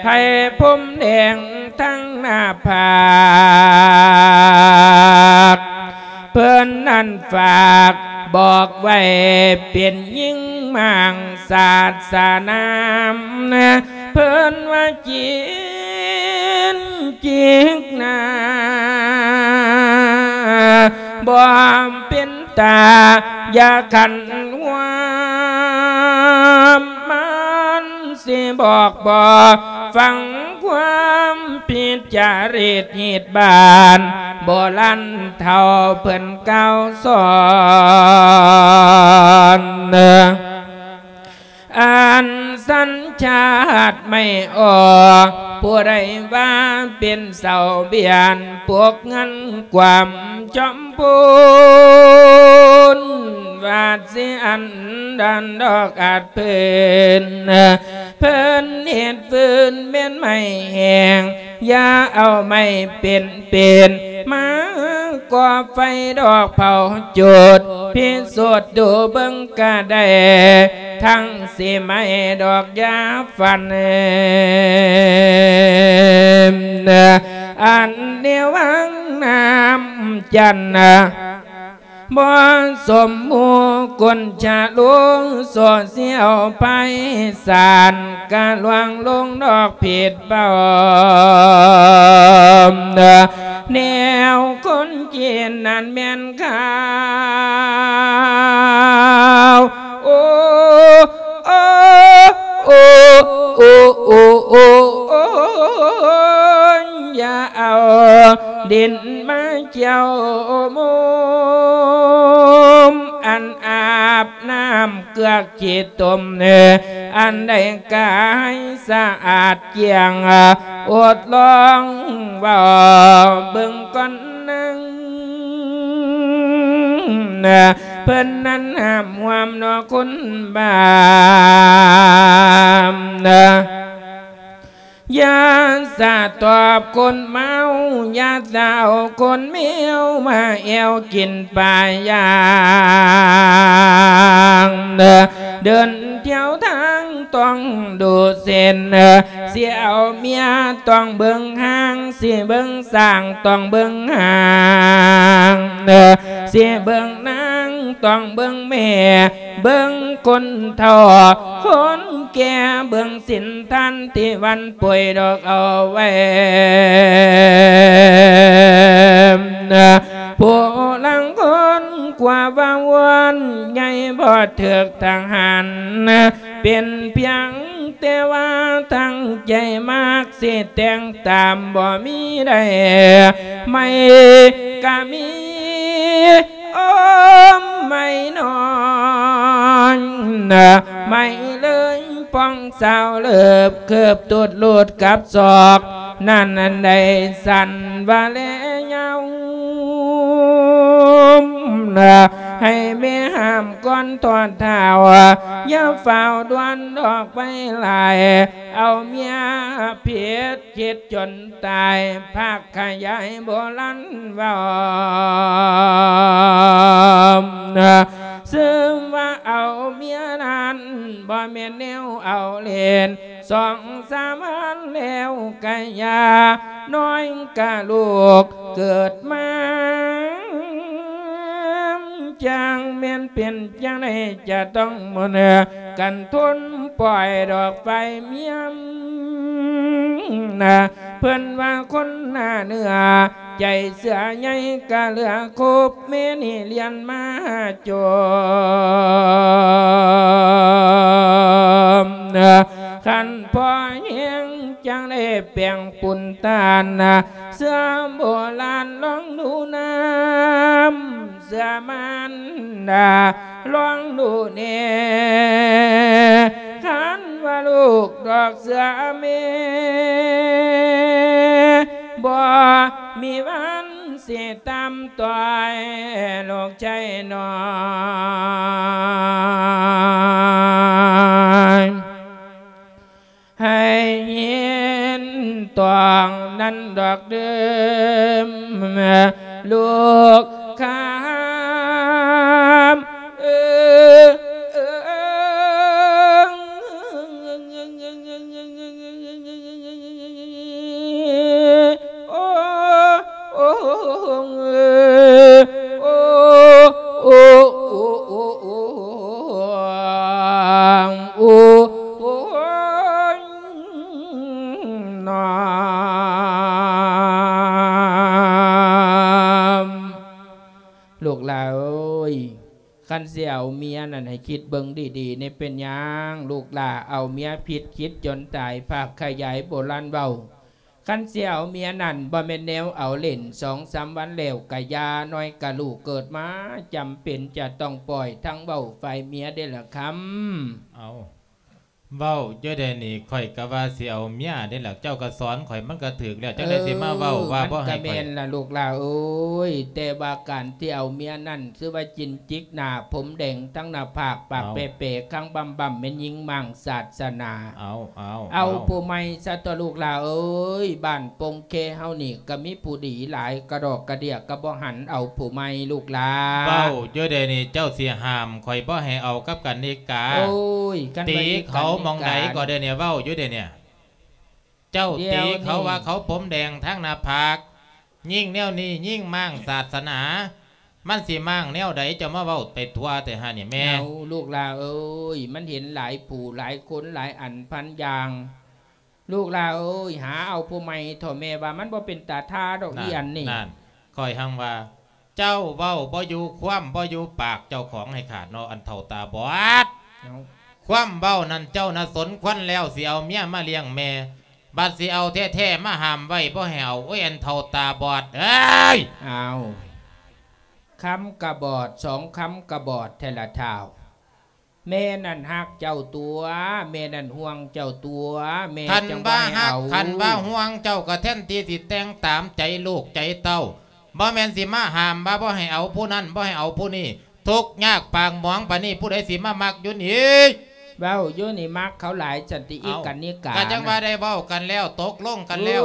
ໃຫ້ຜົມແດງທັງໜ້າຜາກ ເພິ່ນນັ້ນຝາກບອກໄວ້ ເປັນຍິງມ້າງສາດສະໜາມ ເພິ່ນວ່າຈີນຈິກໜາ ບໍ່ເປັນຕາຢ່າຂັນຫວາມ ມັນຊິບອກບໍ່ຟັງຄວາມ ພິຈາລິດຮີດບານ ໂບລານເຖົ້າເພິ່ນກ່າວສອນ ອັນສັນຊາດໄມ່ອອກ ຜູ້ໃດວ່າເປັນເສົາບຽນ ປົກເງິນກວາມຈອມພູນ ວາດຊິອັນດານດອກອາດເພິ່ນ ເພິ່ນເຮັດຟືນແມ່ນໄມ້ແຫ້ງ ຢ່າເອົາໄມ້ເປັນ ເປັນມາກໍ່ໄຟດອກເຜົາຈຸດ ພິສູດດູເບິ່ງກະໄດ້ ທັງຊິໄໝ້ດອກຢາຟັນ ອັນໃນວັງນ້ຳຈັນ ບໍ່ສົມໝູ່ຄົນຊະລູ ໂສດສຽວໄພສານ ກະລວງລົງດອກຜິດເບົາ ແນວຄົນຈີນນັ້ນແມ່ນຂາວ ໂອ້ ໂອ້ ໂອ້ ໂອ້ ໂອ້ ໂອ້ ຢ່າເອົາດິນມາກ່ຽວມຸມ ອັນອາບນ້ຳເກືອກຂີ້ຕົມ ອັນໃດກາຍສະອາດກ້ຽງ ອົດລອງເວົ້າເບິ່ງກ່ອນນາງ ເພິ່ນນັ້ນຫ້າມຮ່ວມເນາະຄົນບ້ານ ຢ່າສະຕອບຄົນເມົາ ຢ່າສະເອົາຄົນເມວມາແອວກິນປາຢ່າງ ເດີນທ່ຽວທາງຕ້ອງດູເສັ້ນ ຊິເອົາເມຍຕ້ອງເບິ່ງຮ່າງ ຊິເບິ່ງຊ້າງຕ້ອງເບິ່ງຫາງ ຊິເບິ່ງນາງຕ້ອງເບິ່ງແມ່ ເບິ່ງຄົນເຖົ້າຄົນແກ່ ເບິ່ງສິນທານທີ່ວັນປ່ວຍດອກເອົາໄວ້ ຜູ້ລາງຄົນກວ່າວ່າວອນໃຫຍ່ບໍ່ຖືກທະຫານ ເປັນພຽງແຕ່ວ່າຕັ້ງໃຈມັກ ຊິແຕ່ງຕາມບໍ່ມີໄດ້ ໄໝ້ກະມີ ໂອ້ ໄໝ້ນ້ອ ນະ ໄມ້ເລີຍປ່ອງສາວເລີບ ເກີບຕຸດຫຼຸດກັບສອກ ນັ້ນໄດ້ສັ່ນວ່າແລຍາວ ນະ ໃຫ້ແມ່ຫ້າມກ່ອນທອດທ້າວ ຢ່າຟ້າວດ່ວນດອກໄປຫຼາຍ ເອົາເມຍຜິດຄິດຈົນຕາຍ ພາກຂະຫຍາຍໂບລານເວົ້າ ນະ ເຊິ່ງວ່າເອົາເມຍນັ້ນ ບໍ່ແມ່ນແນວເອົາຫຼິ້ນ ສອງສາມອັນແລ້ວກະຢ່າ ນ້ອຍກະລູກເກີດມາ ຈັ່ງແມ່ນເປັນຈັ່ງໃດ ຈະຕ້ອງໝູນກັນທົນ ປ່ອຍດອກໄຟເມຍ ນະ ເພິ່ນວ່າຄົນໜ້າເນື້ອ ໃຈເສືອໃຫຍ່ກະເຫຼືອຄົບ ແມ່ນີ້ລຽນມາຈົມ ນະ ຄັນພໍແຮງຈັ່ງໄດ້ແປງປຸນຕານນະ ເສືອໂບລານລອງດູນ້ຳ ເສືອມານດາລອງດູແດ່ ຄັນວ່າລູກດອກເສືອແມ່ ບໍ່ມີວັນຊິຕາມຕ່ອຍລູກຊາຍນ້ອຍ ໃຫ້ເຫັນຕ້ອງນັ້ນດອກເດີມ ລູກຄຳ ເອີ ເອີ ໂອ້ ໂອ້ ໂອ້ ໂອ້ ໂອ້ ໂອ້ ໂອ້ ໂອ້ຍ ນ້ອມ ລູກຫຼ້າເອີຍ ຄັນຊິເອົາເມຍນັ້ນໃຫ້ຄິດເບິ່ງດີໆ ນີ້ເປັນຫຍັງ ລູກຫຼ້າເອົາເມຍຜິດຄິດຈົນຕາຍ ພາກຂະຫຍາຍໂບລານເວົ້າ ຄັນຊິເອົາເມຍນັ້ນ ບໍ່ແມ່ນແນວເອົາຫຼິ້ນ ສອງສາມວັນແລ້ວກະຢ່າ ນ້ອຍກະລູກເກີດມາ ຈຳເປັນຈະຕ້ອງປ່ອຍ ທັງເວົ້າຝ່າຍເມຍເດ້ລະຄຳ. ເອົາ ເວົ້າຢູ່ເດນີ້ ຂ້ອຍກະວ່າຊິເອົາເມຍເດ້ລະ ເຈົ້າກະສອນຂ້ອຍ ມັນກະຖືກແລ້ວ ຈັ່ງໃດຊິມາເວົ້າວ່າບໍ່ໃຫ້ຂ້ອຍ ມັນກະແມ່ນລະລູກຫຼ້າເອີຍ ແຕ່ວ່າການທີ່ເອົາເມຍນັ້ນ ຄືວ່າຈິນຈິກໜ້າ ຜົມແດງທັງໜ້າຜາກ ປາກແປໆ ຄາງບຳໆ ແມ່ນຍິງມ້າງສາດສະໜາ ເອົາ ເອົາ ເອົາ ເອົາຜູ້ໃໝ່ຊະຕົວະລູກຫຼ້າເອີຍ ບ້ານປົງເຄເຮົານີ້ກະມີຜູ້ດີຫຼາຍ ກະດອກກະເດຍກະບໍ່ຫັນເອົາຜູ້ໃໝ່ລູກຫຼ້າ. ເວົ້າຢູ່ເດນີ້ ເຈົ້າຊິຫ້າມຂ້ອຍບໍ່ໃຫ້ເອົາກັບກະນິກາ ໂອ້ຍ ຕີເຂົາໝ່ອງໃດກໍເດນີ້ ເວົ້າຢູ່ເດນີ້ ເຈົ້າຕີເຂົາວ່າເຂົາຜົມແດງທາງໜ້າຜາກ ຍິງແນວນີ້ຍິງມ້າງສາດສະໜາ ມັນຊິມ້າງແນວໃດ ເຈົ້າມາເວົ້າໄປທົ່ວແທ້ຫານີ້ແມ່. ເອົາ ລູກຫຼ້າເອີຍ ມັນເຫັນຫຼາຍຜູ້ຫຼາຍຄົນຫຼາຍອັນພັນຢ່າງ ລູກຫຼ້າເອີຍ ຫາເອົາຜູ້ໃໝ່ເຖາະ ແມ່ວ່າມັນບໍ່ເປັນຕາທ່າດອກ ນັ້ນ ອີອັນນີ້ ນັ້ນ ຂ້ອຍຮັ່ງວ່າ ເຈົ້າເວົ້າບໍ່ຢູ່ຄວາມ ບໍ່ຢູ່ປາກເຈົ້າຂອງໃຫ້ຂາດເນາະ ອັນເຖົ້າຕາບອດ. ເອົ້າ ຄວາມເວົ້ານັ້ນເຈົ້ານະສົມຄວນແລ້ວ ຊິເອົາເມຍມາລ້ຽງແມ່ ບັດຊິເອົາແທ້ໆ ມາຫ້າມໄວ້ບໍ່ໃຫ້ເອົາ ໂອ້ຍ ອັນເຖົ້າຕາບອດເອີຍ. ອ້າວ ຄຳກະບອດ ສອງຄຳກະບອດແທ້ລະທ້າວ. ແມ່ນັ້ນຮັກເຈົ້າຕົວະ ແມ່ນັ້ນຫ່ວງເຈົ້າຕົວະ ແມ່ຈັ່ງບໍ່ໃຫ້ເອົາ. ຄັນວ່າ ຄັນວ່າຫ່ວງເຈົ້າກະແທນທີ່ຊິແຕ່ງຕາມໃຈລູກໃຈເຕົ້າ ບໍ່ແມ່ນຊິມາຫ້າມວ່າບໍ່ໃຫ້ເອົາຜູ້ນັ້ນ ບໍ່ໃຫ້ເອົາຜູ້ນີ້ ທຸກຍາກປາກໝອງປານນີ້ ຜູ້ໃດຊິມາມັກຢູ່ນີ້? ເວົ້າຢູ່ນີ້ມັກເຂົາຫຼາຍຊັ້ນຕິ ອີກະນິກາ. ກະຈັ່ງວ່າໄດ້ເວົ້າກັນແລ້ວ ຕົກລົງກັນແລ້ວ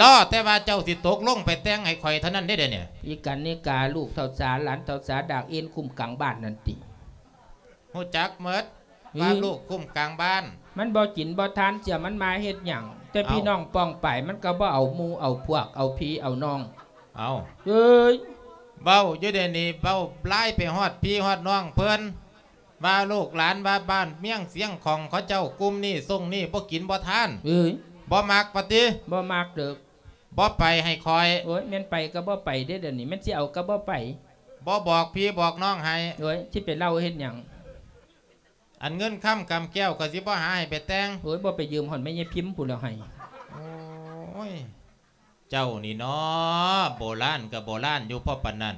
ລໍແຕ່ວ່າເຈົ້າຊິຕົກລົງໄປແຕ່ງໃຫ້ຂ້ອຍເທົ່ານັ້ນເດ້ດຽວນີ້. ອີກະນິກາ ລູກເຖົ້າສາ ຫຼານເຖົ້າສາ ດາກເອັນຄຸ້ມກາງບ້ານນັ້ນຕິ. ຮູ້ຈັກໝົດວ່າລູກຄຸ້ມກາງບ້ານ ມັນບໍ່ກິນບໍ່ທານ ເຊື່ອມັນມາເຮັດຫຍັງ ແຕ່ພີ່ນ້ອງປ້ອງປາຍ ມັນກະບໍ່ເອົາໝູ່ເອົາພວກ ເອົາພີ່ເອົານ້ອງ. ເອົາ ເອີຍ ເວົ້າຢູ່ເດນີ້ ເວົ້າລາຍໄປຮອດພີ່ຮອດນ້ອງເພິ່ນ ວ່າລູກຫຼານ ວ່າບ້ານເມືອງຊຽງຂອງເຂົາເຈົ້າ ກຸ່ມນີ້ຊົງນີ້ ບໍ່ກິນບໍ່ທານ ເອີຍ ບໍ່ມັກວ່າຕິ ບໍ່ມັກເດີ. ບໍ່ໄປໃຫ້ຂ້ອຍ ໂອ້ຍ ແມ່ນໄປກະບໍ່ໄປເດ້ ດຽວນີ້ແມ່ນຊິເອົາກະບໍ່ໄປ ບໍ່ບອກພີ່ບອກນ້ອງໃຫ້ ໂອ້ຍ ຊິໄປເລົ່າເຮັດຫຍັງ ອັນເງິນຄຳກຳແກ້ວ ຂ້ອຍຊິບໍ່ຫາໃຫ້ໄປແຕ່ງ ໂອ້ຍ ບໍ່ໄປຢືມຮອດແມ່ຍາຍພິມພຸ້ນແລ້ວໃຫ້. ໂອ້ຍ ເຈົ້ານີ້ເນາະ ໂບລານກະໂບລານຢູ່ພໍປານນັ້ນ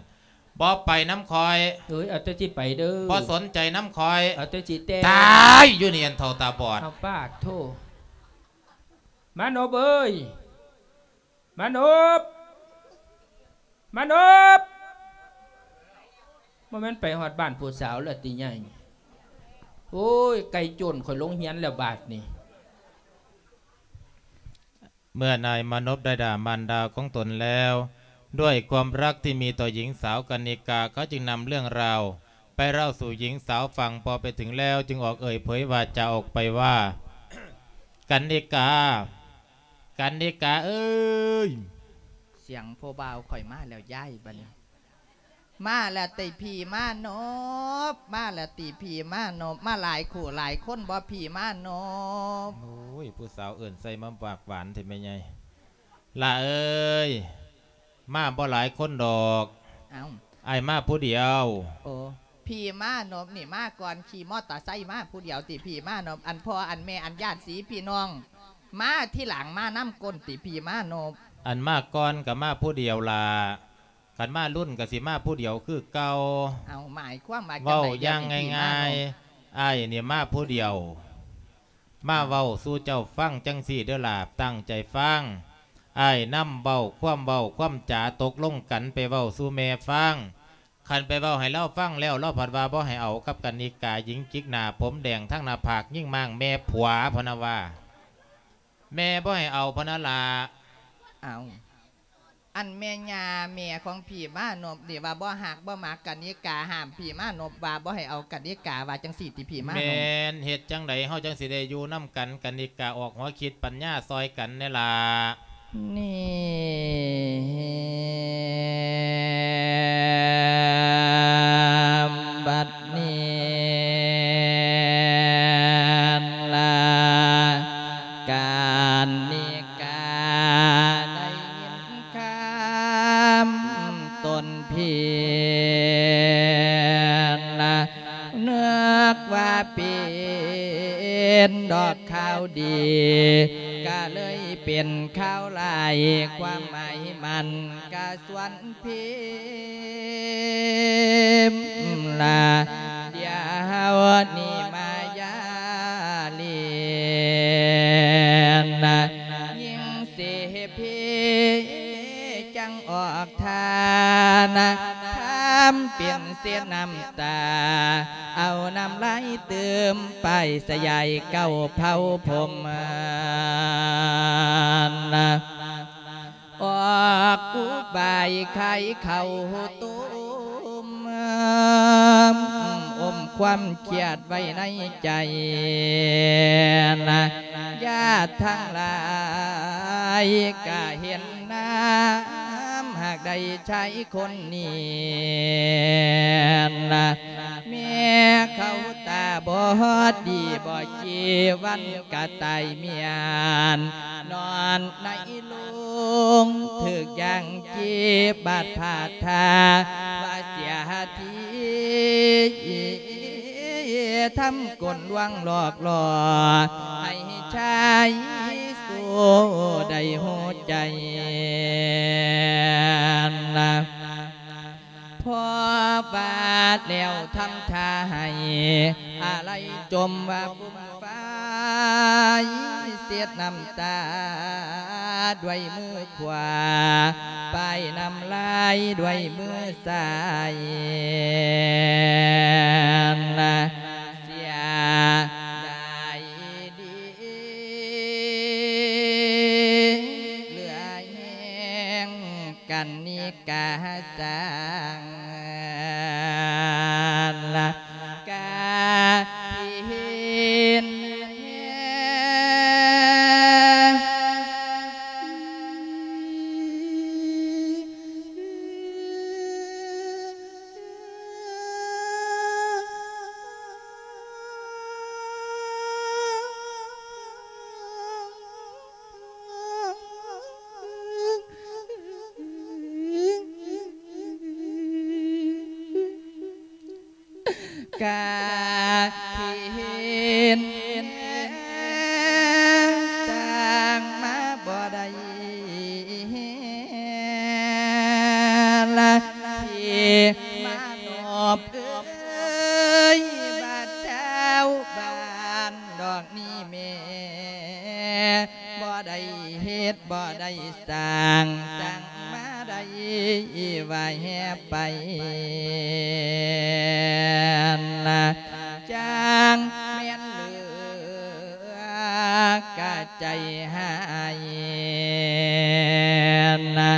ບໍ່ໄປນຳຂ້ອຍ ເອີຍ ເອົາແຕ່ຊິໄປເດີ ບໍ່ສົນໃຈນຳຂ້ອຍ ເອົາແຕ່ຊິແຕ່ ຕາຍ ຢູ່ນີ້ອັນເຖົ້າຕາບອດ ເອົາປາກໂທ ມານົບເອີຍ ມານົບ ມານົບ ບໍ່ແມ່ນໄປຮອດບ້ານຜູ້ສາວແລ້ວຕິໃຫຍ່ ໂອ້ຍ ໄກ່ໂຈນຂ້ອຍລົງຮຽນແລ້ວບາດນີ້. ເມື່ອນາຍມານົບໄດ້ດ່າມານດາຂອງຕົນແລ້ວ ດ້ວຍຄວາມຮັກທີ່ມີຕໍ່ຍິງສາວກັນນິກາ ເຂົາຈຶ່ງນຳເລື່ອງລາວໄປເລົ່າສູ່ຍິງສາວຟັງ. ພໍໄປເຖິງແລ້ວຈຶ່ງອອກເອີ່ຍເຜີຍວາຈາອອກໄປວ່າ ກັນນິກາ ກັນນິກາເອີຍ ສຽງຜູ້ບ່າວຂ້ອຍມາແລ້ວຍາຍ ບັດນີ້ ມາແລ້ວຕິພີ່ມານົບ ມາແລ້ວຕິພີ່ມານົບ ມາຫຼາຍຄູ່ຫຼາຍຄົນບໍ່ພີ່ມານົບ? ໂອ້ຍ ຜູ້ສາວເອີ້ນໃສ່ມາປາກຫວານແທ້ແມ່ໃຫຍ່. ຫຼ້າເອີຍ ມາບໍ່ຫຼາຍຄົນດອກ ເອົ້າ ອ້າຍມາຜູ້ດຽວ. ໂອ້ ພີ່ມານົບນີ້ມາກ່ອນ ຂີ່ມໍເຕີໄຊມາຜູ້ດຽວຕິພີ່ມານົບ? ອັນພໍ່ອັນແມ່ອັນຍາດສີພີ່ນ້ອງມາທີຫຼັງ ມານຳກົ້ນຕິພີ່ມານົບ? ອັນມາກ່ອນກໍມາຜູ້ດຽວລະ ຄັນມາລຸ້ນກໍຊິມາຜູ້ດຽວຄືເກົ່າ. ເອົາ ໝາຍຄວາມວ່າຈັ່ງໃດ? ເວົ້າຢ່າງງ່າຍໆ ອ້າຍນີ້ມາຜູ້ດຽວ ມາເວົ້າສູ່ເຈົ້າຟັງຈັ່ງຊີ້ເດີຫຼ້າ ຕັ້ງໃຈຟັງ. ອ້າຍນຳເວົ້າຄວາມເວົ້າຄວາມຈາຕົກລົງກັນໄປເວົ້າສູ່ແມ່ຟັງ. ຄັນໄປເວົ້າໃຫ້ລາວຟັງແລ້ວ ລາວພັດວ່າບໍ່ໃຫ້ເອົາກັບກັນນິກາ ຍິງຈິກໜ້າຜົມແດງທັງໜ້າຜາກ ຍິງມ້າງແມ່ຜົວ ພະນະວ່າ ແມ່ບໍ່ໃຫ້ເອົາ ພະນະຫຼ້າ. ເອົາ ອັນແມ່ຍ່າແມ່ຂອງພີ່ມານົບນີ້ວ່າບໍ່ຮັກບໍ່ມັກກັນນິກາ ຫ້າມພີ່ມານົບວ່າບໍ່ໃຫ້ເອົາກັນນິກາ ວ່າຈັ່ງຊີ້ຕິພີ່ມານົບ? ແມ່ນ ເຮັດຈັ່ງໃດເຮົາຈັ່ງຊິໄດ້ຢູ່ນຳກັນ? ກັນນິກາອອກຫົວຄິດປັນຍາຊ່ອຍກັນແດ່ຫຼ້າ. ນີ້ ບັດນີ້ລະ ກັນນິກາໄດ້ຍິນຄຳຕົນພີລະ ນຶກວ່າເປັນດອກຂ່າວດີ ກະເລີຍເປັນຂ່າວຮ້າຍ ຄວາມໝາຍມັນກະຊວນ ພິມລະ ດຽວນີ້ມາຢາເລນນະ ຍິ່ງເສພີຈັ່ງອອກທ່ານະ ທຳເປັນເສດນ້ຳຕາ ເອົານ້ຳລາຍຕື່ມປ້າຍສະຫຍາຍເກົ້າເຜົ່າພົມນະ. ອອກອຸບາຍຂາຍເຂົ້າຕົ້ມ ອົມຄວາມຄຽດໄວ້ໃນໃຈນະ ຍາດທັງຫຼາຍກະເຫັນນຳ ຫາກໄດ້ຊາຍຄົນນີ້ນະ ແມ່ເຂົາຕາບອດດີ ບໍ່ກີ່ວັນກະຕາຍເມຍນ ນອນໃນ ລົງຖືກຢ່າງຈີບບາດພາດທ່າ ວ່າເສຍທີ ທຳກົນລວງຫຼອກຫຼໍ່ ໃຫ້ຊາຍໂສໄດ້ຫົວໃຈນະ. ພໍບາດແລ້ວທຳທ່າໃຫ້ອາໄລຈົມວ່າຟຸມຟາຍເຊັດນ້ຳຕາດ້ວຍມືຂວາ ປ້າຍນ້ຳລາຍດ້ວຍມືຊ້າຍນະ ເສຍດາຍດີ ເຫຼືອແຮງກັນນິກາສ້າງລະກາພິນ. ກະຖິ້ມຕ່າງມາບໍ່ໄດ້ລະທີ່ ສ້າງຕັ້ງມາໄດ້ວ່າແຮບໄປ ນະ ຈັ່ງແມ່ນເຫຼືອກະໃຈຫາຍ ນະ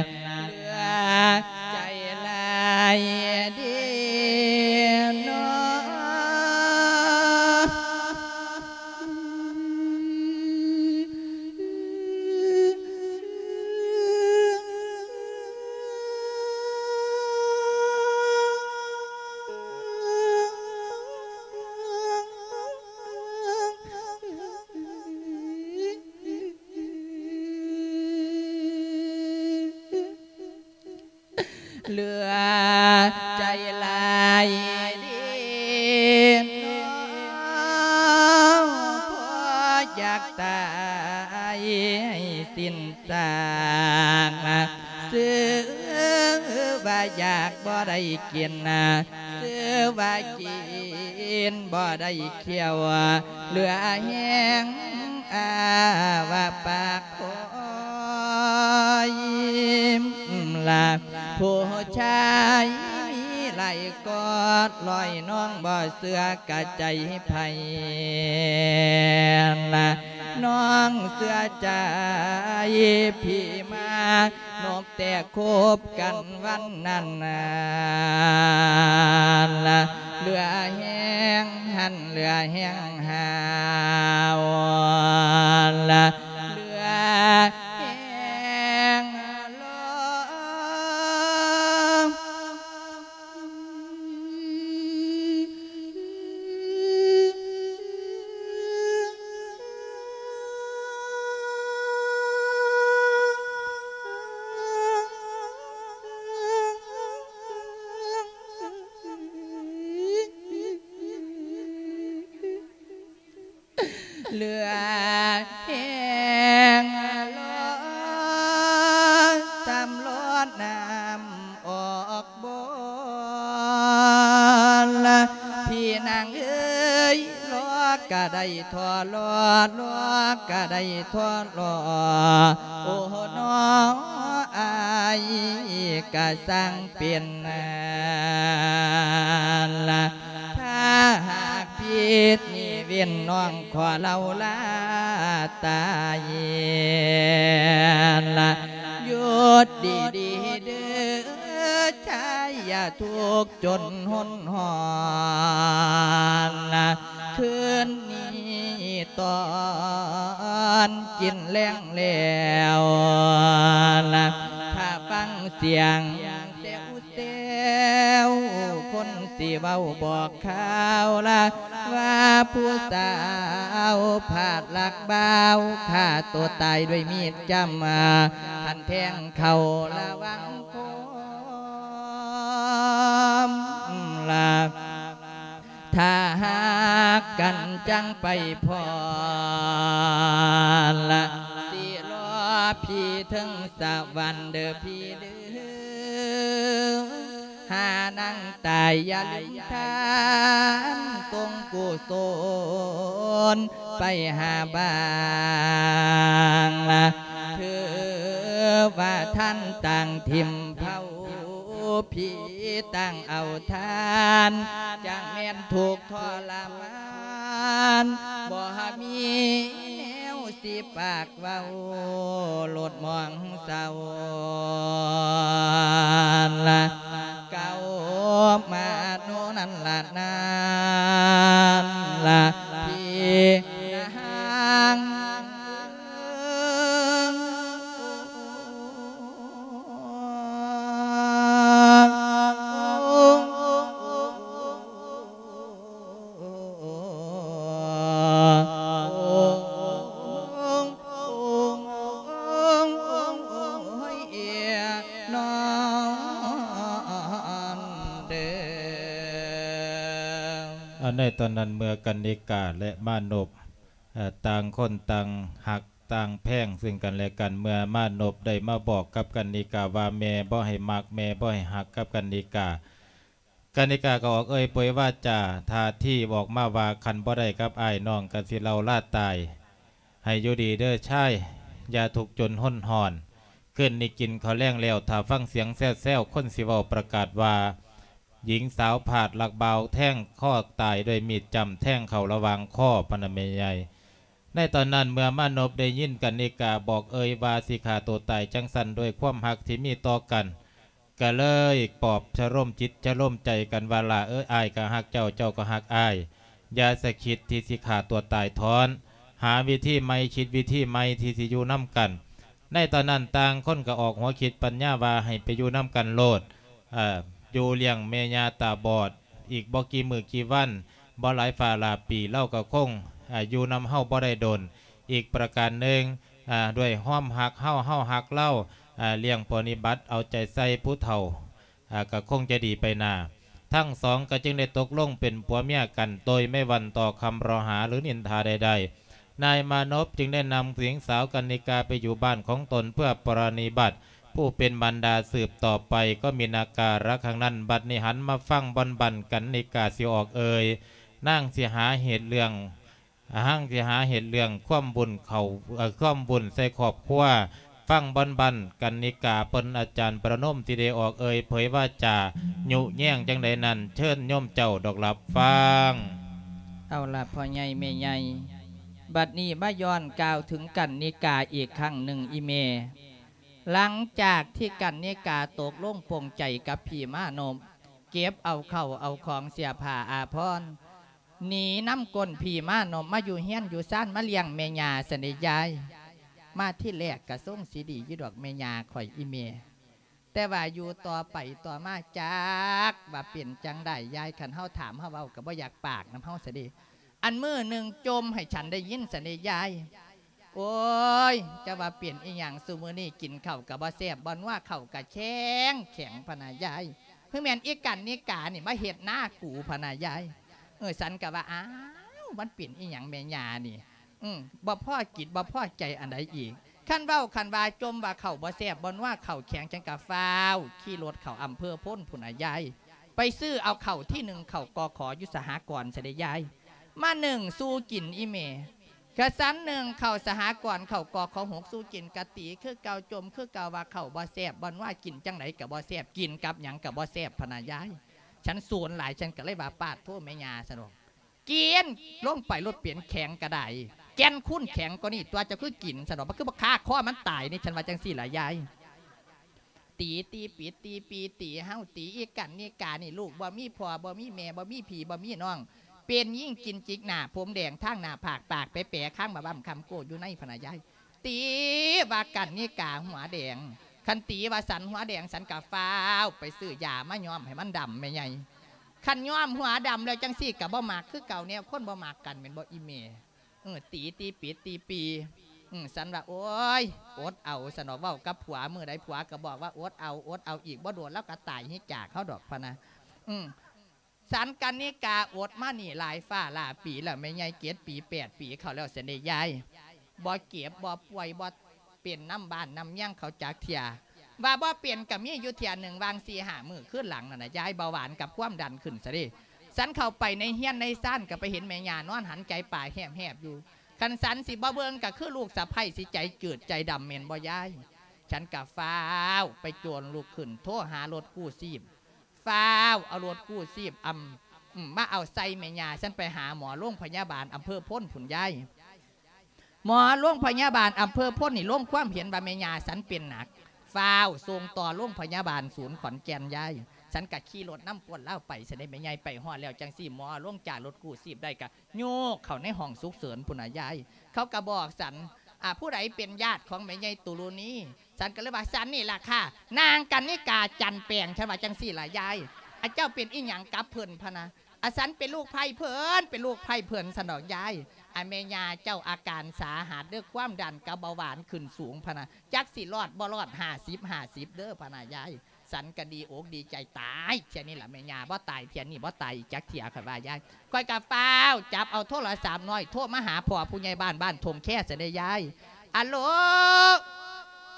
ເຫຼືອໃຈຫຼາຍເດເນາະ. ເຫຼືອໃຈຫຼາຍເດເນາະ ພໍຢາກຕາຍໃຫ້ສິ້ນຊາກ ຊື່ວ່າຢາກບໍ່ໄດ້ກິນ ຊື່ວ່າກິນບໍ່ໄດ້ ຂ້ຽວ ເຫຼືອແຮງອາວະປາກຄອຍ ລະ ຜູ້ຊາຍມີຫຼາຍກອດລອຍ ນ້ອງບໍ່ເຊື່ອກະໃຈໃຜ ລະ ນ້ອງເຊື່ອໃຈພີ່ມາ ນົບແຕ່ຄົບກັນວັນນັ້ນນານລະ ເຫຼືອແຮງຫັນເຫຼືອແຮງຫາວລະ ເຫຼືອແຮງຫຼອງ ເຫຼືອແຮງລໍ ສຳຫຼອດນ້ຳອອກບໍ່ລະ ພີ່ນາງເອີຍ ລໍກະໄດ້ທໍລໍ ລໍກະໄດ້ທໍລໍ ໂອ້ໜໍ ອາຍກະຊ່າງເປັນນານລະ ຖ້າຫາກຜິດນີ້ເວັ້ນ ນ້ອງຂໍເລົ່າລາຕາຍລະ ຢຸດດີໆເດີ ຊາຍຢ່າທຸກຈົນຫົນຫອນລະ ຄືນນີ້ຕອນກິນແລງແລ້ວລະ ຖ້າຟັງສຽງແຊວ ແຊວ ຄົນຊິເວົ້າບອກຂ່າວລະ ວ່າຜູ້ສາວພາດລັກບ່າວ ຂ້າໂຕຕາຍດ້ວຍມີດຈ້ຳ ຄັນແທງເຂົ້າລະວັງຄວາມລະ ຖ້າຮັກກັນຈັ່ງໄປພ້ອມລະ ຊິລໍພີ່ເທິງສະຫວັນເດີພີ່ເດີ ຫານາງຕາຍຢ່າລືມທານ ສົ່ງກຸສົນໄປຫາບາງລະ ຖືວ່າທ່ານຕ່າງຖິ້ມເຜົາ ຜີຕ່າງເອົາທ່ານ ຈັ່ງແມ່ນທຸກທໍລະມານ ບໍ່ມີແນວຊິປາກເວົ້າ ໂລດມອງເສົ້າລະ ເກົ່າມາໂນນັ້ນລະ ນັ້ນລະ ພີ່ນາງ ໃນຕອນນັ້ນເມື່ອກັນນິກາ ແລະ ມານົບ ຕ່າງຄົນຕ່າງຮັກ ຕ່າງແພງເຊິ່ງກັນແລະກັນ ເມື່ອມານົບໄດ້ມາບອກກັບກັນນິກາວ່າ ແມ່ບໍ່ໃຫ້ມັກ ແມ່ບໍ່ໃຫ້ຮັກກັບກັນນິກາ ກັນນິກາກໍອອກເອີ່ຍປ່ອຍວາຈາ ທ່າທີບອອກມາວ່າ ຄັນບໍ່ໄດ້ກັບອ້າຍ ນ້ອງກໍຊິເລົ່າລາຕາຍ ໃຫ້ຢູ່ດີເດີຊາຍ ຢ່າທຸກຈົນຫົນຫອນ ຄືນນີ້ກິນເຂົ້າແລງແລ້ວ ຖ້າຟັງສຽງແຊວໆ ຄົນຊິເວົ້າປະກາດວ່າ ຍິງສາວພາດລັກບ່າວແທງຄໍຕາຍດ້ວຍມີດຈ້ຳແທງເຂົ້າລະຫວ່າງຄໍ ພະນະແມ່ໃຫຍ່. ໃນຕອນນັ້ນເມື່ອມານົບໄດ້ຍິນກັນນິກາບອກເອີ່ຍວ່າຊິຂ້າໂຕຕາຍຈັ່ງຊັ້ນ ດ້ວຍຄວາມຮັກທີ່ມີຕໍ່ກັນ ກະເລີຍປອບຊະໂລມຈິດຊະໂລມໃຈກັນວ່າ ຫຼ້າເອີຍ ອ້າຍກະຮັກເຈົ້າ ເຈົ້າກະຮັກອ້າຍ ຢ່າສະຄິດທີ່ຊິຂ້າຕົວຕາຍທ້ອນ ຫາວິທີໃໝ່ ຄິດວິທີໃໝ່ທີ່ຊິຢູ່ນຳກັນ. ໃນຕອນນັ້ນຕ່າງຄົນກະອອກຫົວຄິດປັນຍາວ່າໃຫ້ໄປຢູ່ນຳກັນໂລດ ເອີ ຢູ່ລ້ຽງແມ່ຍ່າຕາບອດ ອີກບໍ່ກີ່ມື້ກີ່ວັນ ບໍ່ຫຼາຍຟ້າຫຼາຍປີ ລາວກະຄົງ ເອີ ຢູ່ນຳເຮົາບໍ່ໄດ້ດົນ. ອີກປະການໜຶ່ງ ອາ ດ້ວຍຄວາມຮັກເຮົາ ເຮົາຮັກລາວ ອາ ລ້ຽງປະນິບັດເອົາໃຈໃສ່ຜູ້ເຖົ້າ ອາ ກະຄົງຈະດີໄປໜ້າ. ທັງສອງກະຈຶ່ງໄດ້ຕົກລົງເປັນຜົວເມຍກັນ ໂດຍໄມ່ຫວັ່ນຕໍ່ຄຳເລາະຫາ ຫຼື ນິນທາໃດໆ. ນາຍມານົບຈຶ່ງໄດ້ນຳຍິງສາວກັນນິກາໄປຢູ່ບ້ານຂອງຕົນເພື່ອປະນິບັດຜູ້ເປັນບັນດາສືບຕໍ່ໄປ ກໍມີນາກາລະຄັ້ງນັ້ນ. ບັດນີ້ຫັນມາຟັງບ່ອນບັ້ນກັນນິກາຊິອອກເອີ່ຍ ນາງຊິຫາເຮັດເລື່ອງ ນາງຊິຫາເຮັດເລື່ອງຄວາມວຸ່ນເຂົ້າ ເອີ ຄວາມວຸ່ນໃສ່ຄອບຄົວ. ຟັງບ່ອນບັ້ນກັນນິກາ ເພິ່ນອາຈານປະນົມທີ່ໄດ້ອອກເອີ່ຍເຜີຍວາຈາຍຸແຍງຈັ່ງໃດນັ້ນ ເຊີນໂຍມເຈົ້າດອກລັບຟັງ. ເອົາລະ ພໍ່ໃຫຍ່ແມ່ໃຫຍ່ ບັດນີ້ມາຍ້ອນກ່າວເຖິງກັນນິກາອີກຄັ້ງໜຶ່ງ ອີ່ແມ່. ຫຼັງຈາກທີ່ກັນນິກາຕົກລົງປົງໃຈກັບພີ່ມານົບ ເກັບເອົາເຂົ້າເອົາຂອງເສື້ອຜ້າອາພອນ ໜີນຳກົ້ນພີ່ມານົບມາຢູ່ເຮືອນຢູ່ຊານ ມາລ້ຽງແມ່ຍ່າຊັ້ນເດຍາຍ. ມາທີແລກກະຊົງຊິດີຢູ່ດອກແມ່ຍ່າຂ້ອຍ ອີ່ແມ່ ແຕ່ວ່າຢູ່ຕໍ່ໄປຕໍ່ມາຈັກວ່າເປັນຈັ່ງໃດຍາຍ ຄັນເຮົາຖາມເຮົາເວົ້າກະບໍ່ຢາກປາກນຳເຮົາຊັ້ນເດ. ອັນມື້ໜຶ່ງຈົ່ມໃຫ້ສັນໄດ້ຍິນຊັ້ນເດຍາຍ. ໂອ້ຍ ຈະວ່າເປັນອີ່ຫຍັງ ຊຸມື້ນີ້ກິນເຂົ້າກະບໍ່ແຊບບໍ່ນົວ ເຂົ້າກະແຂງແຂງພະນາຍາຍ. ຄືແມ່ນອີ່ກັນນິການີ້ມາເຮັດນາກູພະນາຍາຍ. ເອີ ສັນກະວ່າ ອ້າວ ມັນເປັນອີ່ຫຍັງແມ່ຍ່ານີ້ ອື ບໍ່ພໍກິດບໍ່ພໍໃຈອັນໃດອີກ. ຄັນເວົ້າຄັນວ່າຈົ່ມວ່າເຂົ້າບໍ່ແຊບບໍ່ນົວ ເຂົ້າແຂງ ສັນກະຟ້າວຂີ່ລົດເຂົ້າອຳເພີໂພນພຸ້ນນະຍາຍ ໄປຊື້ເອົາເຂົ້າທີ່ໜຶ້ງເຂົ້າ ກຂ ຢູ່ສະຫະກອນຊັ້ນເດຍາຍ ມາໜຶ້ງສູ່ກິນອີ່ແມ່. ກະສັນໜຶ້ງເຂົ້າສະຫະກອນ ເຂົ້າ ກຂ ຫົກສູ່ກິນ ກະຕີຄືເກົ່າ ຈົ່ມຄືເກົ່າ ວ່າເຂົ້າບໍ່ແຊບບໍ່ນົວ ກິນຈັ່ງໃດກະບໍ່ແຊບ ກິນກັບຫຍັງກະບໍ່ແຊບພະນາຍາຍ. ສັນສູນຫຼາຍ ສັນກະເລີຍວ່າ ປາດໂທ້ແມ່ຍ່າ ຊັ້ນດອກ ກິນລົງໄປໂລດ ເປັນແຂງກະໄດ ແກ່ນຄູນແຂງກວ່ານີ້ຕົວະ ເຈົ້າຄືກິນ ຊັ້ນດອກ ມັນຄືບໍ່ຄາຄໍມັນຕາຍນີ້ ສັນວ່າຈັ່ງຊີ້ລະຍາຍ. ຕີ ຕີປີ ຕີປີ ຕີເຮົາ ຕີອີ່ກັນນິການີ້ ລູກບໍ່ມີພໍ່ບໍ່ມີແມ່ ບໍ່ມີພີ່ບໍ່ມີນ້ອງ ເປັນຍິງກິນຈິກໜ້າ ຜົມແດງທາງໜ້າຜາກ ປາກແປໆ ຄາງບາບ້ຳຄຳໂກ້ຢູ່ໃນພະນາຍາຍ. ຕີວ່າກັນນິກາຫົວແດງ ຄັນຕີວ່າສັນຫົວແດງ ສັນກະຟ້າວໄປຊື້ຢາມາຍ້ອມໃຫ້ມັນດຳແມ່ໃຫຍ່. ຄັນຍ້ອມຫົວດຳແລ້ວຈັ່ງຊີ້ກະບໍ່ມັກຄືເກົ່າ ແນວຄົນບໍ່ມັກກັນແມ່ນບໍ່ອີ່ແມ່? ເອີ ຕີ ຕີປີ ຕີປີ ອື ສັນວ່າ ໂອ້ຍ ອົດເອົາ ສັນວ່າເວົ້າກັບຜົວ ມື້ໃດຜົວກະບອກວ່າ ອົດເອົາ ອົດເອົາ ອີກບໍ່ດົນລາວກະຕາຍເຮັດຈາກເຮົາດອກ ພະນະ ອື. ສັນກັນນິກາອົດມານີ້ຫຼາຍຟ້າຫຼາຍປີແລ້ວແມ່ໃຫຍ່ ເຈັດປີ ແປດປີເຂົ້າແລ້ວຊັ້ນເດຍາຍ ບໍ່ເຈັບບໍ່ປ່ວຍ ບໍ່ເປັນນຳບ້ານນຳເມືອງເຂົາຈັກເທື່ອ. ວ່າບໍ່ເປັນກະມີຢູ່ເທື່ອໜຶ່ງ ຫວ່າງສີ່ຫ້າມື້ຄືນຫຼັງນັ້ນນະຍາຍ ເບົາຫວານກັບຄວາມດັນຂຶ້ນຊະເດ. ສັນເຂົ້າໄປໃນເຮືອນໃນຊານ ກະໄປເຫັນແມ່ຍ່ານອນຫັນໃຈປາແຫບໆຢູ່. ຄັນສັນຊິບໍ່ເບິ່ງກະຄືລູກສະໃພ້ຊິໃຈຈືດໃຈດຳແມ່ນບໍ່ຍາຍ? ສັນກະຟ້າວໄປໂຈນລຸກຂຶ້ນ ໂທຫາລົດກູ້ຊີບ ຟ້າວເອົາລົດກູ້ຊີບ ອຳ ອື ມາເອົາໃສ່ແມ່ຍ່າ ສັນໄປຫາໝໍໂລງພະຍາບານອຳເພີໂພນພຸ້ນຍາຍ. ໝໍໂລງພະຍາບານອຳເພີໂພນນີ້ລົງຄວາມເຫັນວ່າແມ່ຍ່າສັນເປັນໜັກ ຟ້າວສົ່ງຕໍ່ໂລງພະຍາບານສູນຂອນແກ່ນຍາຍ. ສັນກະຂີ່ລົດນຳກວນລາວໄປຊັ້ນເດ ແມ່ໃຫຍ່. ໄປຮອດແລ້ວຈັ່ງຊີ້ ໝໍລົງຈາກລົດກູ້ຊີບໄດ້ກະໂຍກເຂົ້າໃນຫ້ອງສຸກເສີນພຸ້ນນະຍາຍ. ເຂົາກະບອກສັນ ອາ ຜູ້ໃດເປັນຍາດຂອງແມ່ໃຫຍ່ຕຸລຸນີ? ສັນກະເລີຍວ່າ ສັນນີ້ລະຄ່າ ນາງກັນນິກາ ຈັນແປງ ສັນວ່າຈັ່ງຊີ້ລະຍາຍ. ອາ ເຈົ້າເປັນອີ່ຫຍັງກັບເພິ່ນ ພະນະ? ອາ ສັນເປັນລູກໃພ້ເພິ່ນ ເປັນລູກໃພ້ເພິ່ນ ຊັ້ນດອກຍາຍ. ອາ ແມ່ຍ່າເຈົ້າອາການສາຫັດເດີ ຄວາມດັນກັບເບົາຫວານຂຶ້ນສູງ ພະນະ ຈັກຊິລອດບໍ່ລອດ ຫ້າສິບ ຫ້າສິບເດີ ພະນະຍາຍ. ສັນກະດີອົກດີໃຈ ຕາຍເທື່ອນີ້ລະແມ່ຍ່າ ບໍ່ຕາຍເທື່ອນີ້ ບໍ່ຕາຍອີກຈັກເທື່ອ ຂ້ອຍວ່າຍາຍ. ຂ້ອຍກະຟ້າວຈັບເອົາໂທລະສັບນ້ອຍ ໂທມາຫາພໍ່ຜູ້ໃຫຍ່ບ້ານ ບ້ານທົ່ງແຄຊັ້ນເດຍາຍ. ອາໂລ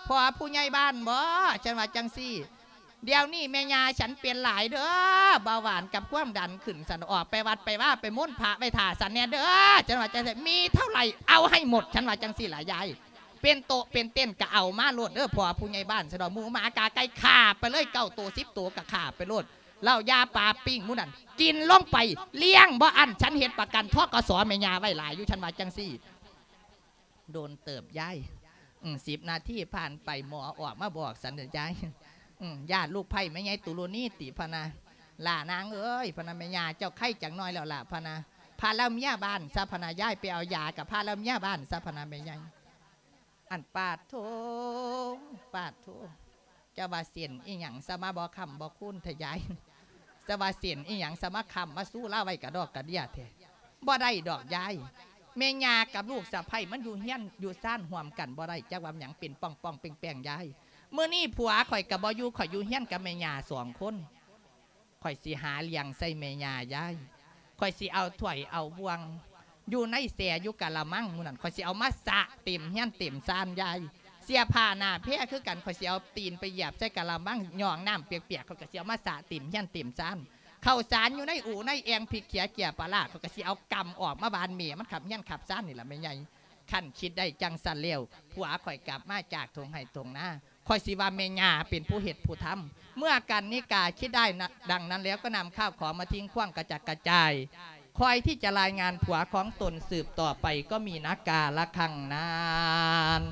ພໍ່ຜູ້ໃຫຍ່ບ້ານບໍ? ສັນວ່າຈັ່ງຊີ້ ດຽວນີ້ແມ່ຍ່າສັນເປັນຫຼາຍເດີ ເບົາຫວານກັບຄວາມດັນຂຶ້ນ ສັນອອກໄປວັດໄປວາ ໄປມົນພະໄວ້ຖ້າສັນແດ່ເດີ ສັນວ່າຈັ່ງຊີ້. ມີເທົ່າໃດເອົາໃຫ້ໝົດ ສັນວ່າຈັ່ງຊີ້ລະຍາຍ. ເປັນໂຕະເປັນເຕັນກໍເອົາມາໂລດເດີ ພໍ່ຜູ້ໃຫຍ່ບ້ານ ຊະດອກ ໝູໝາກາໄກ່ຂ້າໄປເລີຍ ເກົ້າໂຕສິບໂຕກໍຂ້າໄປໂລດ ເຫຼົ້າຢາປາປີ້ງໝູນັ້ນກິນລົງໄປ ລ້ຽງບໍ່ອັ້ນ ສັນເຮັດປະກັນ ທກສ ແມ່ຍ່າໄວ້ຫຼາຍຢູ່ ສັນວ່າຈັ່ງຊີ້. ໂດນເຕີບຍາຍ ອືມ ສິບນາທີຜ່ານໄປ ໝໍອອກມາບອກສັນເດີຍາຍ ອືມ ຢ້ານລູກໃພ້ແມ່ໃຫຍ່ຕຸລຸນີຕິ ພະນະ. ຫຼ້ານາງເອີຍ ພະນະ ແມ່ຍ່າເຈົ້າໄຄຈັກໜ້ອຍແລ້ວລະ ພະນະ ພາລາເມຍບ້ານຊະ ພະນະ ຍ້າຍໄປເອົາຢາກັບພາລາເມຍບ້ານຊະ ພະນະ ແມ່ໃຫຍ່. ອັນປາດໂທ ປາດໂທ ເຈົ້າວ່າເສັ້ນອີ່ຫຍັງ ສະມາບໍ່ຄ້ຳບໍ່ຄູນແທ້ຍາຍ ສະວ່າເສັ້ນອີ່ຫຍັງ ສະມາຄ້ຳມາຊູລາໄວ້ກະດອກກະເດຍແທ້. ບໍ່ໄດ້ດອກຍາຍ ແມ່ຍ່າກັບລູກສະໃພ້ມັນຢູ່ເຮືອນຢູ່ຊານຮ່ວມກັນບໍ່ໄດ້ ຈັກວ່າຫຍັງເປັນປ່ອງໆແປ້ງໆຍາຍ. ມື້ນີ້ຜົວຂ້ອຍກະບໍ່ຢູ່ ຂ້ອຍຢູ່ເຮືອນກັບແມ່ຍ່າສອງຄົນ. ຂ້ອຍຊິຫາລ້ຽງໃສ່ແມ່ຍ່າຍາຍ ຂ້ອຍຊິເອົາຖ້ວຍເອົາບ່ວງ ຢູ່ໃນແຊ່ຢູ່ກະລະມັງໝູນັ້ນ ຂ້ອຍຊິເອົາມາສະເຕັມເຮືອນເຕັມຊານຍາຍ. ເສື້ອຜ້າໜ້າແພຄືກັນ ຂ້ອຍຊິເອົາຕີນໄປຢຽບໃສ່ກະລະມັງ ຍ່ອງນ້ຳປຽກໆ ຂ້ອຍກໍຊິເອົາມາສະເຕັມເຮືອນເຕັມຊານ. ເຂົ້າສານຢູ່ໃນອູໃນແອ່ງ ພິກເຂຍເຈ້ຍປາລ້າ ຂ້ອຍກໍຊິເອົາກຳອອກມາຫວ່ານ ແມ່ມັນຂັບເຮືອນຂັບຊານນີ້ລະແມ່ໃຫຍ່. ຄັນຄິດໄດ້ຈັ່ງຊັ້ນແລ້ວ ຜົວຂ້ອຍກັບມາຈາກທົ່ງໄຮ່ທົ່ງນາ ຂ້ອຍຊິວ່າແມ່ຍ່າເປັນຜູ້ເຮັດຜູ້ທຳ. ເມື່ອກັນນິກາຄິດໄດ້ນະ ດັ່ງນັ້ນแล้วก็นำข้าวของมาทิ้งขว้างกระจัดกระจาย คอยที่จะรายงานผัวของตนสืบต่อไปก็มีนะกาละครั้งนั้น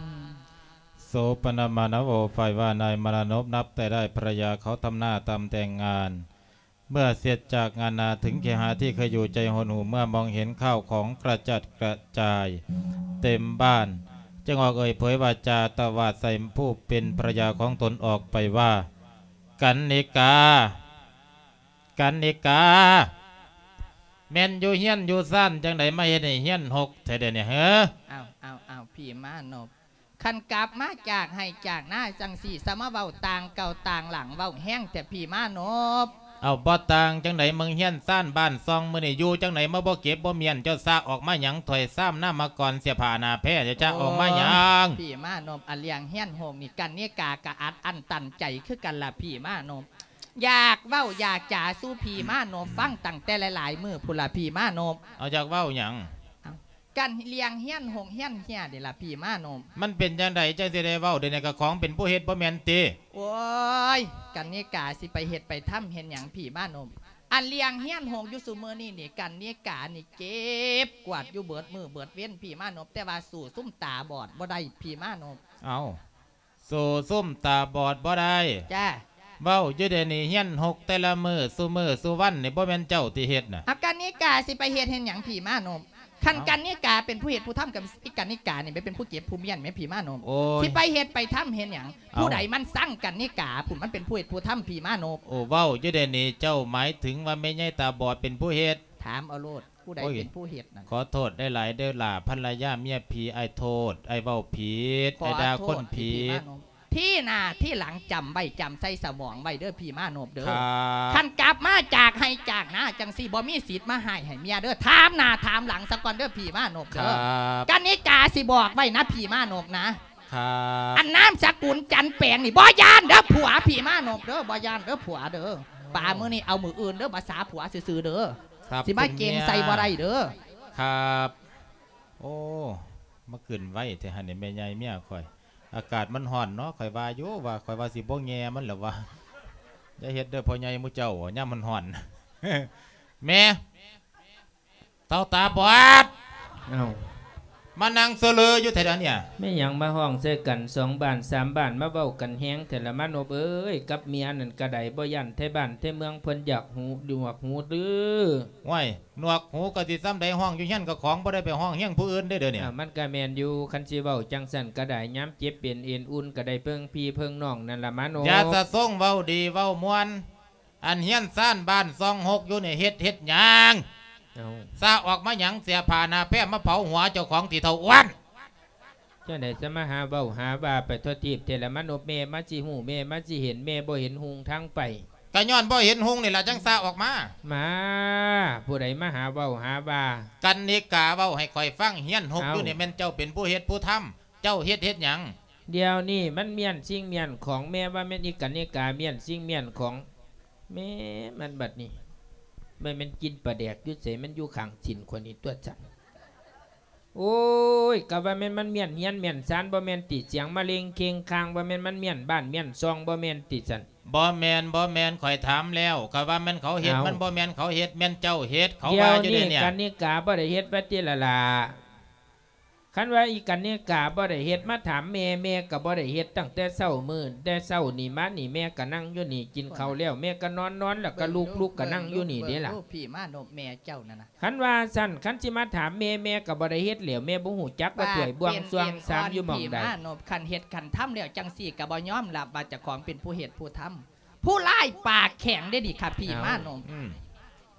โสปนมานโว ฝ่ายว่านายมานพนับแต่ได้ภรรยาเขาทำหน้าทำแต่งงาน เมื่อเสร็จจากงานนาถึงเคหะที่เคยอยู่ใจหดหู่ เมื่อมองเห็นข้าวของกระจัดกระจายเต็มบ้าน จึงออกเอ่ยเผยวาจาตวาดใส่ผู้เป็นภรรยาของตนออกไปว่า กันนิกา กันนิกา แม่นอยู่เฮือนอยู่ซานจั่งใดมาเฮ็ดให้เฮือนฮกแท้เดี๋ยวนี้เฮ้อ ອ້າວ ອ້າວ ອ້າວ ພີ່ມານົບ ຄັນກັບມາຈາກໄຮ່ຈາກນາຈັ່ງຊີ້ ສະມາເວົ້າຕ່າງເກົ່າຕ່າງຫຼັງ ເວົ້າແຮງແທ້ພີ່ມານົບ. ເອົ້າ ບໍ່ຕ່າງຈັ່ງໃດ ເບິ່ງເຮືອນຊານບ້ານຊ່ອງ ມື້ນີ້ຢູ່ຈັ່ງໃດ ມາບໍ່ເກັບບໍ່ມ້ຽນ ເຈົ້າຊະອອກມາຫຍັງ ຖ້ວຍຊາມ ນ້ຳມະກອນ ເສື້ອຜ້າໜ້າແພ ເຈົ້າຈະອອກມາຫຍັງ? ໂອ້ຍ ພີ່ມານົບ ອາ ເລື່ອງເຮືອນໂຮງນີ້ ກັນນິກາກະອັດອັ້ນຕັນໃຈຄືກັນລະພີ່ມານົບ. ຢາກເວົ້າຢາກຈາສູ່ພີ່ມານົບຟັງຕັ້ງແຕ່ຫຼາຍໆມື້ພຸ້ນລະພີ່ມານົບ. ເອົາ ຢາກເວົ້າຫຍັງ? ເອົ້າ ກັນເລື່ອງເຮືອນຫົກເຮືອນເຮຍນີ້ລະພີ່ມານົບ. ມັນເປັນຈັ່ງໃດຈັ່ງຊິໄດ້ເວົ້າ ດຽວນີ້ກະຂອງເປັນຜູ້ເຮັດບໍ່ແມ່ນຕິ? ໂອ້ຍ ກັນນິກາຊິໄປເຮັດໄປທຳເຮັດຫຍັງພີ່ມານົບ. ອັນເລື່ອງເຮືອນຫົກຢູ່ຊຸມື້ນີ້ນີ້ ກັນນິການີ້ເກັບກວາດຢູ່ເບິດມື້ເບິດເວັນພີ່ມານົບ ແຕ່ວ່າສູ້ຊຸມຕາບອດບໍ່ໄດ້ພີ່ມານົບ. ເອົ້າ ສູ້ຊຸມຕາບອດບໍ່ໄດ້. ຈ້າ ເວົ້າຢູ່ເດນີ້ ເຮືອນຮົກແຕ່ລະມື້ ຊຸມື້ຊຸວັນນີ້ ບໍ່ແມ່ນເຈົ້າຕິເຮັດນະ? ອາ ກັນນິກາຊິໄປເຮັດເຮັດຫຍັງພີ່ມານົບ? ຄັນ ເອົ້າ ກັນນິກາເປັນຜູ້ເຮັດຜູ້ທຳ ກັບອີກັນນິການີ້ແມ່ນເປັນຜູ້ເກັບຜູ້ມ້ຽນແມ່ພີ່ມານົບ. ໂອ້ຍ ຊິໄປເຮັດໄປທຳເຮັດຫຍັງ? ເອົ້າ ຜູ້ໃດມັນຊັງກັນນິກາພຸ້ນ ມັນເປັນຜູ້ເຮັດຜູ້ທຳພີ່ມານົບ. ໂອ້ ເວົ້າຢູ່ເດນີ້ ເຈົ້າໝາຍເຖິງວ່າແມ່ໃຫຍ່ຕາບອດເປັນຜູ້ເຮັດ? ຖາມເອົາໂລດ. ຜູ້ໃດ ໂອ້ຍ ເປັນຜູ້ເຮັດນັ້ນ? ຂໍໂທດຫຼາຍໆເດີຫຼ້າ ພັນລະຍາເມຍຜີ ອ້າຍໂທດ ອ້າຍເວົ້າຜິດ ອ້າຍດ່າຄົນຜິດ. ທີ່ໜ້າທີ່ຫຼັງຈຳໄວ້ ຈຳໃສ່ສະໝອງໄວ້ເດີພີ່ມານົບເດີ. ຄັນກັບມາຈາກໄຮ່ຈາກນາຈັ່ງຊີ້ ບໍ່ມີສິດມາຮ້າຍໃຫ້ເມຍເດີ. ຖາມໜ້າຖາມຫຼັງສາກ່ອນເດີພີ່ມານົບເດີ. ກັນນິກາຊິບອກໄວ້ນະພີ່ມານົບນະ. ອັນນາມສະກຸນຈັນແປງນີ້ ບໍ່ຢ້ານເດີຜົວພີ່ມານົບເດີ ບໍ່ຢ້ານເດີຜົວເດີ. ປາມື້ນີ້ເອົາມື້ອື່ນເດີ ພາສາຜົວຊື່ໆເດີ. ຊິມາເກັ່ງໃສ່ບໍ່ໄດ້ເດີ. ຄັບ ໂອ້ ມາຂຶ້ນໄວແທ້ຫັ້ນນີ້ ແມ່ໃຫຍ່ເມຍຂ້ອຍ. ອາກາດມັນຮ້ອນເນາະ ຂ້ອຍວ່າຢູ່ວ່າ ຂ້ອຍວ່າຊິບໍ່ແຍ່ມັນແລ້ວວ່າ. ຢ່າເຮັດເດີພໍ່ໃຫຍ່ໝູ່ເຈົ້າ ຍາມມັນຮ້ອນ. ແມ່ ເຖົ້າຕາບອດ ເອົ້າ ມານັ່ງເຊີເລີຢູ່ແທ້ດຽວນີ້. ແມ່ນຫຍັງມາຮ້ອງໃສ່ກັນສອງບ້ານສາມບ້ານ ມາເວົ້າກັນແຮງແທ້ລະມານົບເອີຍ. ກັບເມຍນັ້ນກະໄດ້ ບໍ່ຢ້ານໄທບ້ານໄທເມືອງເພິ່ນຢາກຫູ ໜວກຫູຫຼື? ໂອ້ຍ ໜວກຫູກະຊິສ່ຳໃດ ຮ້ອງຢູ່ເຮືອນເຈົ້າຂອງ ບໍ່ໄດ້ໄປຮ້ອງຮຽງຜູ້ອື່ນເດ້ດຽວນີ້. ມັນກະແມ່ນຢູ່ ຄັນຊິເວົ້າຈັ່ງຊັ້ນກະໄດ້ ຍາມເຈັບເປັນເອັນອຸ່ນກະໄດ້ເພິ່ງພີ່ເພິ່ງນ້ອງນັ້ນລະມານົບ. ຢ່າສະສົງ ເວົ້າດີເວົ້າມ່ວນ. ອັນເຮືອນຊານບ້ານຊ່ອງຫົກຢູ່ນີ້ເຮັດ ເຮັດຫຍັງ? ເອົ້າ ຊະອອກມາຫຍັງ? ເສື້ອຜ້າໜ້າແພມາເຜົາຫົວເຈົ້າຂອງຕິເຖົ້າອ້ວນ. ຈັ່ງໃດຈະມາຫາເວົ້າຫາວ່າໄປທົ່ວທີບແທ້ລະມານົບ? ແມ່ມາຊິຮູ້ ແມ່ມາຊິເຫັນ ແມ່ບໍ່ເຫັນຮຸ່ງທາງໄປ. ກະຍ້ອນບໍ່ເຫັນຮຸ່ງນີ້ລະ ຈັ່ງຊະອອກມາ. ມາ ຜູ້ໃດມາຫາເວົ້າຫາວ່າ? ກັນນິກາເວົ້າໃຫ້ຂ້ອຍຟັງ ເຮືອນຫົກຢູ່ນີ້ແມ່ນເຈົ້າເປັນຜູ້ເຮັດຜູ້ທຳ. ເຈົ້າເຮັດ ເຮັດຫຍັງ? ດຽວນີ້ມັນມ້ຽນສິ່ງມ້ຽນຂອງ ແມ່ວ່າແມ່ນອີກັນນິກາມ້ຽນສິ່ງມ້ຽນຂອງ ແມ່ມັນບັດນີ້ ແມ່ແມ່ນກິນປາແດກຢູ່ໃສ? ມັນຢູ່ຂ້າງຕີນຂ້ອຍນີ້ຕົວະຊັ້ນ. ໂອ້ຍ ກະວ່າແມ່ນມັນມ້ຽນເຮືອນມ້ຽນຊານບໍ່ແມ່ນຕິ ສຽງມະເລັງເຄັງຄາງ ບໍ່ແມ່ນມັນມ້ຽນບ້ານມ້ຽນຊ່ອງບໍ່ແມ່ນຕິຊັ້ນ. ບໍ່ແມ່ນ ບໍ່ແມ່ນ ຂ້ອຍຖາມແລ້ວ ກະວ່າແມ່ນເຂົາເຮັດ ເອົ້າ ມັນບໍ່ແມ່ນເຂົາເຮັດ ແມ່ນເຈົ້າເຮັດ ເຂົາວ່າຢູ່ເດນີ້. ດຽວນີ້ກະນິກາບໍ່ໄດ້ເຮັດວ່າຕິລະລະ. ຄັນວ່າອີກະນິກາບໍ່ໄດ້ເຮັດ ມາຖາມແມ່ ແມ່ກະບໍ່ໄດ້ເຮັດ ຕັ້ງແຕ່ເຊົ້າມື້ ແຕ່ເຊົ້ານີ້ມານີ້ ແມ່ກະນັ່ງຢູ່ນີ້ ກິນເຂົ້າແລ້ວ ແມ່ກະນອນ ນອນແລ້ວກະລຸກ ລຸກກະນັ່ງຢູ່ນີ້ເດ້ລະ. ເບິ່ງລູກ ເບິ່ງລູກ ພີ່ມາໂນບ ແມ່ເຈົ້ານັ້ນນະ. ຄັນວ່າຊັ້ນ ຄັນຊິມາຖາມແມ່ ແມ່ກະບໍ່ໄດ້ເຮັດແລ້ວ ແມ່ບໍ່ຮູ້ຈັກວ່າຖ້ວຍບ່ວງຊ່ວງຊາມຢູ່ໝ່ອງໃດ. ປາກເປັນເອັນອ່ອນ ພີ່ມາໂນບ ຄັນເຮັດຄັນທຳແລ້ວຈັ່ງຊີ້ກະບໍ່ຍອມຮັບວ່າເຈົ້າຂອງເປັນຜູ້ເຮັດຜູ້ທຳ. ຜູ້ຮ້າຍປາກແຂງເດ້ນີ້ ຂ້າພີ່ມາໂນບ.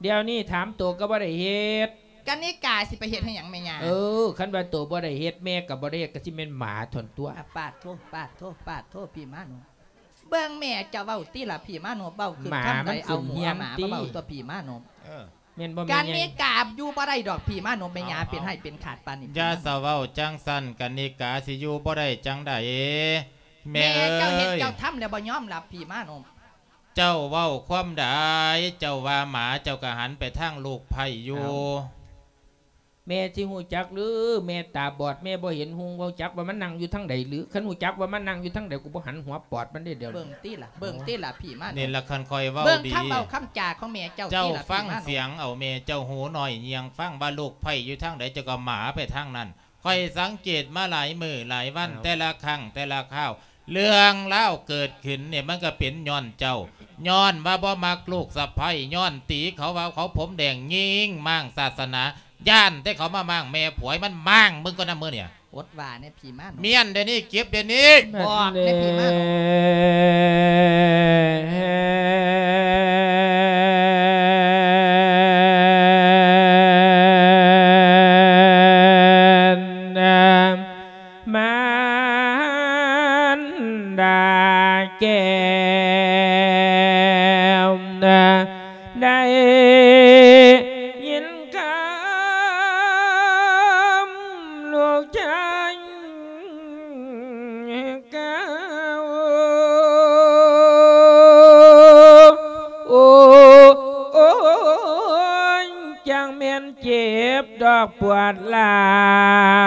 ເອົ້າ ອືມ ດຽວນີ້ຖາມໂຕກໍບໍ່ໄດ້ເຮັດ ກະນິກາຊິໄປເຮັດໃຫ້ຫຍັງແມ່ຍ່າ? ເອີ ຄັນວ່າໂຕບໍ່ໄດ້ເຮັດ ແມ່ກໍບໍ່ໄດ້ເຮັດ ກໍຊິແມ່ນໝາທົ່ນຕົວະ. ອາ ປາດໂທ ປາດໂທ ປາດໂທ ພີ່ມາໂນບ. ເບິ່ງແມ່ເຈົ້າເວົ້າຕິລະ ພີ່ມາໂນບ ເວົ້າຄືຄຳໃດ ເອົາໝູເອົາໝາມາເວົ້າຕົວະ ພີ່ມາໂນບ. ເອີ ແມ່ນບໍ່ແມ່ ກະນິກາຢູ່ບໍ່ໄດ້ດອກ ພີ່ມາໂນບ ແມ່ຍ່າເປັນໃຫ້ເປັນຂາດປານນີ້. ຢ່າສະເວົ້າຈັ່ງຊັ້ນ ກະນິກາຊິຢູ່ບໍ່ໄດ້ຈັ່ງໃດ ແມ່ເອີຍ. ແມ່ເຈົ້າເຮັດເຈົ້າທຳແລ້ວບໍ່ຍອມຮັບ ພີ່ມາໂນບ. ເຈົ້າເວົ້າຄວາມໃດ? ເຈົ້າວ່າໝາ ເຈົ້າກະຫັນໄປທາງລູກໃພ້ຢູ່. ເອົ້າ ແມ່ຊິຮູ້ຈັກຫຼື? ແມ່ຕາບອດ ແມ່ບໍ່ເຫັນຮຸ່ງ ຮູ້ຈັກວ່າມັນນັ່ງຢູ່ທາງໃດຫຼື? ຄັນຮູ້ຈັກວ່າມັນນັ່ງຢູ່ທາງໃດ ກູບໍ່ຫັນຫົວປອດມັນເດ້ດຽວ. ເບິ່ງຕິລະ ເບິ່ງຕິລະ ພີ່ມາໂນບ. ນີ້ລະ ຄັນຂ້ອຍເວົ້າດີ ເບິ່ງຄຳເວົ້າຄຳຈາຂອງແມ່ເຈົ້າຕິລະ ພີ່ມາໂນບ. ເຈົ້າຟັງສຽງເອົາແມ່ເຈົ້າ ຫູໜ້ອຍຍ່ຽງຟັງວ່າລູກໃພ້ຢູ່ທາງໃດ ເຈົ້າກໍໝາໄປທາງນັ້ນ. ຂ້ອຍສັງເກດມາຫຼາຍມື້ຫຼາຍວັນ ເອົ້າ ແຕ່ລະຄັ້ງແຕ່ລະຄາວ ເລື່ອງລາວເກີດຂຶ້ນນີ້ ມັນກໍເປັນຍ້ອນເຈົ້າ ຍ້ອນວ່າບໍ່ມັກລູກສະໃພ້ ຍ້ອນຕີເຂົາວ່າເຂົາຜົມແດງ ຍິງມ້າງສາສະໜາ ຢ້ານແຕ່ເຂົາມາມ້າງແມ່ຜົວ ມັນມ້າງເບິ່ງກ່ອນນະມື້ນີ້. ອົດວ່າແນ່ ພີ່ມາໂນບ. ມ້ຽນດຽວນີ້ ເກັບດຽວນີ້ ບອກແນ່ ພີ່ມາໂນບ. ມານດາແກ້ວ ໄດ້ຍິນຄຳລູກຊາຍກ່າວ ໂອ້ຍ ຈັ່ງແມ່ນເຈັບດອກປວດຮ້າ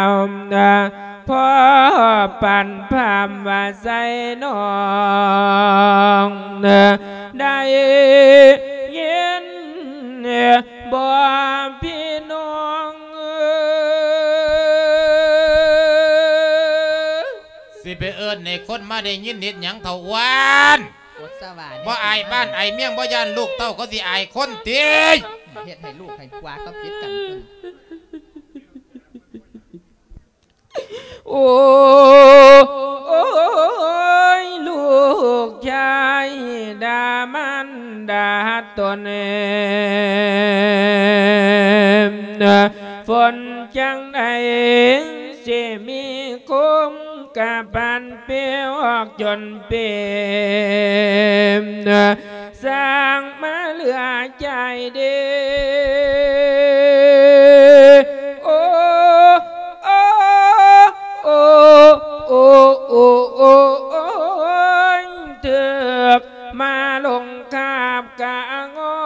ວ ພໍປານພາມວ່າໃສ່ນ້ອງ ໄດ້ຍິນບໍ່ພີ່ນ້ອງເອີຍ? ຊິໄປເອີ້ນໃຫ້ຄົນມາໄດ້ຍິນເຮັດຫຍັງເຖົ້າອ້ວນ? ອົດສະຫວາແນ່ ບໍ່ອາຍບ້ານອາຍເມືອງ ບໍ່ຢ້ານລູກເຕົ້າເຂົາຊິອາຍຄົນຕິ? ເຮັດໃຫ້ລູກໃຫ້ຜົວເຂົາຜິດກັນພຸ້ນ. ໂອ້ຍ ລູກຊາຍດ່າມານດາຕົນ ຝົນຈັ່ງໃດຊິມີຄົມ ກະປານເປອອກຈົນເປັນ ສ້າງມາເຫຼືອໃຈເດ້ ໂອ້ ໂອ້ ໂອ້ ໂອ້ ໂອ້ ໂອ້ຍ ຖືກມາລົງຄາບກະງອ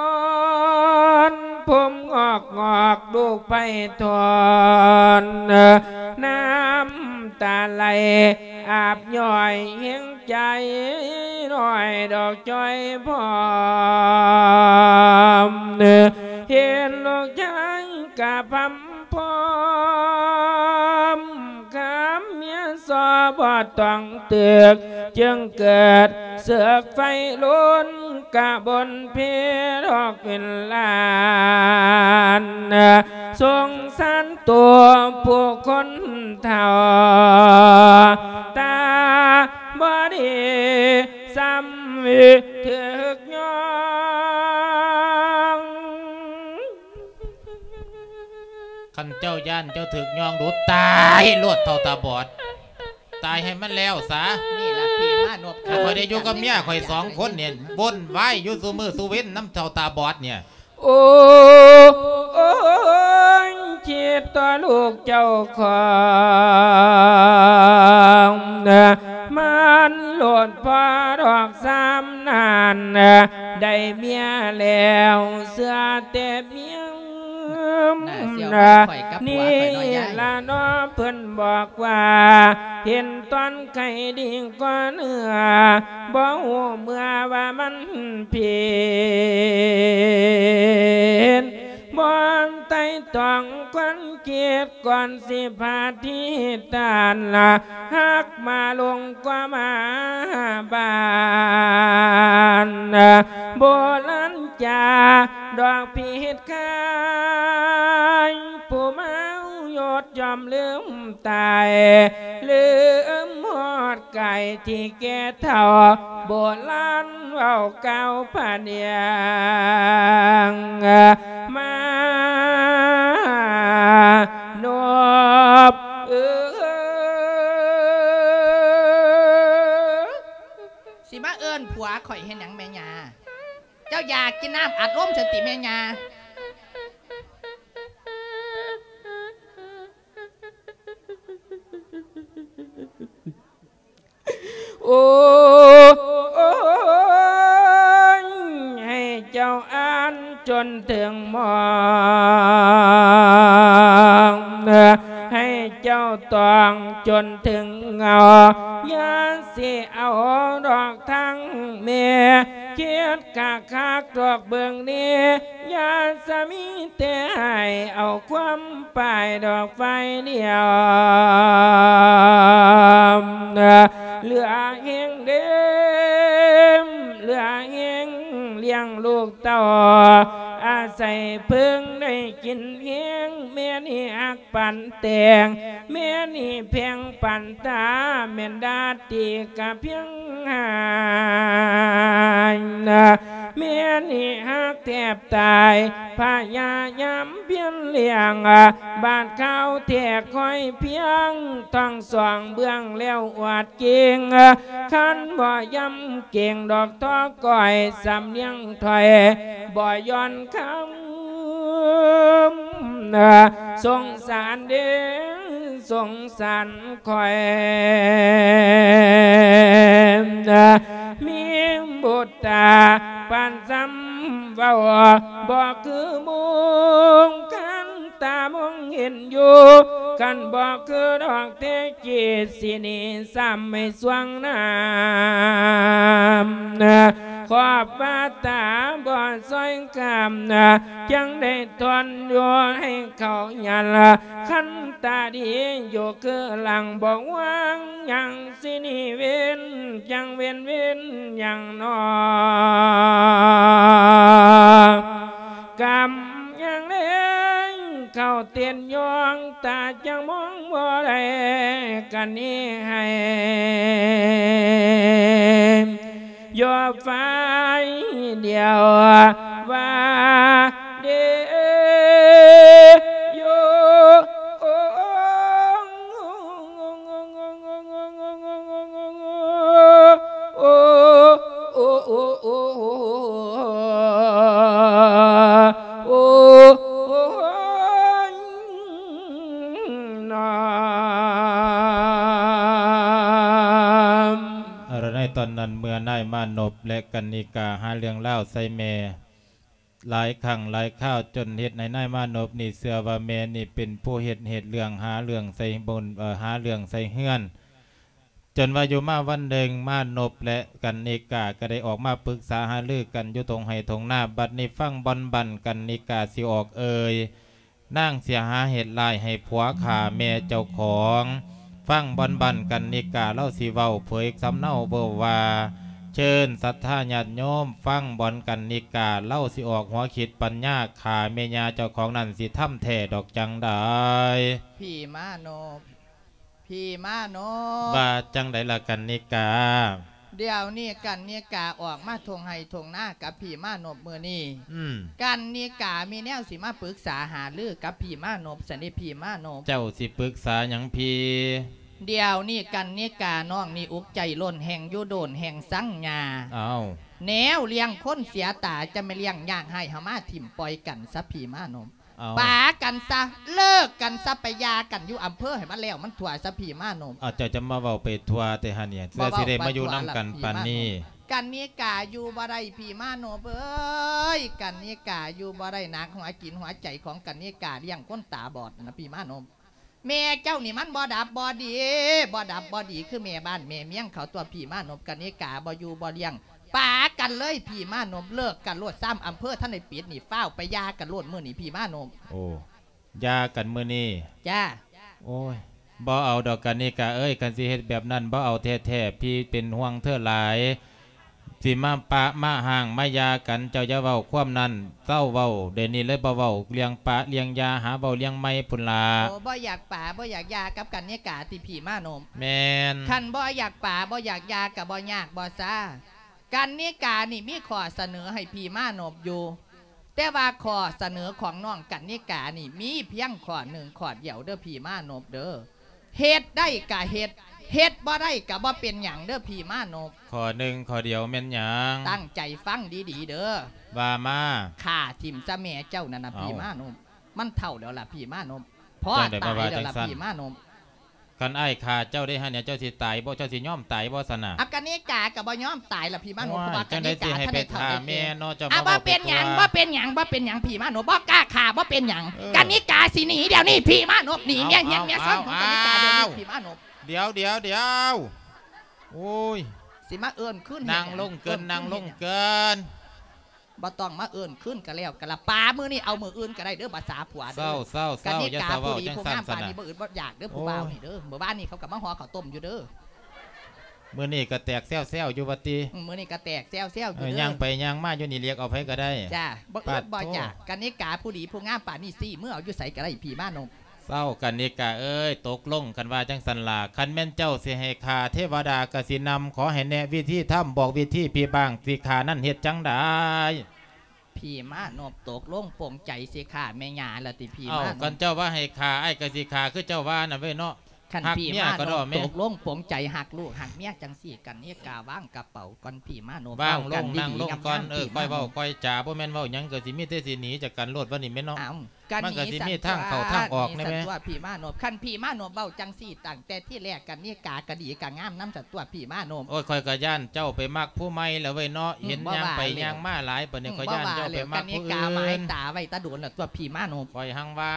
ນ ຜົມງອກງອກ ລູກໄພທອນ ນ້ຳຕາໄຫຼອາບຍ້ອຍແຮງ ໃຈນ້ອຍດອກຈ້ອຍພ້ອມ ເຫັນລູກຊາຍກະພຳພ້ອມ ຄຳເມຍສໍບໍ່ຕ້ອງຕຶກ ຈຶ່ງເກີດເສືອກໄຟລຸນ ກະບົນເພດອກເປັນລ້ານ ສົງສານຕົວຜູ້ຄົນເຖົ້າ ຕາບໍ່ດີຊ້ຳຖືກຍ້ອງ. ຄັນເຈົ້າຢ້ານເຈົ້າຖືກຍ້ອງດູ ຕາຍໂລດເຖົ້າຕາບອດ ຕາຍໃຫ້ມັນແລ້ວສາ. ນີ້ລະທີ່ມານົບ ຂ້ອຍໄດ້ຢູ່ກັບເມຍຂ້ອຍສອງຄົນນີ້ ວົນວາຍຢູ່ຊຸມື້ຊຸເວັນນຳເຖົ້າຕາບອດນີ້. ໂອ້ ໂອ້ຍ ຄິດຕໍ່ລູກເຈົ້າຂອງ ມັນໂລດພໍດອກຊ້ຳນັ້ນ ໄດ້ເມຍແລ້ວເຊື່ອແຕ່ພຽງ ໜ້າສ ດຽວມາຂ້ອຍກັບຜົວຂ້ອຍເນາະຍາຍ ນີ້ລະເນາະ ເພິ່ນບອກວ່າ ເຫັນຕອນໄຂ້ດີກວ່າເນື້ອ ບໍ່ຮູ້ເມື່ອວ່າມັນເປັນ ບ່ອນໄຕ່ຕອງຄວັນຄິດ ກ່ອນຊິພາທິຕານລະ ຮັກມາລົງກວ່າມາບານ ໂບລານຈາ ດອກພິດຄາຍ ຜູ້ເມົາຍົດຍ່ອມລືມຕາຍ ລືມຮອດກາຍທີ່ແກ່ເຖົ້າ ໂບລານເວົ້າກ່າວພະນຽງ ມານົບເອີຍ ຊິມາເອີ້ນຜົວຂ້ອຍເຮັດຫຍັງແມ່ຍ່າ? ເຈົ້າຢາກກິນນ້ຳອັດລົມຊັ້ນຕິແມ່ຍ່າ? ໂອ້ຍ ໃຫ້ເຈົ້າອ່ານຈົນເຖິງໝອງ ໃຫ້ເຈົ້າຕອງຈົນເຖິງເຫງົາ ຢ່າຊິເອົາດອກທາງແມ່ ຄິດຄັກໆດອກເບິ່ງແນ່ ຢ່າສະມີແຕ່ໃຫ້ເອົາຄວາມ ປາຍດອກໄຟດຽວ ເຫຼືອແຮງເດີມ ເຫຼືອແຮງລ້ຽງລູກເຕົ້າ ອາໄສເພິ່ງໄດ້ກິນແຮງ ແມ່ນີ້ຮັກປານແຕງ ແມ່ນີ້ແພງປານຕາ ແມ່ນດາຕີກະພຽງຫາຍ ແມ່ນີ້ຮັກແທບຕາຍ ພະຍາຍາມພຽນລ້ຽງ ບາດຄາວແທກຄອຍພຽງ ທັງສອງເບື້ອງແລ້ວອວດເກັ່ງ ຄັນບໍ່ຢຳເກັ່ງດອກທໍກ້ອຍ ສຳນຽງຖ້ອຍ ບໍ່ຢ່ອນຄຳ ສົງສານເດີ ສົງສານຂ້ອຍ ມີບຸດຕາປານຊຳເວົ້າ ບໍ່ຄືໝູ່ ຄັນຕາມອງເຫັນຢູ່ ຄັນບໍ່ຄືດອກແທ້ຈິດ ຊິໜີຊ້ຳໃຫ້ສວງນ້ຳ ຂອບວ່າຕາບໍ່ຊ່ອຍຄຳ ຈັ່ງໄດ້ ທ່ອນຢູ່ໃຫ້ເຂົາຍາລະ ຄັນຕາດີຢູ່ຄືຫຼັງ ບໍ່ຫວັງຫຍັງຊິໜີເວັນ ຈັ່ງເວັນເວັນຫຍັງໜໍ ກຳຍັງແລງ ເຂົ້າເຕັ້ນຍ່ອງ ຕາຈັ່ງມອງບໍ່ໄດ້ ກະໜີໃຫ້ ຢູ່ຝ່າຍດຽວວ່າເດໂຍ ໂອ ໂອ ໂອ ໂອ ໂອ ໂອ ໂອ ໂອ ຍ ນອມ. ເອົາລະ ໃນຕອນນັ້ນ ເມື່ອນາຍມານົບ ແລະ ກັນນິກາ ຫາເລື່ອງລາວໃສ່ແມ່ ຫຼາຍຄັ້ງຫຼາຍຄາວ ຈົນເຮັດໃຫ້ນາຍມານົບນີ້ເຊື່ອວ່າແມ່ນີ້ເປັນຜູ້ເຮັດ ເຮັດເລື່ອງ ຫາເລື່ອງໃສ່ບົນ ເອີ ຫາເລື່ອງໃສ່ເຮືອນ ຈົນວ່າຢູ່ມາວັນໜຶ່ງ ມານົບ ແລະ ກັນນິກາ ກໍໄດ້ອອກມາປຶກສາຫາລືກັນຢູ່ທົ່ງໄຮ່ທົ່ງນາ. ບັດນີ້ຟັງບ່ອນບັ້ນກັນນິກາຊິອອກເອີ່ຍ ນາງເສຍຫາເຮັດຮ້າຍໃຫ້ຜົວຂ້າແມ່ເຈົ້າຂອງ. ຟັງບ່ອນບັ້ນກັນນິກາ ລາວຊິເວົ້າເຜີຍສຳເນົາເວົ້າວ່າ ເຊີນສັດທາຍາດໂຍມຟັງບ່ອນກັນນິກາ ລາວຊິອອກຫົວຄິດປັນຍາ ຂ້າແມ່ຍ່າເຈົ້າຂອງນັ້ນຊິທຳແທ້ດອກຈັ່ງໃດ. ພີ່ມານົບ ພີ່ມານົບ ວ່າຈັ່ງໃດລະກັນນິກາ? ດຽວນີ້ກັນນິກາອອກມາທົ່ງໄຮ່ທົ່ງນາກັບພີ່ມານົບມື້ນີ້ ອືມ ກັນນິກາມີແນວຊິມາປຶກສາຫາລືກັບພີ່ມານົບຊັ້ນເດ ພີ່ມານົບ. ເຈົ້າຊິປຶກສາຫຍັງພີ່? ດຽວນີ້ກັນນິການ້ອງນີ້ອຸກໃຈລົ້ນ ແຮ່ງຢູ່ໂດນແຮ່ງຊັງຍ່າ ອ້າວ ແນວລ້ຽງຄົນເສຍຕາ ຈະມາລ້ຽງຍາກໃຫ້ເຮົາມາຖິ້ມປ່ອຍກັນຊະ ພີ່ມານົບ. ເອົາ ປາກັນຊະ ເລີກກັນຊະ ໄປຢ່າກັນຢູ່ອຳເພີໃຫ້ມັນແລ້ວມັນທົ່ວຊະ ພີ່ມານົບ. ເອົາ ເຈົ້າຈະມາເວົ້າໄປທົ່ວແຕ່ຫານີ້ ເພື່ອຊິໄດ້ມາຢູ່ນຳກັນປານນີ້. ກັນນິກາຢູ່ບໍ່ໄດ້ພີ່ມານົບເອີຍ ກັນນິກາຢູ່ບໍ່ໄດ້ ໜັກຫົວຈິດຫົວໃຈຂອງກັນນິກາລ້ຽງຄົນຕາບອດນະພີ່ມານົບ. ແມ່ເຈົ້ານີ້ມັນບໍ່ດັບບໍ່ດີ ບໍ່ດັບບໍ່ດີຄືແມ່ບ້ານແມ່ເມືອງເຂົາຕົວະພີ່ມານົບ. ກັນນິກາບໍ່ຢູ່ບໍ່ລ້ຽງ ປາກັນເລີຍພີ່ມານົບ ເລີກກັນໂລດ ຊ້ຳອຳເພີທັນໄດ້ປິດນີ້ ຟ້າວໄປຢ່າກັນໂລດມື້ນີ້ພີ່ມານົບ. ໂອ້ ຢ່າກັນມື້ນີ້. ຈ້າ. ໂອ້ຍ ບໍ່ເອົາດອກກັນນິກາເອີຍ ຄັນຊິເຮັດແບບນັ້ນບໍ່ເອົາແທ້ໆ ພີ່ເປັນຫ່ວງເທີຫຼາຍ ຊິມາປະມາຮ້າງມາຢ່າກັນ ເຈົ້າຢ່າເວົ້າຄວາມນັ້ນ ເຊົາເວົ້າດຽວນີ້ເລີຍ ບໍ່ເວົ້າເລື່ອງປະເລື່ອງຢ່າ ຫາເວົ້າເລື່ອງໃໝ່ພຸ້ນລະ. ໂອ້ ບໍ່ຢາກປະບໍ່ຢາກຢ່າກັບກັນນິກາຕິພີ່ມານົບ? ແມ່ນ. ຄັນບໍ່ຢາກປະບໍ່ຢາກຢ່າກະບໍ່ຍາກບໍ່ຊາ ກັນນິການີ້ມີຂໍ້ສະເໜີໃຫ້ພີ່ມານົບຢູ່ ແຕ່ວ່າຂໍ້ສະເໜີຂອງນ້ອງກັນນິການີ້ມີພຽງຂໍ້ໜຶ່ງຂໍ້ດຽວເດີພີ່ມານົບເດີ. ເຮັດໄດ້ກະເຮັດ ເຮັດບໍ່ໄດ້ກະບໍ່ເປັນຫຍັງເດີພີ່ມານົບ. ຂໍ້ໜຶ່ງຂໍ້ດຽວແມ່ນຫຍັງ? ຕັ້ງໃຈຟັງດີໆເດີ. ວ່າມາ. ຂ້າຖິ້ມຊະແມ່ເຈົ້ານັ້ນນະ ເອົ້າ ພີ່ມານົບ. ມັນເຖົ້າແລ້ວລະພີ່ມານົບ ພໍຕາຍແລ້ວລະພີ່ມານົບ. ຄັນອ້າຍຂ້າເຈົ້າໄດ້ຫັ້ນ ເຈົ້າຊິຕາຍບໍ່? ເຈົ້າຊິຍອມຕາຍບໍ່ຊັ້ນນະ? ອາ ກະນິກາກະບໍ່ຍອມຕາຍລະພີ່ມານົບ ໂອ້ຍ ເພາະວ່າກະນິກາ ຈັ່ງໃດຊິໃຫ້ໄປຂ້າແມ່ເນາະ ເຈົ້າມາເວົ້າ ບໍ່ເປັນຫຍັງ ບໍ່ເປັນຫຍັງ ບໍ່ເປັນຫຍັງພີ່ມານົບ ບໍ່ກ້າຂ້າ ບໍ່ເປັນຫຍັງ. ເອີ ກະນິກາຊິໜີດຽວນີ້ພີ່ມານົບ ໜີ ເອົາ ເມຍ ເມຍ ເມຍ ເອົາ ຊ້ອນຂອງກະນິກາດຽວນີ້ ເອົາ ພີ່ມານົບ. ດຽວ ດຽວ ດຽວ ໂອ້ຍ ຊິມາເອີ້ນຄືນ ນັ່ງລົງເກີນ ນັ່ງລົງເກີນ. ບໍ່ຕ້ອງມາເອີ້ນຄືນກະແລ້ວກະລະປາ ມື້ນີ້ເອົາມື້ອື່ນກະໄດ້ເດີ ພາສາຜົວເດີ. ເຊົາ ເຊົາ ເຊົາ ກະນິກາ ຢ່າສະເວົ້າ ຜູ້ດີຜູ້ງາມປານນີ້ ບໍ່ອຶດບໍ່ຢາກເດີ ຜູ້ບ່າວນີ້ເດີ. ມື້ວານນີ້ເຂົາກະມາຫໍ່ເຂົ້າຕົ້ມຢູ່ເດີ. ມື້ນີ້ກະແຕກແຊວໆຢູ່ວ່າຕິ? ອືມ ມື້ນີ້ກະແຕກແຊວໆຢູ່ເດີ. ເອີ ຍ່າງໄປຍ່າງມາຢູ່ນີ້ ລຽກເອົາໃຜກະໄດ້. ຈ້າ ບໍ່ອຶດບໍ່ຢາກ. ກະນິກາ ຜູ້ດີຜູ້ງາມປານນີ້ ຊີ້ເມືອເອົາຢູ່ໃສກະໄດ້ ພີ່ມານົບ. ເຊົາ ກັນນິກາເອີຍ ຕົກລົງ ຄັນວ່າຈັ່ງຊັ້ນລະ ຄັນແມ່ນເຈົ້າຊິໃຫ້ຂ້າ ເທວະດາກະຊິນຳ ຂໍໃຫ້ແນະວິທີທຳ ບອກວິທີພີ່ບ້າງ ຊິຂ້ານັ້ນເຮັດຈັ່ງໃດ? ພີ່ມານົບ ຕົກລົງປົງໃຈຊິຂ້າແມ່ຍ່າລະຕິພີ່ມານົບ. ເອົ້າ ຄັນເຈົ້າວ່າໃຫ້ຂ້າ ອ້າຍກະຊິຂ້າ ຄືເຈົ້າວ່ານັ້ນເວີຍເນາະ. ຄັນພີ່ມານົບຕົກລົງປົງໃຈ ຮັກລູກຮັກເມຍຈັ່ງຊີ້ ກັນນິກາວາງກະເປົາກ່ອນພີ່ມານົບ. ວາງລົງ ນັ່ງລົງກ່ອນ. ເອີ ຄ່ອຍເວົ້າຄ່ອຍຈາ ບໍ່ແມ່ນເວົ້າຫຍັງກະຊິມີແຕ່ຊິໜີຈາກກັນໂລດ ວ່ານີ້ແມ່ນເນາະ. ມັນກະຊິມີທາງເຂົ້າທາງອອກແນ່ແມ່. ຄັນພີ່ມານົບເວົ້າຈັ່ງຊີ້ ຕັ້ງແຕ່ທີແລກ ກະນິກາກະດີກະງາມນຳສັນຕົວະພີ່ມານົບ. ໂອ້ຍ ຂ້ອຍກະຢ້ານເຈົ້າໄປມັກຜູ້ໃໝ່ລະເວີຍເນາະ. ເຫັນຍ່າງໄປຍ່າງມາຫຼາຍປານນີ້ ຂ້ອຍຢ້ານເຈົ້າໄປມັກຜູ້ອື່ນ. ກະນິກາໝາຍຕາໄວ້ຕາດົນລະຕົວະພີ່ມານົບ. ຂ້ອຍຮັ່ງວ່າ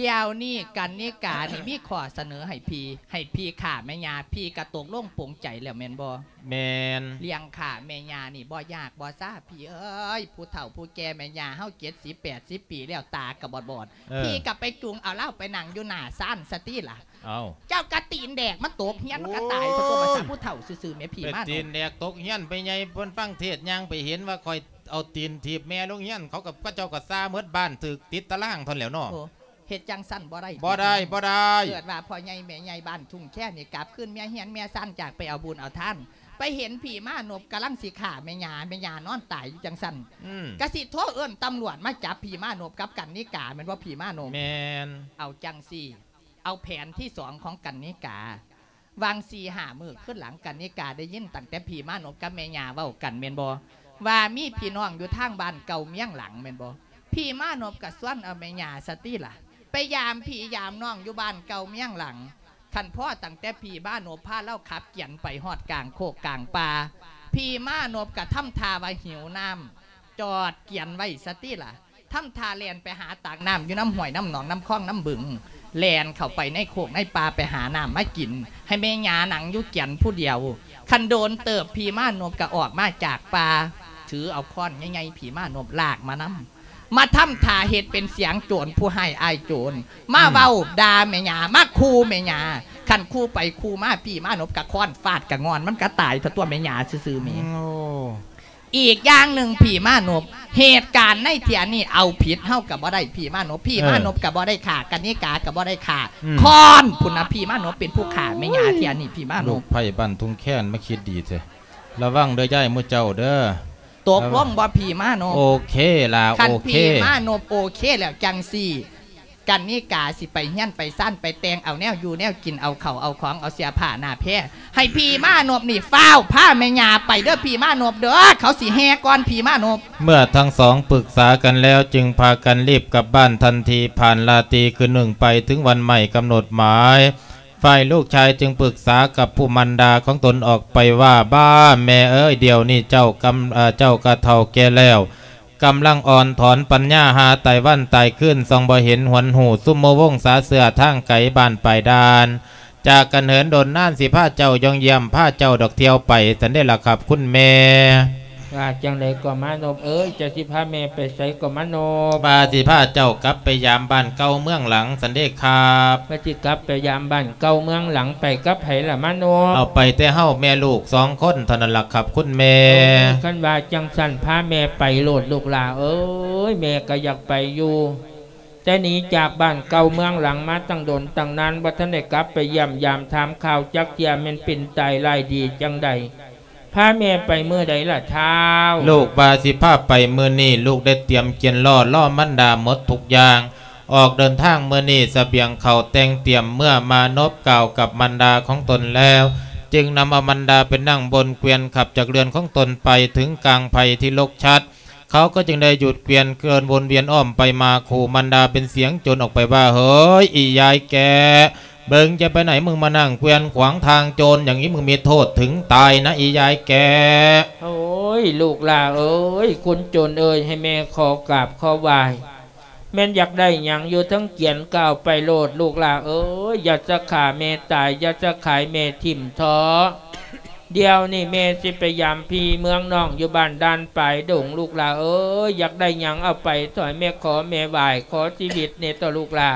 ດຽວນີ້ກັນນິການີ້ມີຂໍ້ສະເໜີໃຫ້ພີ່ ໃຫ້ພີ່ຂ້າແມ່ຍ່າ ພີ່ກະຕົກລົງປົງໃຈແລ້ວແມ່ນບໍ່? ແມ່ນ. ລ້ຽງຂ້າແມ່ຍ່ານີ້ບໍ່ຍາກບໍ່ຊາພີ່ເອີຍ ຜູ້ເຖົ້າຜູ້ແກ່ແມ່ຍ່າເຮົາເຈັດສິບແປດສິບປີແລ້ວ ຕາກະບອດໆ. ເອີ ພີ່ກະໄປຈູງເອົາລາວໄປນັ່ງຢູ່ໜ້າຊານຊະຕິລະ. ເອົ້າ ເຈົ້າກະຕີນແດກມັນຕົກຮຽນ ມັນກະຕາຍຊະຕົວະ ພາສາຜູ້ເຖົ້າຊື່ໆແມ່ພີ່ມານົບ. ຕີນແດກຕົກຮຽນໄປໃຫຍ່ ເພິ່ນຟັງເທດຍ່າງໄປເຫັນວ່າຂ້ອຍ ເອົາຕີນຖີບແມ່ລົງຮຽນ ເຂົາກະ ເຂົາເຈົ້າກະຊາໝົດບ້ານ ຖືກຕິດຕາລາງເທົ່ານັ້ນແຫຼ້ວເນາະ. ໂອ້ ເຮັດຈັ່ງຊັ້ນບໍ່ໄດ້ ບໍ່ໄດ້ ບໍ່ໄດ້. ເກີດວ່າພໍ່ໃຫຍ່ແມ່ໃຫຍ່ບ້ານທົ່ງແຄນີ້ ກັບຄືນເມຍຮຽນເມຍຊານ ຈາກໄປເອົາບຸນເອົາທານ ໄປເຫັນພີ່ມານົບກຳລັງຊິຂ້າແມ່ຍ່າ ແມ່ຍ່ານອນຕາຍຢູ່ຈັ່ງຊັ້ນ ອືມ ກະຊິໂທເອີ້ນຕຳຫຼວດມາຈັບພີ່ມານົບກັບກັນນິກາແມ່ນບໍ່ພີ່ມານົບ? ແມ່ນ. ເອົາຈັ່ງຊີ້ ເອົາແຜນທີສອງຂອງກັນນິກາ ຫວ່າງສີ່ຫ້າມື້ຄືນຫຼັງ ກັນນິກາໄດ້ຍິນຕັ້ງແຕ່ພີ່ມານົບກັບແມ່ຍ່າເວົ້າກັນແມ່ນບໍ່ ວ່າມີພີ່ນ້ອງຢູ່ທາງບ້ານເກົ່າເມຍງຫຼັງແມ່ນບໍ່? ພີ່ມານົບກະຊວນເອົາແມ່ຍ່າຊະຕິລະ ໄປຢາມພີ່ຢາມນ້ອງຢູ່ບ້ານເກົ່າເມຍງຫຼັງ. ຄັນພໍຕັ້ງແຕ່ພີ່ມານົບພາລາວຂັບກຽນໄປຮອດກາງໂຄກກາງປ່າ ພີ່ມານົບກະທຳທ່າວ່າຫິວນ້ຳ ຈອດກຽນໄວ້ຊະຕິລະ. ທຳທ່າແລ່ນໄປຫາຕັກນ້ຳຢູ່ນຳຫ້ວຍນຳໜອງນຳຄອງນຳບຶງ ແລ່ນເຂົ້າໄປໃນໂຄກໃນປ່າໄປຫານ້ຳມາກິນ ໃຫ້ແມ່ຍ່ານັ່ງຢູ່ກຽນຜູ້ດຽວ. ຄັນໂດນເຕີບ ພີ່ມານົບກະອອກມາຈາກປ່າ ຖືເອົາຄ້ອນໃຫຍ່ໆ ພີ່ມານົບລາກມານຳ ມາທຳທ່າເຮັດເປັນສຽງໂຈນ ຜູ້ຮ້າຍອ້າຍໂຈນ ມາເວົ້າ ອືມ ດ່າແມ່ຍ່າ ມາຂູ່ແມ່ຍ່າ. ຄັນຂູ່ໄປຂູ່ມາ ພີ່ມານົບກະຄ້ອນຟາດກະງ່ອນ ມັນກະຕາຍເທົ່າຕົວແມ່ຍ່າຊື່ໆແມ່. ໂອ້ ອີກຢ່າງໜຶ່ງ ພີ່ມານົບ ເຫດການໃນເທື່ອນີ້ເອົາຜິດເຮົາກະບໍ່ໄດ້ ພີ່ມານົບ ພີ່ມານົບກະບໍ່ໄດ້ຂ້າ ກະນິກາກະບໍ່ໄດ້ຂ້າ ອືມ ຄ້ອນພຸ້ນນະ ພີ່ມານົບເປັນຜູ້ຂ້າແມ່ຍ່າເທື່ອນີ້ ພີ່ມານົບ. ລູກໃພ້ບ້ານທົ່ງແຄນມາຄິດດີແທ້ ລະວັງເດີຍາຍໝູ່ເຈົ້າເດີ. ຕົກລົງບໍ່ພີ່ມານົບ? ໂອເຄລະ ຄັນພີ່ມານົບໂອເຄແລ້ວຈັ່ງຊີ້ ກັນນິກາຊິໄປເຮືອນໄປຊານ ໄປແຕ່ງເອົາແນວຢູ່ແນວກິນ ເອົາເຂົ້າເອົາຂອງ ເອົາເສື້ອຜ້າໜ້າແພ ໃຫ້ພີ່ມານົບນີ້ຟ້າວພາແມ່ຍ່າໄປເດີ ພີ່ມານົບເດີ ເຂົາຊິແຫ່ກ່ອນພີ່ມານົບ. ເມື່ອທັງສອງປຶກສາກັນແລ້ວ ຈຶ່ງພາກັນລີບກັບບ້ານທັນທີ. ຜ່ານລາຕີຄືນໜຶ່ງໄປ ເຖິງວັນໝ້າຍກຳນົດໝາຍ ຝ່າຍລູກຊາຍຈຶ່ງປຶກສາກັບຜູ້ມານດາຂອງຕົນອອກໄປວ່າ, ບ້າແມ່ເອີຍ, ດຽວນີ້ເຈົ້າກຳ ເອີ ເຈົ້າກະເຖົ້າແກ່ແລ້ວ, ກຳລັງອ່ອນຖອນປັນຍາຫາຕາຍວັນຕາຍຄືນ, ສ່ອງບໍ່ເຫັນຫວນຮູ້, ຊຸມໝູ່ວົງສາເຊື້ອທາງໄກບ້ານປາຍດ່ານ ຈາກກັນເຫີນດົນນານ, ຊິພາເຈົ້າຍ່ອງຢ້ຽມ, ພາເຈົ້າດອກທ່ຽວໄປ, ຊັ້ນເດລະຄັບຄຸນແມ່. ວ່າຈັ່ງໃດກໍມານົບເອີຍ, ເຈົ້າຊິພາແມ່ໄປໃສກໍມານົບ? ວ່າຊິພາເຈົ້າກັບໄປຢາມບ້ານເກົ່າເມືອງຫຼັງ, ຊັ້ນເດຄັບ. ວ່າຊິກັບໄປຢາມບ້ານເກົ່າເມືອງຫຼັງ, ໄປກັບໃຜລະມານົບ? ເອົາໄປແຕ່ເຮົາແມ່ລູກສອງຄົນເທົ່ານັ້ນລະຄັບຄຸນແມ່. ໂອ້ຍ ຄັນວ່າຈັ່ງຊັ້ນ ພາແມ່ໄປໂລດລູກຫຼ້າເອີຍ, ແມ່ກໍຢາກໄປຢູ່. ແຕ່ໜີຈາກບ້ານເກົ່າເມືອງຫຼັງມາຕັ້ງດົນຕັ້ງນານ, ບໍ່ທັນໄດ້ກັບໄປຢ້ຽມຢາມຖາມຂ່າວຈັກເທື່ອ, ແມ່ນເປັນຕາຍຮ້າຍດີຈັ່ງໃດ? ພາແມ່ໄປມື້ໃດລະທ້າວ? ລູກວ່າຊິພາໄປມື້ນີ້, ລູກໄດ້ຕຽມກຽນລໍ້ ລໍມານດາໝົດທຸກຢ່າງ. ອອກເດີນທາງມື້ນີ້, ສະບຽງເຂົ້າແຕ່ງຕຽມເມືອ, ມານົບກ່າວກັບມານດາຂອງຕົນແລ້ວ, ຈຶ່ງນຳເອົາມານດາໄປນັ່ງບົນເກວຽນ, ຂັບຈາກເຮືອນຂອງຕົນໄປເຖິງກາງໄພທີ່ລົກຊັດ. ເຂົາກໍຈຶ່ງໄດ້ຢຸດເກວຽນເຄື່ອນວົນວຽນອ້ອມໄປມາຂູ່ມານດາເປັນສຽງໂຈນອອກໄປວ່າ, ເຮີ້ຍ ອີຢາຍແກະ, ເບິ່ງຈະໄປໃນ ມຶງມານັ່ງເກວຽນຂວາງທາງໂຈນຢ່າງນີ້ ມຶງມີໂທດເຖິງຕາຍນະ ອີຢາຍແກະ. ໂອ້ຍ ລູກຫຼ້າເອີຍ, ຄຸນໂຈນເອີຍ, ໃຫ້ແມ່ຂໍກາບຂໍໄຫວ້. ແມ່ນຢາກໄດ້ຫຍັງຢູ່ເທິງກຽນ ກໍເອົາໄປໂລດ ລູກຫຼ້າເອີຍ, ຢ່າສະຂ້າແມ່ຕາຍ, ຢ່າສະຂາຍແມ່ຖິ້ມເທາະ. ດຽວນີ້ແມ່ຊິໄປຢາມພີ່ເມືອງນ້ອງ ຢູ່ບ້ານດ່ານປາຍດົງ ລູກຫຼ້າເອີຍ, ຢາກໄດ້ຫຍັງເອົາໄປ ຖ້າໃຫ້ແມ່ຂໍແມ່ໄຫວ້, ຂໍຊີວິດແດ່ເຖາະລູກຫຼ້າ,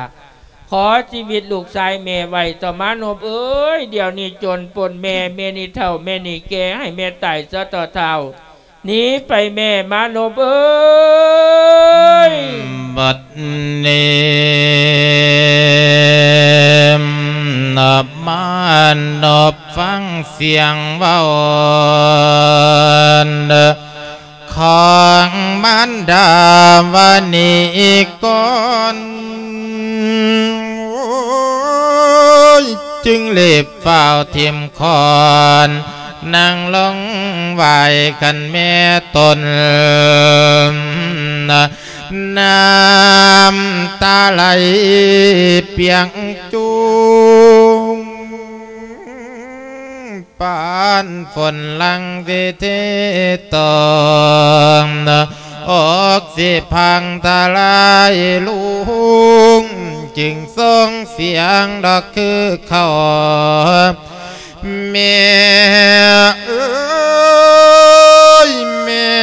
ຂໍຊີວິດລູກຊາຍແມ່ໄວ້ເຖາະມານົບເອີຍ. ດຽວນີ້ໂຈນປົນແມ່, ແມ່ນີ້ເຖົ້າ ແມ່ນີ້ແກ່, ໃຫ້ແມ່ຕາຍຊະເຖາະທ້າວ. ໜີໄປແມ່ມານົບເອີຍ. ບັດນີ້ມານົບຟັງສຽງເວົ້າຂອງມານດາວານີກ່ອນ, ໂອ້ຍ ຈຶ່ງເລັບ ຟ້າວຖິ້ມຂອນ ນັ່ງລົງໄຫວ້ຄັນແມ່ຕົນ, ນ້ຳຕາໄຫຼປຽກຈູງ ປານຝົນຫຼັ່ງທີ່ເທຕົກ ອອກຊິພັງທະລາຍລົງ, ຈຶ່ງສົ່ງສຽງດອກຄືເຂົ້າ ແມ່ເອີຍ ແມ່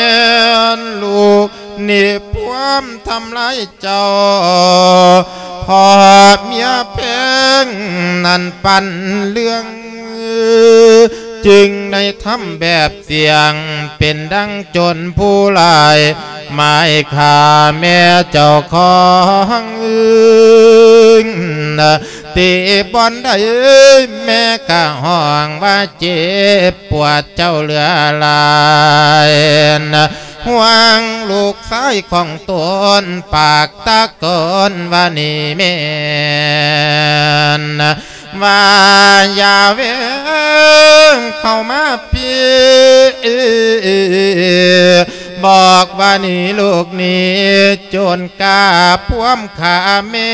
ນລູກນີ້ພວມທຳລາຍເຈົ້າ, ພໍ່ເມຍແພງນັ້ນປັນເລື່ອງ ຈຶ່ງໄດ້ທຳແບບສຽງ ເປັນດັ່ງໂຈນຜູ້ຮ້າຍ ໝາຍຂ້າແມ່ເຈົ້າຂອງ. ຕິບ່ອນໃດແມ່ກະຮ້ອງວ່າເຈັບປວດເຈົ້າເຫຼືອຫຼາຍ, ຫ່ວງລູກຊາຍຂອງຕົນ ປາກຕະໂກນວ່ານີ້ແມ່ນ ວ່າຢ່າແວ່ງເຂົ້າມາພີ້, ບອກວ່ານີ້ລູກນີ້ ໂຈນກ້າພວມຂ້າແມ່,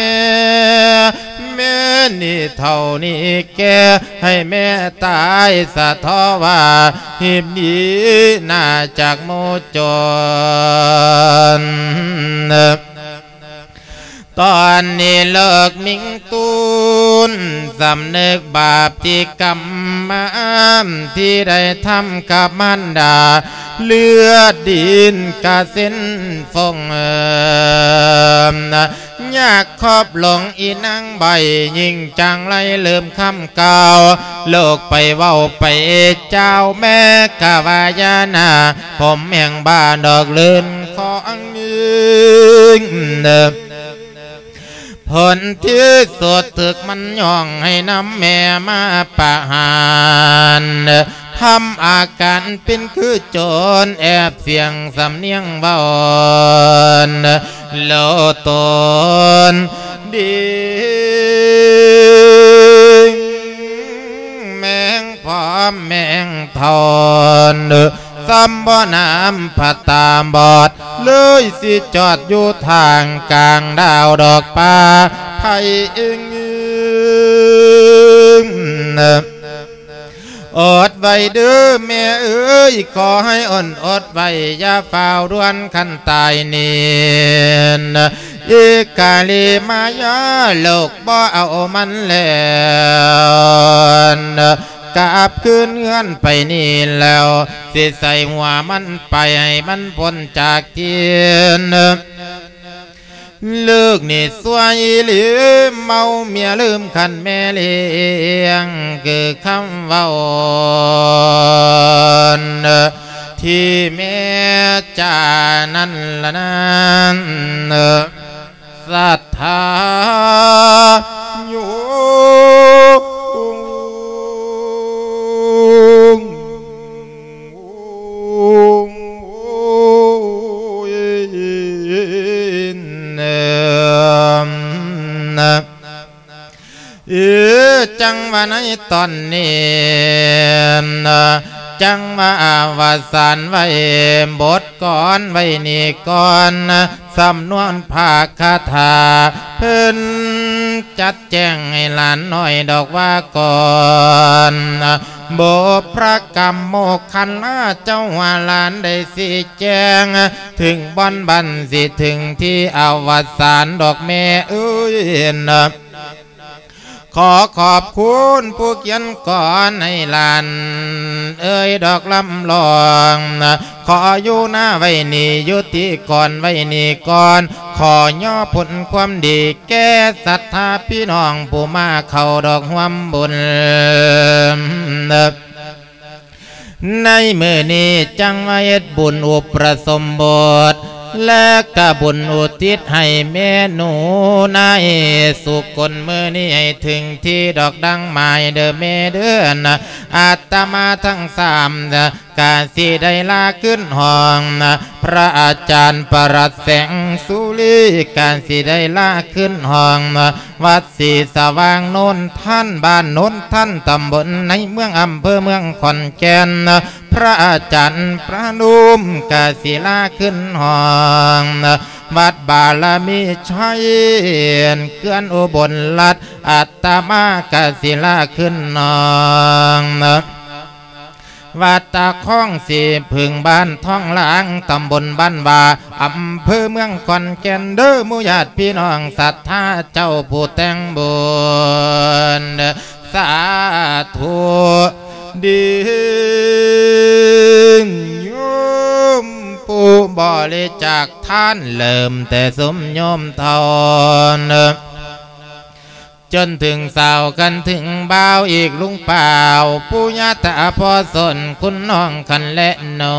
ແມ່ນີ້ເຖົ້ານີ້ແກ່ ໃຫ້ແມ່ຕາຍສະເທາະວ່າ ຮີບໜີໜ້າຈາກໝູ່ໂຈນ. ຕອນນີ້ເລີກມິງຕູນ ສຳນຶກບາບທີ່ກຳມານ ທີ່ໄດ້ທຳກັບມານດາ, ເລືອດດິນກະເສັ້ນຟົງ ຍາກຂອບຫຼົງອີນາງໃບ ຍິ່ງຈັງໄລເລີ່ມຄຳກ່າວ ລູກໄປເວົ້າໄປເຈົ້າ ແມ່ກະວ່າຢ່າໜ້າ ຜົມແຫ່ງບ້ານດອກເລີນຂອງ ຜົນທີ່ສຸດຖືກມັນຍ່ອງໃຫ້ນຳແມ່ມາປະຫານ ທຳອາການເປັນຄືໂຈນ ແອບສຽງສຳນຽງເວົ້າໂລໂຕນດີ ແມງພ້ອມແມງເຖົ້າ ສ່ຳບໍ່ໜາມພະຕາບອດ ເລີຍຊິຈອດຢູ່ທາງກາງດາວດອກປາໄພເອງ ອົດໄວ້ເດີ້ແມ່ເອີຍ ຂໍໃຫ້ອົນອົດໄວ້ ຢ່າຟ້າວດ່ວນຄັນຕາຍນີ້ ອີກກາລີມາຍາໂລກບໍ່ເອົາມັນແລ້ວ ກັບຄືນເຮືອນໄປນີ້ແລ້ວ ຊິໃສ່ຫົວມັນໄປໃຫ້ມັນພົ້ນຈາກທີ່ ລູກນີ້ຊົ່ວອີ່ຫຼີ ເມົາເມຍລືມຄັນແມ່ລ້ຽງ ຄືຄຳເວົ້າທີ່ແມ່ຈານັ້ນລະນັ້ນ ສັດທາໂຍມ ເອີ ຈັ່ງວ່າໃນຕອນນີ້ ຈັ່ງວ່າອະວະສານໄວ້ບົດກອນໄວ້ນີ້ກ່ອນ ສຳນວນພາຄາຖາ ເພິ່ນຈັດແຈງໃຫ້ຫຼານນ້ອຍດອກວ່າກ່ອນ ບຸບພະກຳໂມກຂັນລາເຈົ້າວ່າຫຼານໄດ້ຊີ້ແຈງ ເຖິງບ່ອນບັນຊິເຖິງທີ່ອະວະສານດອກແມ່ເອີຍ ຂໍຂອບຄຸນຜູ້ຂຽນກອນໃຫ້ຫຼານເອີຍດອກລຳລອງ ຂໍຢູ່ນາໄວ້ນີ້ ຢູ່ຕິກອນໄວ້ນີ້ກ່ອນ ຂໍຍໍຜົນຄວາມດີແກ່ສັດທາພີ່ນ້ອງຜູ້ມາເຂົ້າດອກຮ່ວມບຸນ ໃນມື້ນີ້ຈັ່ງມາເຮັດບຸນອຸປະສົມບົດ ແລະກະບຸນອຸທິດໃຫ້ແມ່ໜູນາຍສຸຄົນ ມື້ນີ້ໃຫ້ເຖິງທີ່ດອກດັ່ງໝາຍເດີແມ່ເດີ ອາດຕະມາທັງສາມ ກະຊິໄດ້ລາຂຶ້ນຫ້ອງ ພະອາຈານປະຫຼັດແສງສຸລີ ກະຊິໄດ້ລາຂຶ້ນຫ້ອງ ວັດສີສະຫວ່າງໂນນທັນ ບ້ານໂນນທັນ ຕຳບົນໃນເມືອງ ອຳເພີເມືອງຂອນແກ່ນ ພະອາຈານປະນຸມ ກະສິລາຂຶ້ນຫ້ອງ ວັດບາລະມີໄຊ ເຂື່ອນອຸບົນລັດ ອາດຕະມາກະສິລາຂຶ້ນຫ້ອງ ວັດຕາຄອງສີຜຶງ ບ້ານທອງຫຼາງ ຕຳບົນບ້ານຫວ້າ ອຳເພີເມືອງຂອນແກ່ນ ເດີໝູ່ຍາດພີ່ນ້ອງສັດທາເຈົ້າຜູ້ແຕ່ງບຸນ ສາທຸ ດີໂຍມຜູ້ບໍລິຈາກທານ ເລີ່ມແຕ່ຊຸມໂຍມເຖົ້າ ຈົນເຖິງສາວກັນເຖິງບ່າວ ອີກລຸງປ້າວ ປູ່ຍ່າຕາພໍ່ສົນ ຄຸນນ້ອງຄັນແລະໜໍ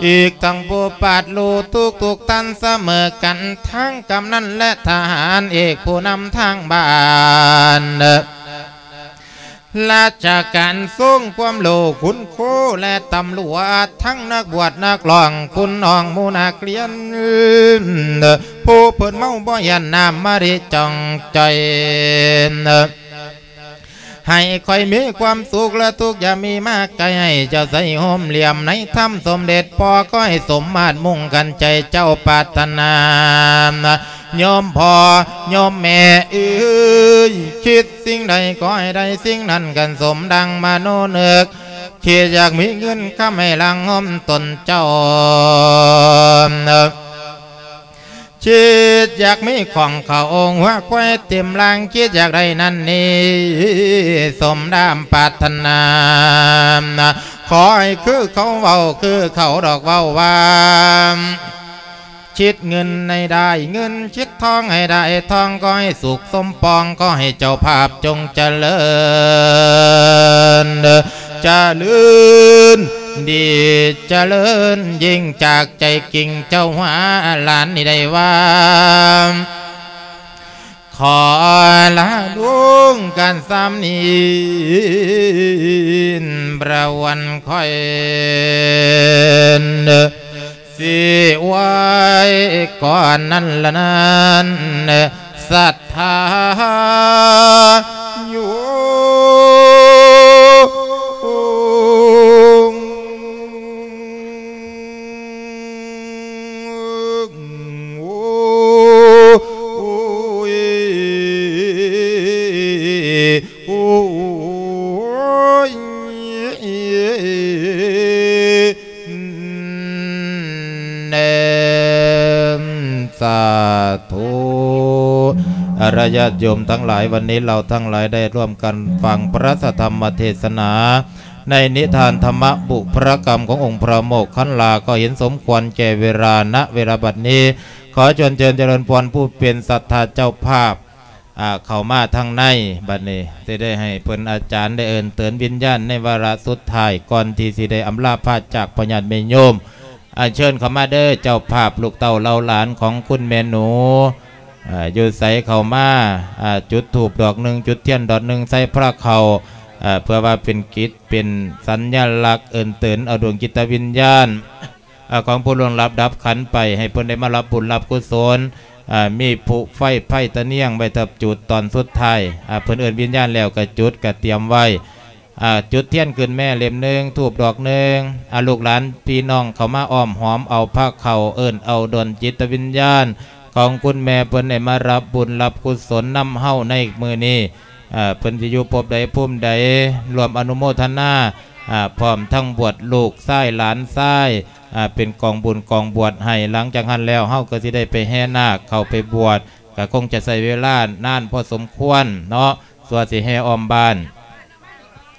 ອີກທັງຜູ້ປາດລູກທຸກໆທ່ານສະເໝີກັນ ທັງກຳນັນແລະທະຫານເອກຜູ້ນຳທາງບ້ານ ລາຊະການຊົງຄວາມໂລ ຄຸນຄູ ແລະຕຳຫຼວດ ທັງນັກບວດນັກຮ້ອງ ຄຸນນ້ອງໝູ່ນັກຮຽນ ຜູ້ເພິ່ນເມົາບໍ່ຢ້ານນ້ຳມະລິຈ່ອງຈ່ອຍ ໃຫ້ຂ້ອຍມີຄວາມສຸກ ແລະທຸກຢ່າມີມາໃກ້ ໃຫ້ເຈົ້າໃສໂຮມຫຼຽມໃນທຳສົມເດັດ ພໍ່ຂໍໃຫ້ສົມມາດມຸ່ງກັນໃຈເຈົ້າປາດຖະໜາ ໂຍມພໍ່ໂຍມແມ່ເອີຍ ຄິດສິ່ງໃດຂໍໃຫ້ໄດ້ສິ່ງນັ້ນກັນສົມດັ່ງມະໂນນຶກ ຄິດຢາກມີເງິນຄຳໃຫ້ຫຼັ່ງຫົມຕົນເຈົ້າ ຄິດຢາກມີຂອງເຂົ້າອົງຫົວຄວາຍເຕັມລ່າງ ຄິດຢາກໄດ້ນັ້ນນີ້ ສົມດາມປາດຖະໜາ ຂໍໃຫ້ຄືເຂົາເວົ້າ ຄືເຂົາດອກເວົ້າວ່າ ຄິດເງິນໃຫ້ໄດ້ເງິນ ຄິດທອງໃຫ້ໄດ້ທອງ ຂໍໃຫ້ສຸກສົມປອງ ຂໍໃຫ້ເຈົ້າພາບຈົ່ງຈະເລີນ ຈະເລີນດີ ຈະເລີນຍິ່ງຈາກໃຈກິ່ງເຈົ້າຫວາ ຫຼານນີ້ໄດ້ວ່າ ຂໍລາລຸງກັນສ່ຳນີ້ ພະວັນຂ້ອຍ ຊິໄວ້ກ່ອນນັ້ນລະນັ້ນ ສັດທາໂຍມ າທຸ ອາ ຍາດໂຍມທັງຫຼາຍ, ວັນນີ້ເຮົາທັງຫຼາຍໄດ້ຮ່ວມກັນຟັງພະທຳມະເທດສະໜາ ໃນນິທານທຳມະບຸບພະກຳຂອງອົງພະໂມກຄັນລາ ກໍເຫັນສົມຄວນແກ່ເວລາ. ນະເວລາບັດນີ້ ຂໍເຊີນເຈີເລີນພອນຜູ້ເປັນສັດທາເຈົ້າພາບ ອາ ເຂົ້າມາທາງໃນ. ບັດນີ້ຊິໄດ້ໃຫ້ເພິ່ນອາຈານໄດ້ເອີ້ນເຕີນວິນຍານໃນວາລະສຸດທ້າຍ ກ່ອນທີ່ຊິໄດ້ອຳລາພາຈາກພໍ່ຍາດແມ່ໂຍມ. ອາ ເຊີນເຂົ້າມາເດີເຈົ້າພາບ ລູກເຕົ້າເຫຼົ່າຫຼານຂອງຄຸນແມ່ໜູ ອາ ຢູ່ໃສເຂົ້າມາ ອາ ຈຸດທູບດອກໜຶ່ງ ຈຸດທຽນດອກໜຶ່ງ ໃສ່ພະເຂົ້າ ອາ ເພື່ອວ່າເປັນກິດ ເປັນສັນຍະລັກເອີ້ນເຕີນເອົາດວງຈິດຕະວິນຍານ ອາ ຂອງຜູ້ລ່ວງລັບດັບຂັນໄປ ໃຫ້ເພິ່ນໄດ້ມາຮັບບຸນຮັບກຸສົນ. ອາ ມີຜູໄຟ ໄຟຕະນຽງໄວ້ທັບຈຸດຕອນສຸດທ້າຍ. ອາ ເພິ່ນເອີ້ນວິນຍານແລ້ວກະຈຸດ ກະຕຽມໄວ້. ອາ ຈຸດທຽນຂຶ້ນແມ່ເຫຼັ້ມໜຶ່ງ ທູບດອກໜຶ່ງ. ອາ ລູກຫຼານພີ່ນ້ອງເຂົ້າມາອ້ອມຫອມເອົາພະເຂົ້າ ເອີ້ນເອົາດວງຈິດຕະວິນຍານຂອງຄຸນແມ່ເພິ່ນໄດ້ມາຮັບບຸນຮັບກຸສົນນຳເຮົາໃນມື້ນີ້. ເອີ ເພິ່ນຊິຢູ່ພົບໃດພູມໃດ ຮ່ວມອະນຸໂມທະນາ ອາ ພ້ອມທັງບວດລູກຊາຍຫຼານຊາຍ ອາ ເປັນກອງບຸນກອງບວດໃຫ້. ຫຼັງຈາກຫັ້ນແລ້ວ ເຮົາກໍຊິໄດ້ໄປແຫ່ນາກເຂົ້າໄປບວດ ກໍຄົງຈະໃຊ້ເວລານານພໍສົມຄວນເນາະ ກວ່າຊິແຫ່ອ້ອມບ້ານ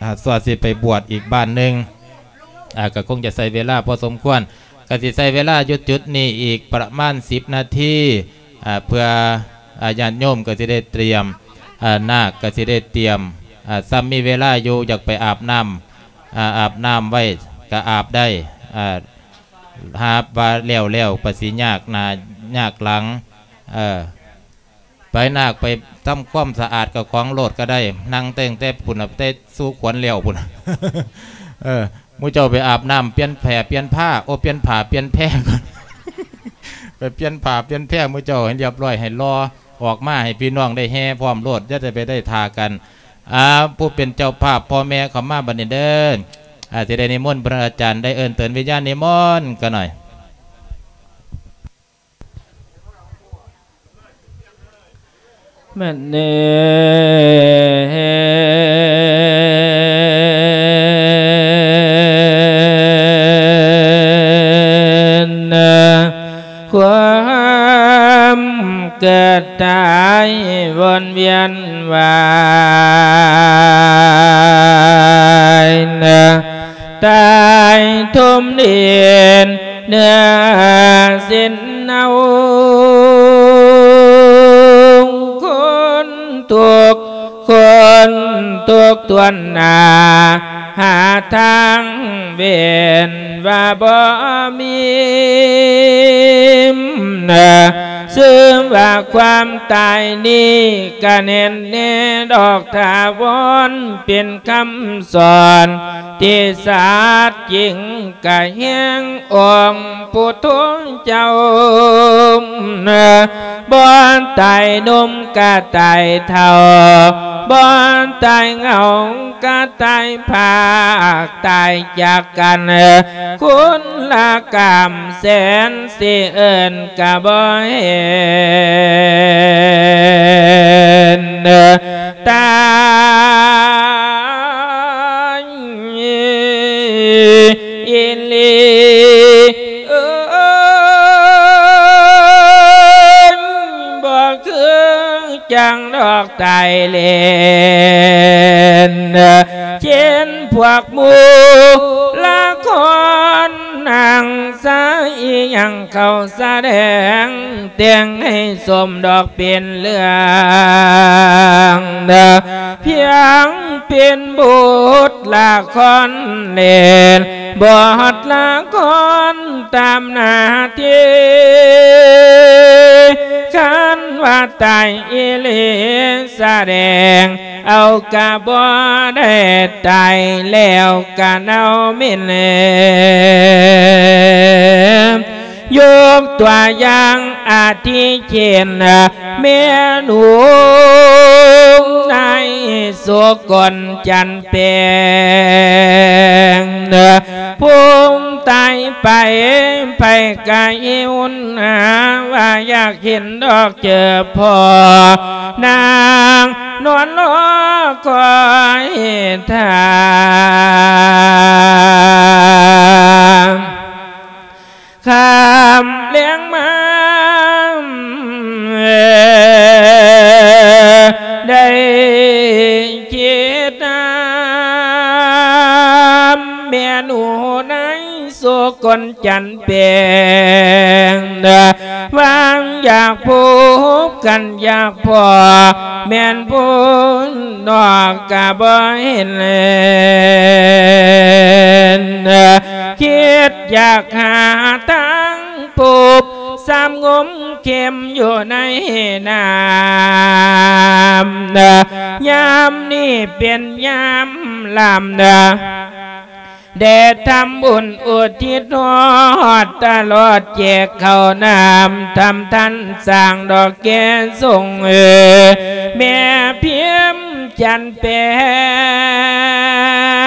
ອາ ກວ່າຊິໄປບວດອີກບ້ານໜຶ່ງ ອາ ກໍຄົງຈະໃຊ້ເວລາພໍສົມຄວນ. ກໍຊິໃຊ້ເວລາຢູ່ຈຸດນີ້ອີກປະມານສິບນາທີ ອາ ເພື່ອ ອາ ຍາດໂຍມກໍຊິໄດ້ຕຽມ ອາ ນາກກໍຊິໄດ້ຕຽມ ອາ ຊ້ຳມີເວລາຢູ່ ຢາກໄປອາບນ້ຳ ອາ ອາບນ້ຳໄວ້ກໍອາບໄດ້ ອາ ຫາວ່າແລ້ວໆ ປະສິຍາກໜ້າຍາກຫຼັງ ເອີ ໄປນາກໄປທຳຄວາມສະອາດເຈົ້າຂອງໂລດກໍໄດ້ ນັ່ງຕັ້ງແຕ່ພຸ້ນນະ ແຕ່ສູ່ຂວັນແລ້ວພຸ້ນ ເອີ ໝູ່ເຈົ້າໄປອາບນ້ຳ ປ່ຽນແຜ່ປ່ຽນຜ້າ ໂອ ປ່ຽນຜ້າປ່ຽນແພກ່ອນ ໄປປ່ຽນຜ້າປ່ຽນແພ ໝູ່ເຈົ້າໃຫ້ລຽບຮ້ອຍ ໃຫ້ຫຼໍ່ ອອກມາໃຫ້ພີ່ນ້ອງໄດ້ແຫ່ພ້ອມໂລດ ຢ່າໄດ້ໄປໄດ້ທ່າກັນ. ອາ ຜູ້ເປັນເຈົ້າພາບ ພໍ່ແມ່ເຂົ້າມາບັດນີ້ເດີ ອາ ຊິໄດ້ນິມົນພະອາຈານໄດ້ເອີ້ນເຕີນວິນຍານນິມົນກັນໜ້ອຍ. ມະເນນະ ຄວາມເກີດຕາຍວົນວຽນວາຍນະ ຕາຍຖົມດິນເນື້ອສິນເນົາ ຄົນທຸກຄົນທຸກຖ້ວນໜ້າ ຫາທາງເວັ້ນວ່າບໍ່ມີ ເຊິ່ງວ່າຄວາມຕາຍນີ້ກະແນ່ນແນ່ດອກຖາວອນ ເປັນຄຳສອນທີ່ສັດຈິງ ກະແຫ່ງອົງພຸດໂທເຈົ້າ ບໍ່ຕາຍໜຸ່ມກະຕາຍເຖົ້າ ບໍ່ຕາຍເຫງົາກະຕາຍພາກ ຕາຍຈາກກັນຄົນລະກຳແສນ ຊິເອີ້ນກະບໍ່ເຫັນ ຕາຍອີ່ຫຼີ ເອີຍ ບໍ່ຄືຈັ່ງດອກຕາຍເຫຼັ້ນ ເຊັ່ນພວກໝູ່ລະຄອນນາງຊາອີ່ຫຍັງ ເຂົາສະແດງແຕ່ງໃຫ້ສົມດອກເປັນເລື່ອງ ພຽງເປັນບົດລະຄອນເຫຼັ້ນ ບົດລະຄອນຕາມໜ້າທີ່ ຄັນວ່າຕາຍອີ່ຫຼີສະແດງ ເອົາກະບໍ່ໄດ້ຕາຍແລ້ວກະເນົ່າເໝັນ ຍົກຕົວຢ່າງອາທິເຊັ່ນ ແມ່ນຫູນາຍໂສກົນຈັນແປງ ພູມຕາຍໄປ ໃຜກະຫິວໜາວ່າຢາກເຫັນດອກ ເຈີພໍ່ນາງນອນລໍຄອຍທ່າ ຂ້າມແລງມາ ແມ່ໜູນາຍສຸກົນຈັນແປງ ຫວັງຢາກພົບກັນຢາກພໍ້ ແມ່ນຜູ້ນອກກະບໍ່ເຫັນ ຄິດຢາກຫາທາງພົບ ສາມງົມເຂັມຢູ່ໃນນ້ຳ ຍາມນີ້ເປັນຍາມລຳ ໄດ້ທຳບຸນອຸທິດຮອດຕະຫຼອດແຈກເຂົ້ານ້ຳ ທຳທັນສ້າງດອກແກ່ຊົງ ເອີ ແມ່ພິມຈັນແປ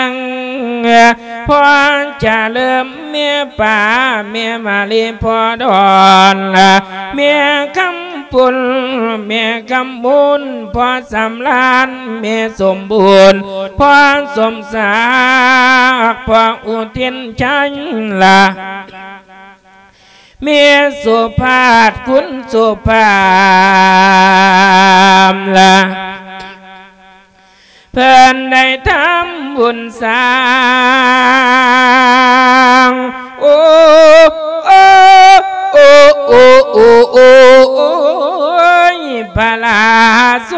ງ ພໍ່ຈະເລີມ ແມ່ປາ ແມ່ມາລີ ພໍ່ດອນ ແມ່ຄຳປຸນ ແມ່ຄຳບຸນ ພໍ່ສຳລານ ແມ່ສົມບູນ ພໍ່ສົມສັກ ພໍ່ອຸທິນໄຊລະ ແມ່ສຸພາດ ຄຸນສຸພາມລະ ເພິ່ນໄດ້ທຳບຸນສ້າງ ໂອ ໂອ ໂອ ໂອ ໂອ ໂອ ໂອຍ ພະລາໂສ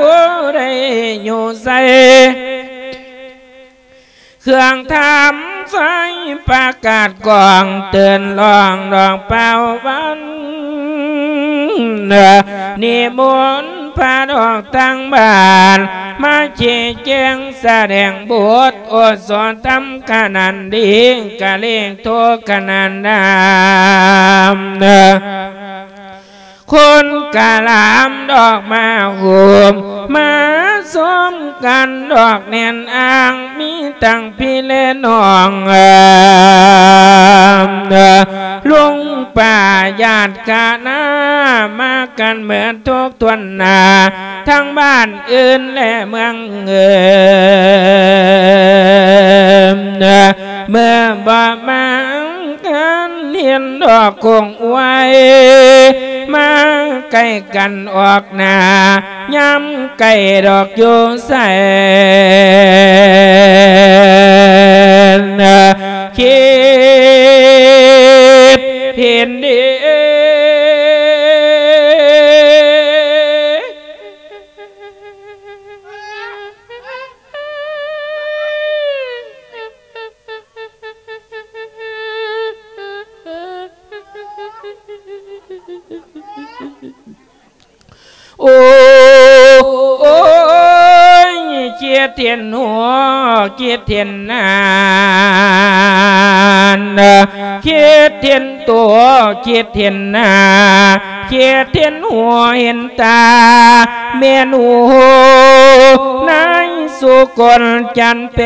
ໄດ້ຢູ່ໃສ ເຄື່ອງທຳໄຟປະກາດກ້ອງ ເຕືອນຮ້ອງດອກເປົ່າວັນ ນິມົນພະດອກທາງບ້ານ ມາຊີ້ແຈງສະແດງບົດ ໂອໂສທຳຂະໜານດີ ກະເລງໂທຂະໜານນາມ ຄົນກະລາມດອກມາໂຮມ ມາຊົມກັນດອກແໜ້ນອ່າງ ມີທັງພີ່ແລນ້ອງ ລຸງປ້າຍາດຄະນາ ມາກັນເໝິດທຸກຖ້ວນໜ້າ ທັງບ້ານອື່ນແລະເມືອງເອີ ເມື່ອບໍ່ມາ ການເຫັນດອກຄົງອວຍ ມາໃກ້ກັນອອກໜ້າ ຍາມໃກ້ດອກຢູ່ໃສ ຄິດເຫັນດີ. ໂອ້ຍ ເຈັດເຫັນຫົວ ເຈັດເຫັນໜ້າ ເຈັດເຫັນໂຕ ເຈັດເຫັນໜ້າ ເຈັດເຫັນຫົວເຫັນຕາ ແມ່ນຫູນາຍສຸກົນຈັນແປ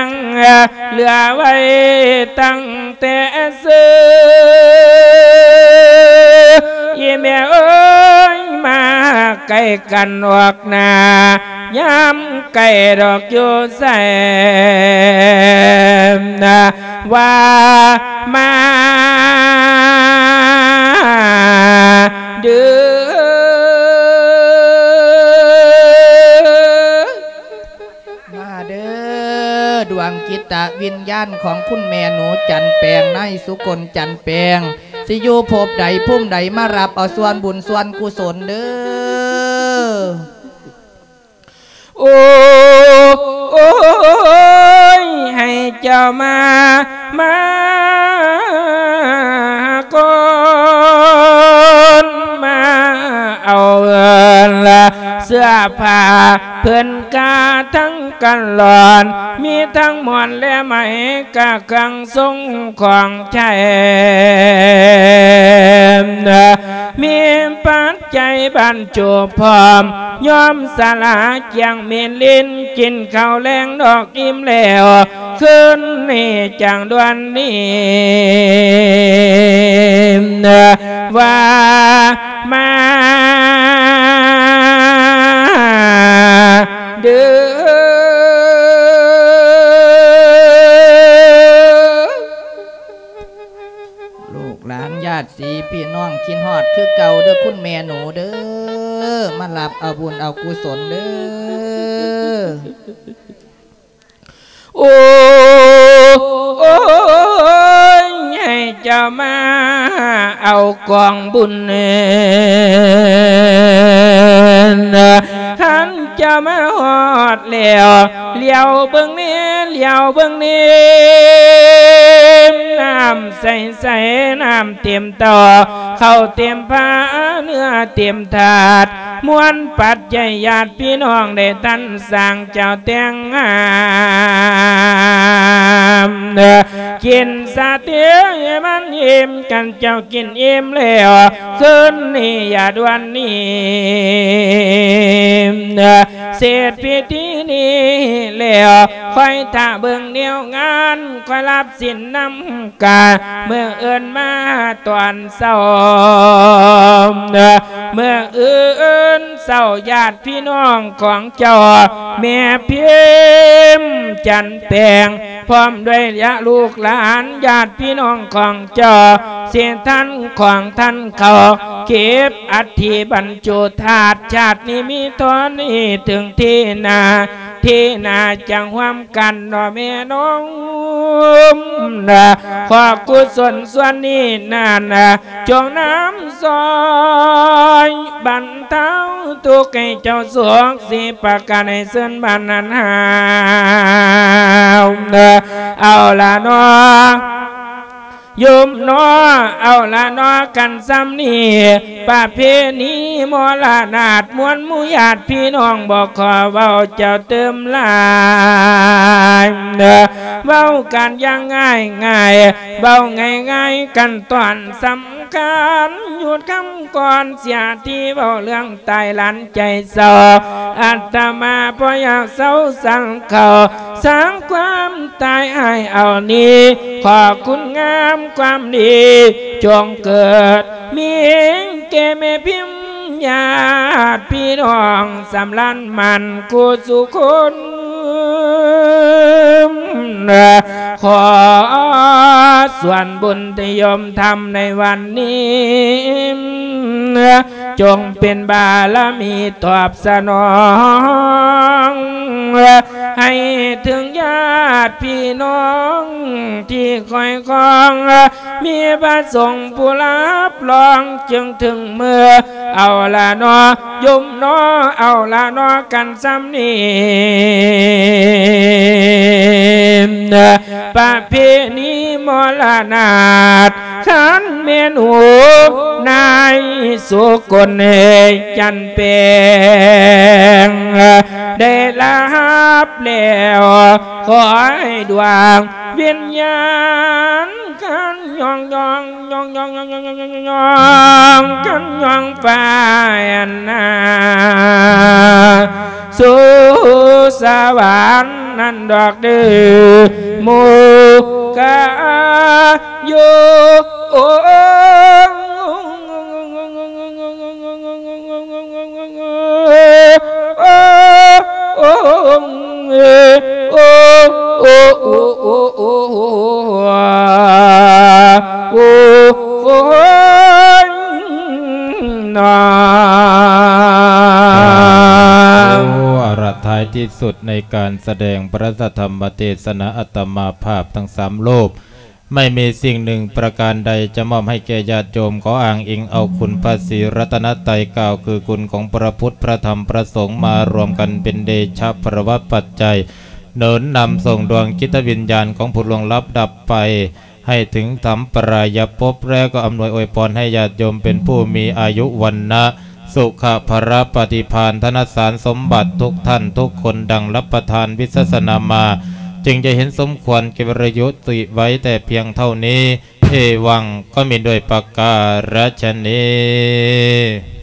ງ ເຫຼືອໄວ້ຕັ້ງແຕ່ເຊີ ອີແມ່ເອີຍ ມາໃກ້ກັນອອກໜ້າ ຍາມໃກ້ດອກຢູ່ໃສ ວ່າມາເດີ. ມາເດີ ດວງຈິດຕະວິນຍານຂອງຄຸນແມ່ໜູຈັນແປງ ນາຍສຸກົນຈັນແປງ ຊິຢູ່ພົບໃດພູມໃດ ມາຮັບເອົາສ່ວນບຸນສ່ວນກຸສົນເດີ. ໂອ້ ໂອ້ຍ ໃຫ້ເຈົ້າມາ ມາກ່ອນ ມາເອົາເອີນລະ ເສື້ອຜ້າເພິ່ນກະທັງກັນລອນ ມີທັງໝອນແລະໄໝ ກະເຄື່ອງຊົງຂອງໃຊ້ ມີປັດໄຈບັນຈຸພ້ອມ ຍອມສະຫຼາກຽງມີລິນ ກິນເຂົ້າແລງດອກອີ່ມແລ້ວ ຄືນນີ້ຈັ່ງດ່ວນນີ້ ວ່າມາເດີ. ລູກຫຼານຍາດສີພີ່ນ້ອງຄິດຮອດຄືເກົ່າເດີ ຄຸນແມ່ໜູເດີ ມາຮັບເອົາບຸນເອົາກຸສົນເດີ. ໂອ້ ໂອ້ຍ ໃຫ້ເຈົ້າມາເອົາກອງບຸນ ຄັນເຈົ້າມາຮອດແລ້ວ ຫຼຽວເບິ່ງແດ່ ຫຼຽວເບິ່ງແດ່ ນ້ຳໃສໆ ນ້ຳເຕັມເຕົ້າ ເຂົ້າເຕັມພາ ເນື້ອເຕັມຖາດ ມວນປັດໄຈຍາດພີ່ນ້ອງໄດ້ທັນສ້າງເຈົ້າແຕ່ງງາມ ກິນສາເຕໃຫ້ມັນອີ່ມ ຄັນເຈົ້າກິນອີ່ມແລ້ວ ຄືນນີ້ຢ່າດ່ວນໜີ ເສັດພິທີນີ້ແລ້ວ ຄອຍຖ້າເບິ່ງແນວງານ ຄອຍຮັບສິນນຳ ກະມື້ອື່ນມາຕອນເຊົ້າ ມື້ອື່ນເຊົ້າຍາດພີ່ນ້ອງຂອງເຈົ້າ ແມ່ພິມຈັນແປງ ພ້ອມດ້ວຍຍະລູກຫຼານຍາດພີ່ນ້ອງຂອງເຈົ້າ ເສດທັນຂອງທ່ານເຂົາ ເກັບອັດຖິບັນຈຸທາດ ຊາດນີ້ມີເທົ່ານີ້ ເຖິງທີໜ້າ ທີໜ້າຈັ່ງຮ່ວມກັນເນາະແມ່ນ້ອງ ຂໍກຸສົນສ່ວນນີ້ນັ້ນ ຈົ່ງນຳຊ່ອຍບັນເທົາທຸກໃຫ້ເຈົ້າສຸກ ສິປະການໃຫ້ເຊີນບານນັ້ນຫາວ ເອົາລະເນາະ ໂຍມເນາະ ເອົາລະເນາະ ກັນຊ່ຳນີ້ ປະເພນີມໍລະນາດ ມວນໝູ່ຍາດພີ່ນ້ອງ ບໍ່ຂໍເວົ້າເຈົ້າຕື່ມຫຼາຍ ເວົ້າກັນຢ່າງງ່າຍໆ ເວົ້າງ່າຍໆ ຂັ້ນຕອນສຳຄັນ ຢຸດຄຳກ່ອນເສຍທີ່ເວົ້າເລື່ອງ ຕາຍຫຼັນໃຈເສົ້າ ອາດຕະມາບໍ່ຢາກເສົ້າສັງເຂົາ ສ້າງຄວາມຕາຍອ້າຍເອົານີ້ ຂໍຄຸນງາມຄວາມດີ ຈົ່ງເກີດມີແກ່ແມ່ພິມຍາດພີ່ນ້ອງ ສຳລານໝັ້ນຄູ່ສູ່ຄົນ ຂໍສ່ວນບຸນທີ່ໂຍມທຳໃນວັນນີ້ ຈົ່ງເປັນບາລະມີຕອບສະໜອງ ໃຫ້ເຖິງຍາດພີ່ນ້ອງທີ່ຄອຍຄອງ ມີພະສົງຜູ້ຮັບຮອງ ຈຶ່ງເຖິງມື້ ເອົາລະເນາະ ໂຍມເນາະ ເອົາລະເນາະ ກັນຊ່ຳນີ້ ປະເພນີມໍລະນາດ ຄັນແມ່ນຫູນາຍສຸກົນຈັນແປງ ໄດ້ຮັບແລ້ວ ຂໍໃຫ້ດວງວິນຍານ ຄັນຍ່ອງໆ ຍ່ອງໆ ຄັນຍ່ອງໄປອັນນາ ສູ່ສະຫວັນນັ້ນດອກເດີ ໝູ່ກະຢູ່ ໂອ້ ໂອ້ ໂອ້ ໂອ້ ໂອ້ ໂອ້ ໂອ້ຍ ເນາະ ເອົາລະ ທ້າຍທີ່ສຸດໃນການສະແດງພະທຳມະເທດສະໜາ ອາດຕະມາພາບທັງສາມຮູບ ໄມ່ມີສິ່ງໜຶ່ງປະການໃດຈະມອບໃຫ້ແກ່ຍາດໂຍມ ຂໍອ້າງອີງເອົາຄຸນພະສີລັດຕະນະໄຕ ກ່າວຄືຄຸນຂອງພະພຸດ ພະທຳ ພະສົງ ມາລວມກັນເປັນເດຊະພະລະວະປັດໄຈ ໜູນນຳສົ່ງດວງຈິດວິນຍານຂອງຜູ້ລ່ວງລັບດັບໄປ ໃຫ້ເຖິງທຳປະລາຍະພົບ ແລະ ກໍອຳນວຍອວຍພອນໃຫ້ຍາດໂຍມເປັນຜູ້ມີອາຍຸວັນນະ ສຸຂະພະລະປະຕິພານ ທະນະສານສົມບັດທຸກທ່ານທຸກຄົນ ດັ່ງລັບປະທານວິສາສະນາມາ ຈຶ່ງຈະເຫັນສົມຄວນແກ່ເວລາຍຸຕິໄວ້ແຕ່ພຽງເທົ່ານີ້ ເອວັງ ກໍມີດ້ວຍປະກາະຊະນີ.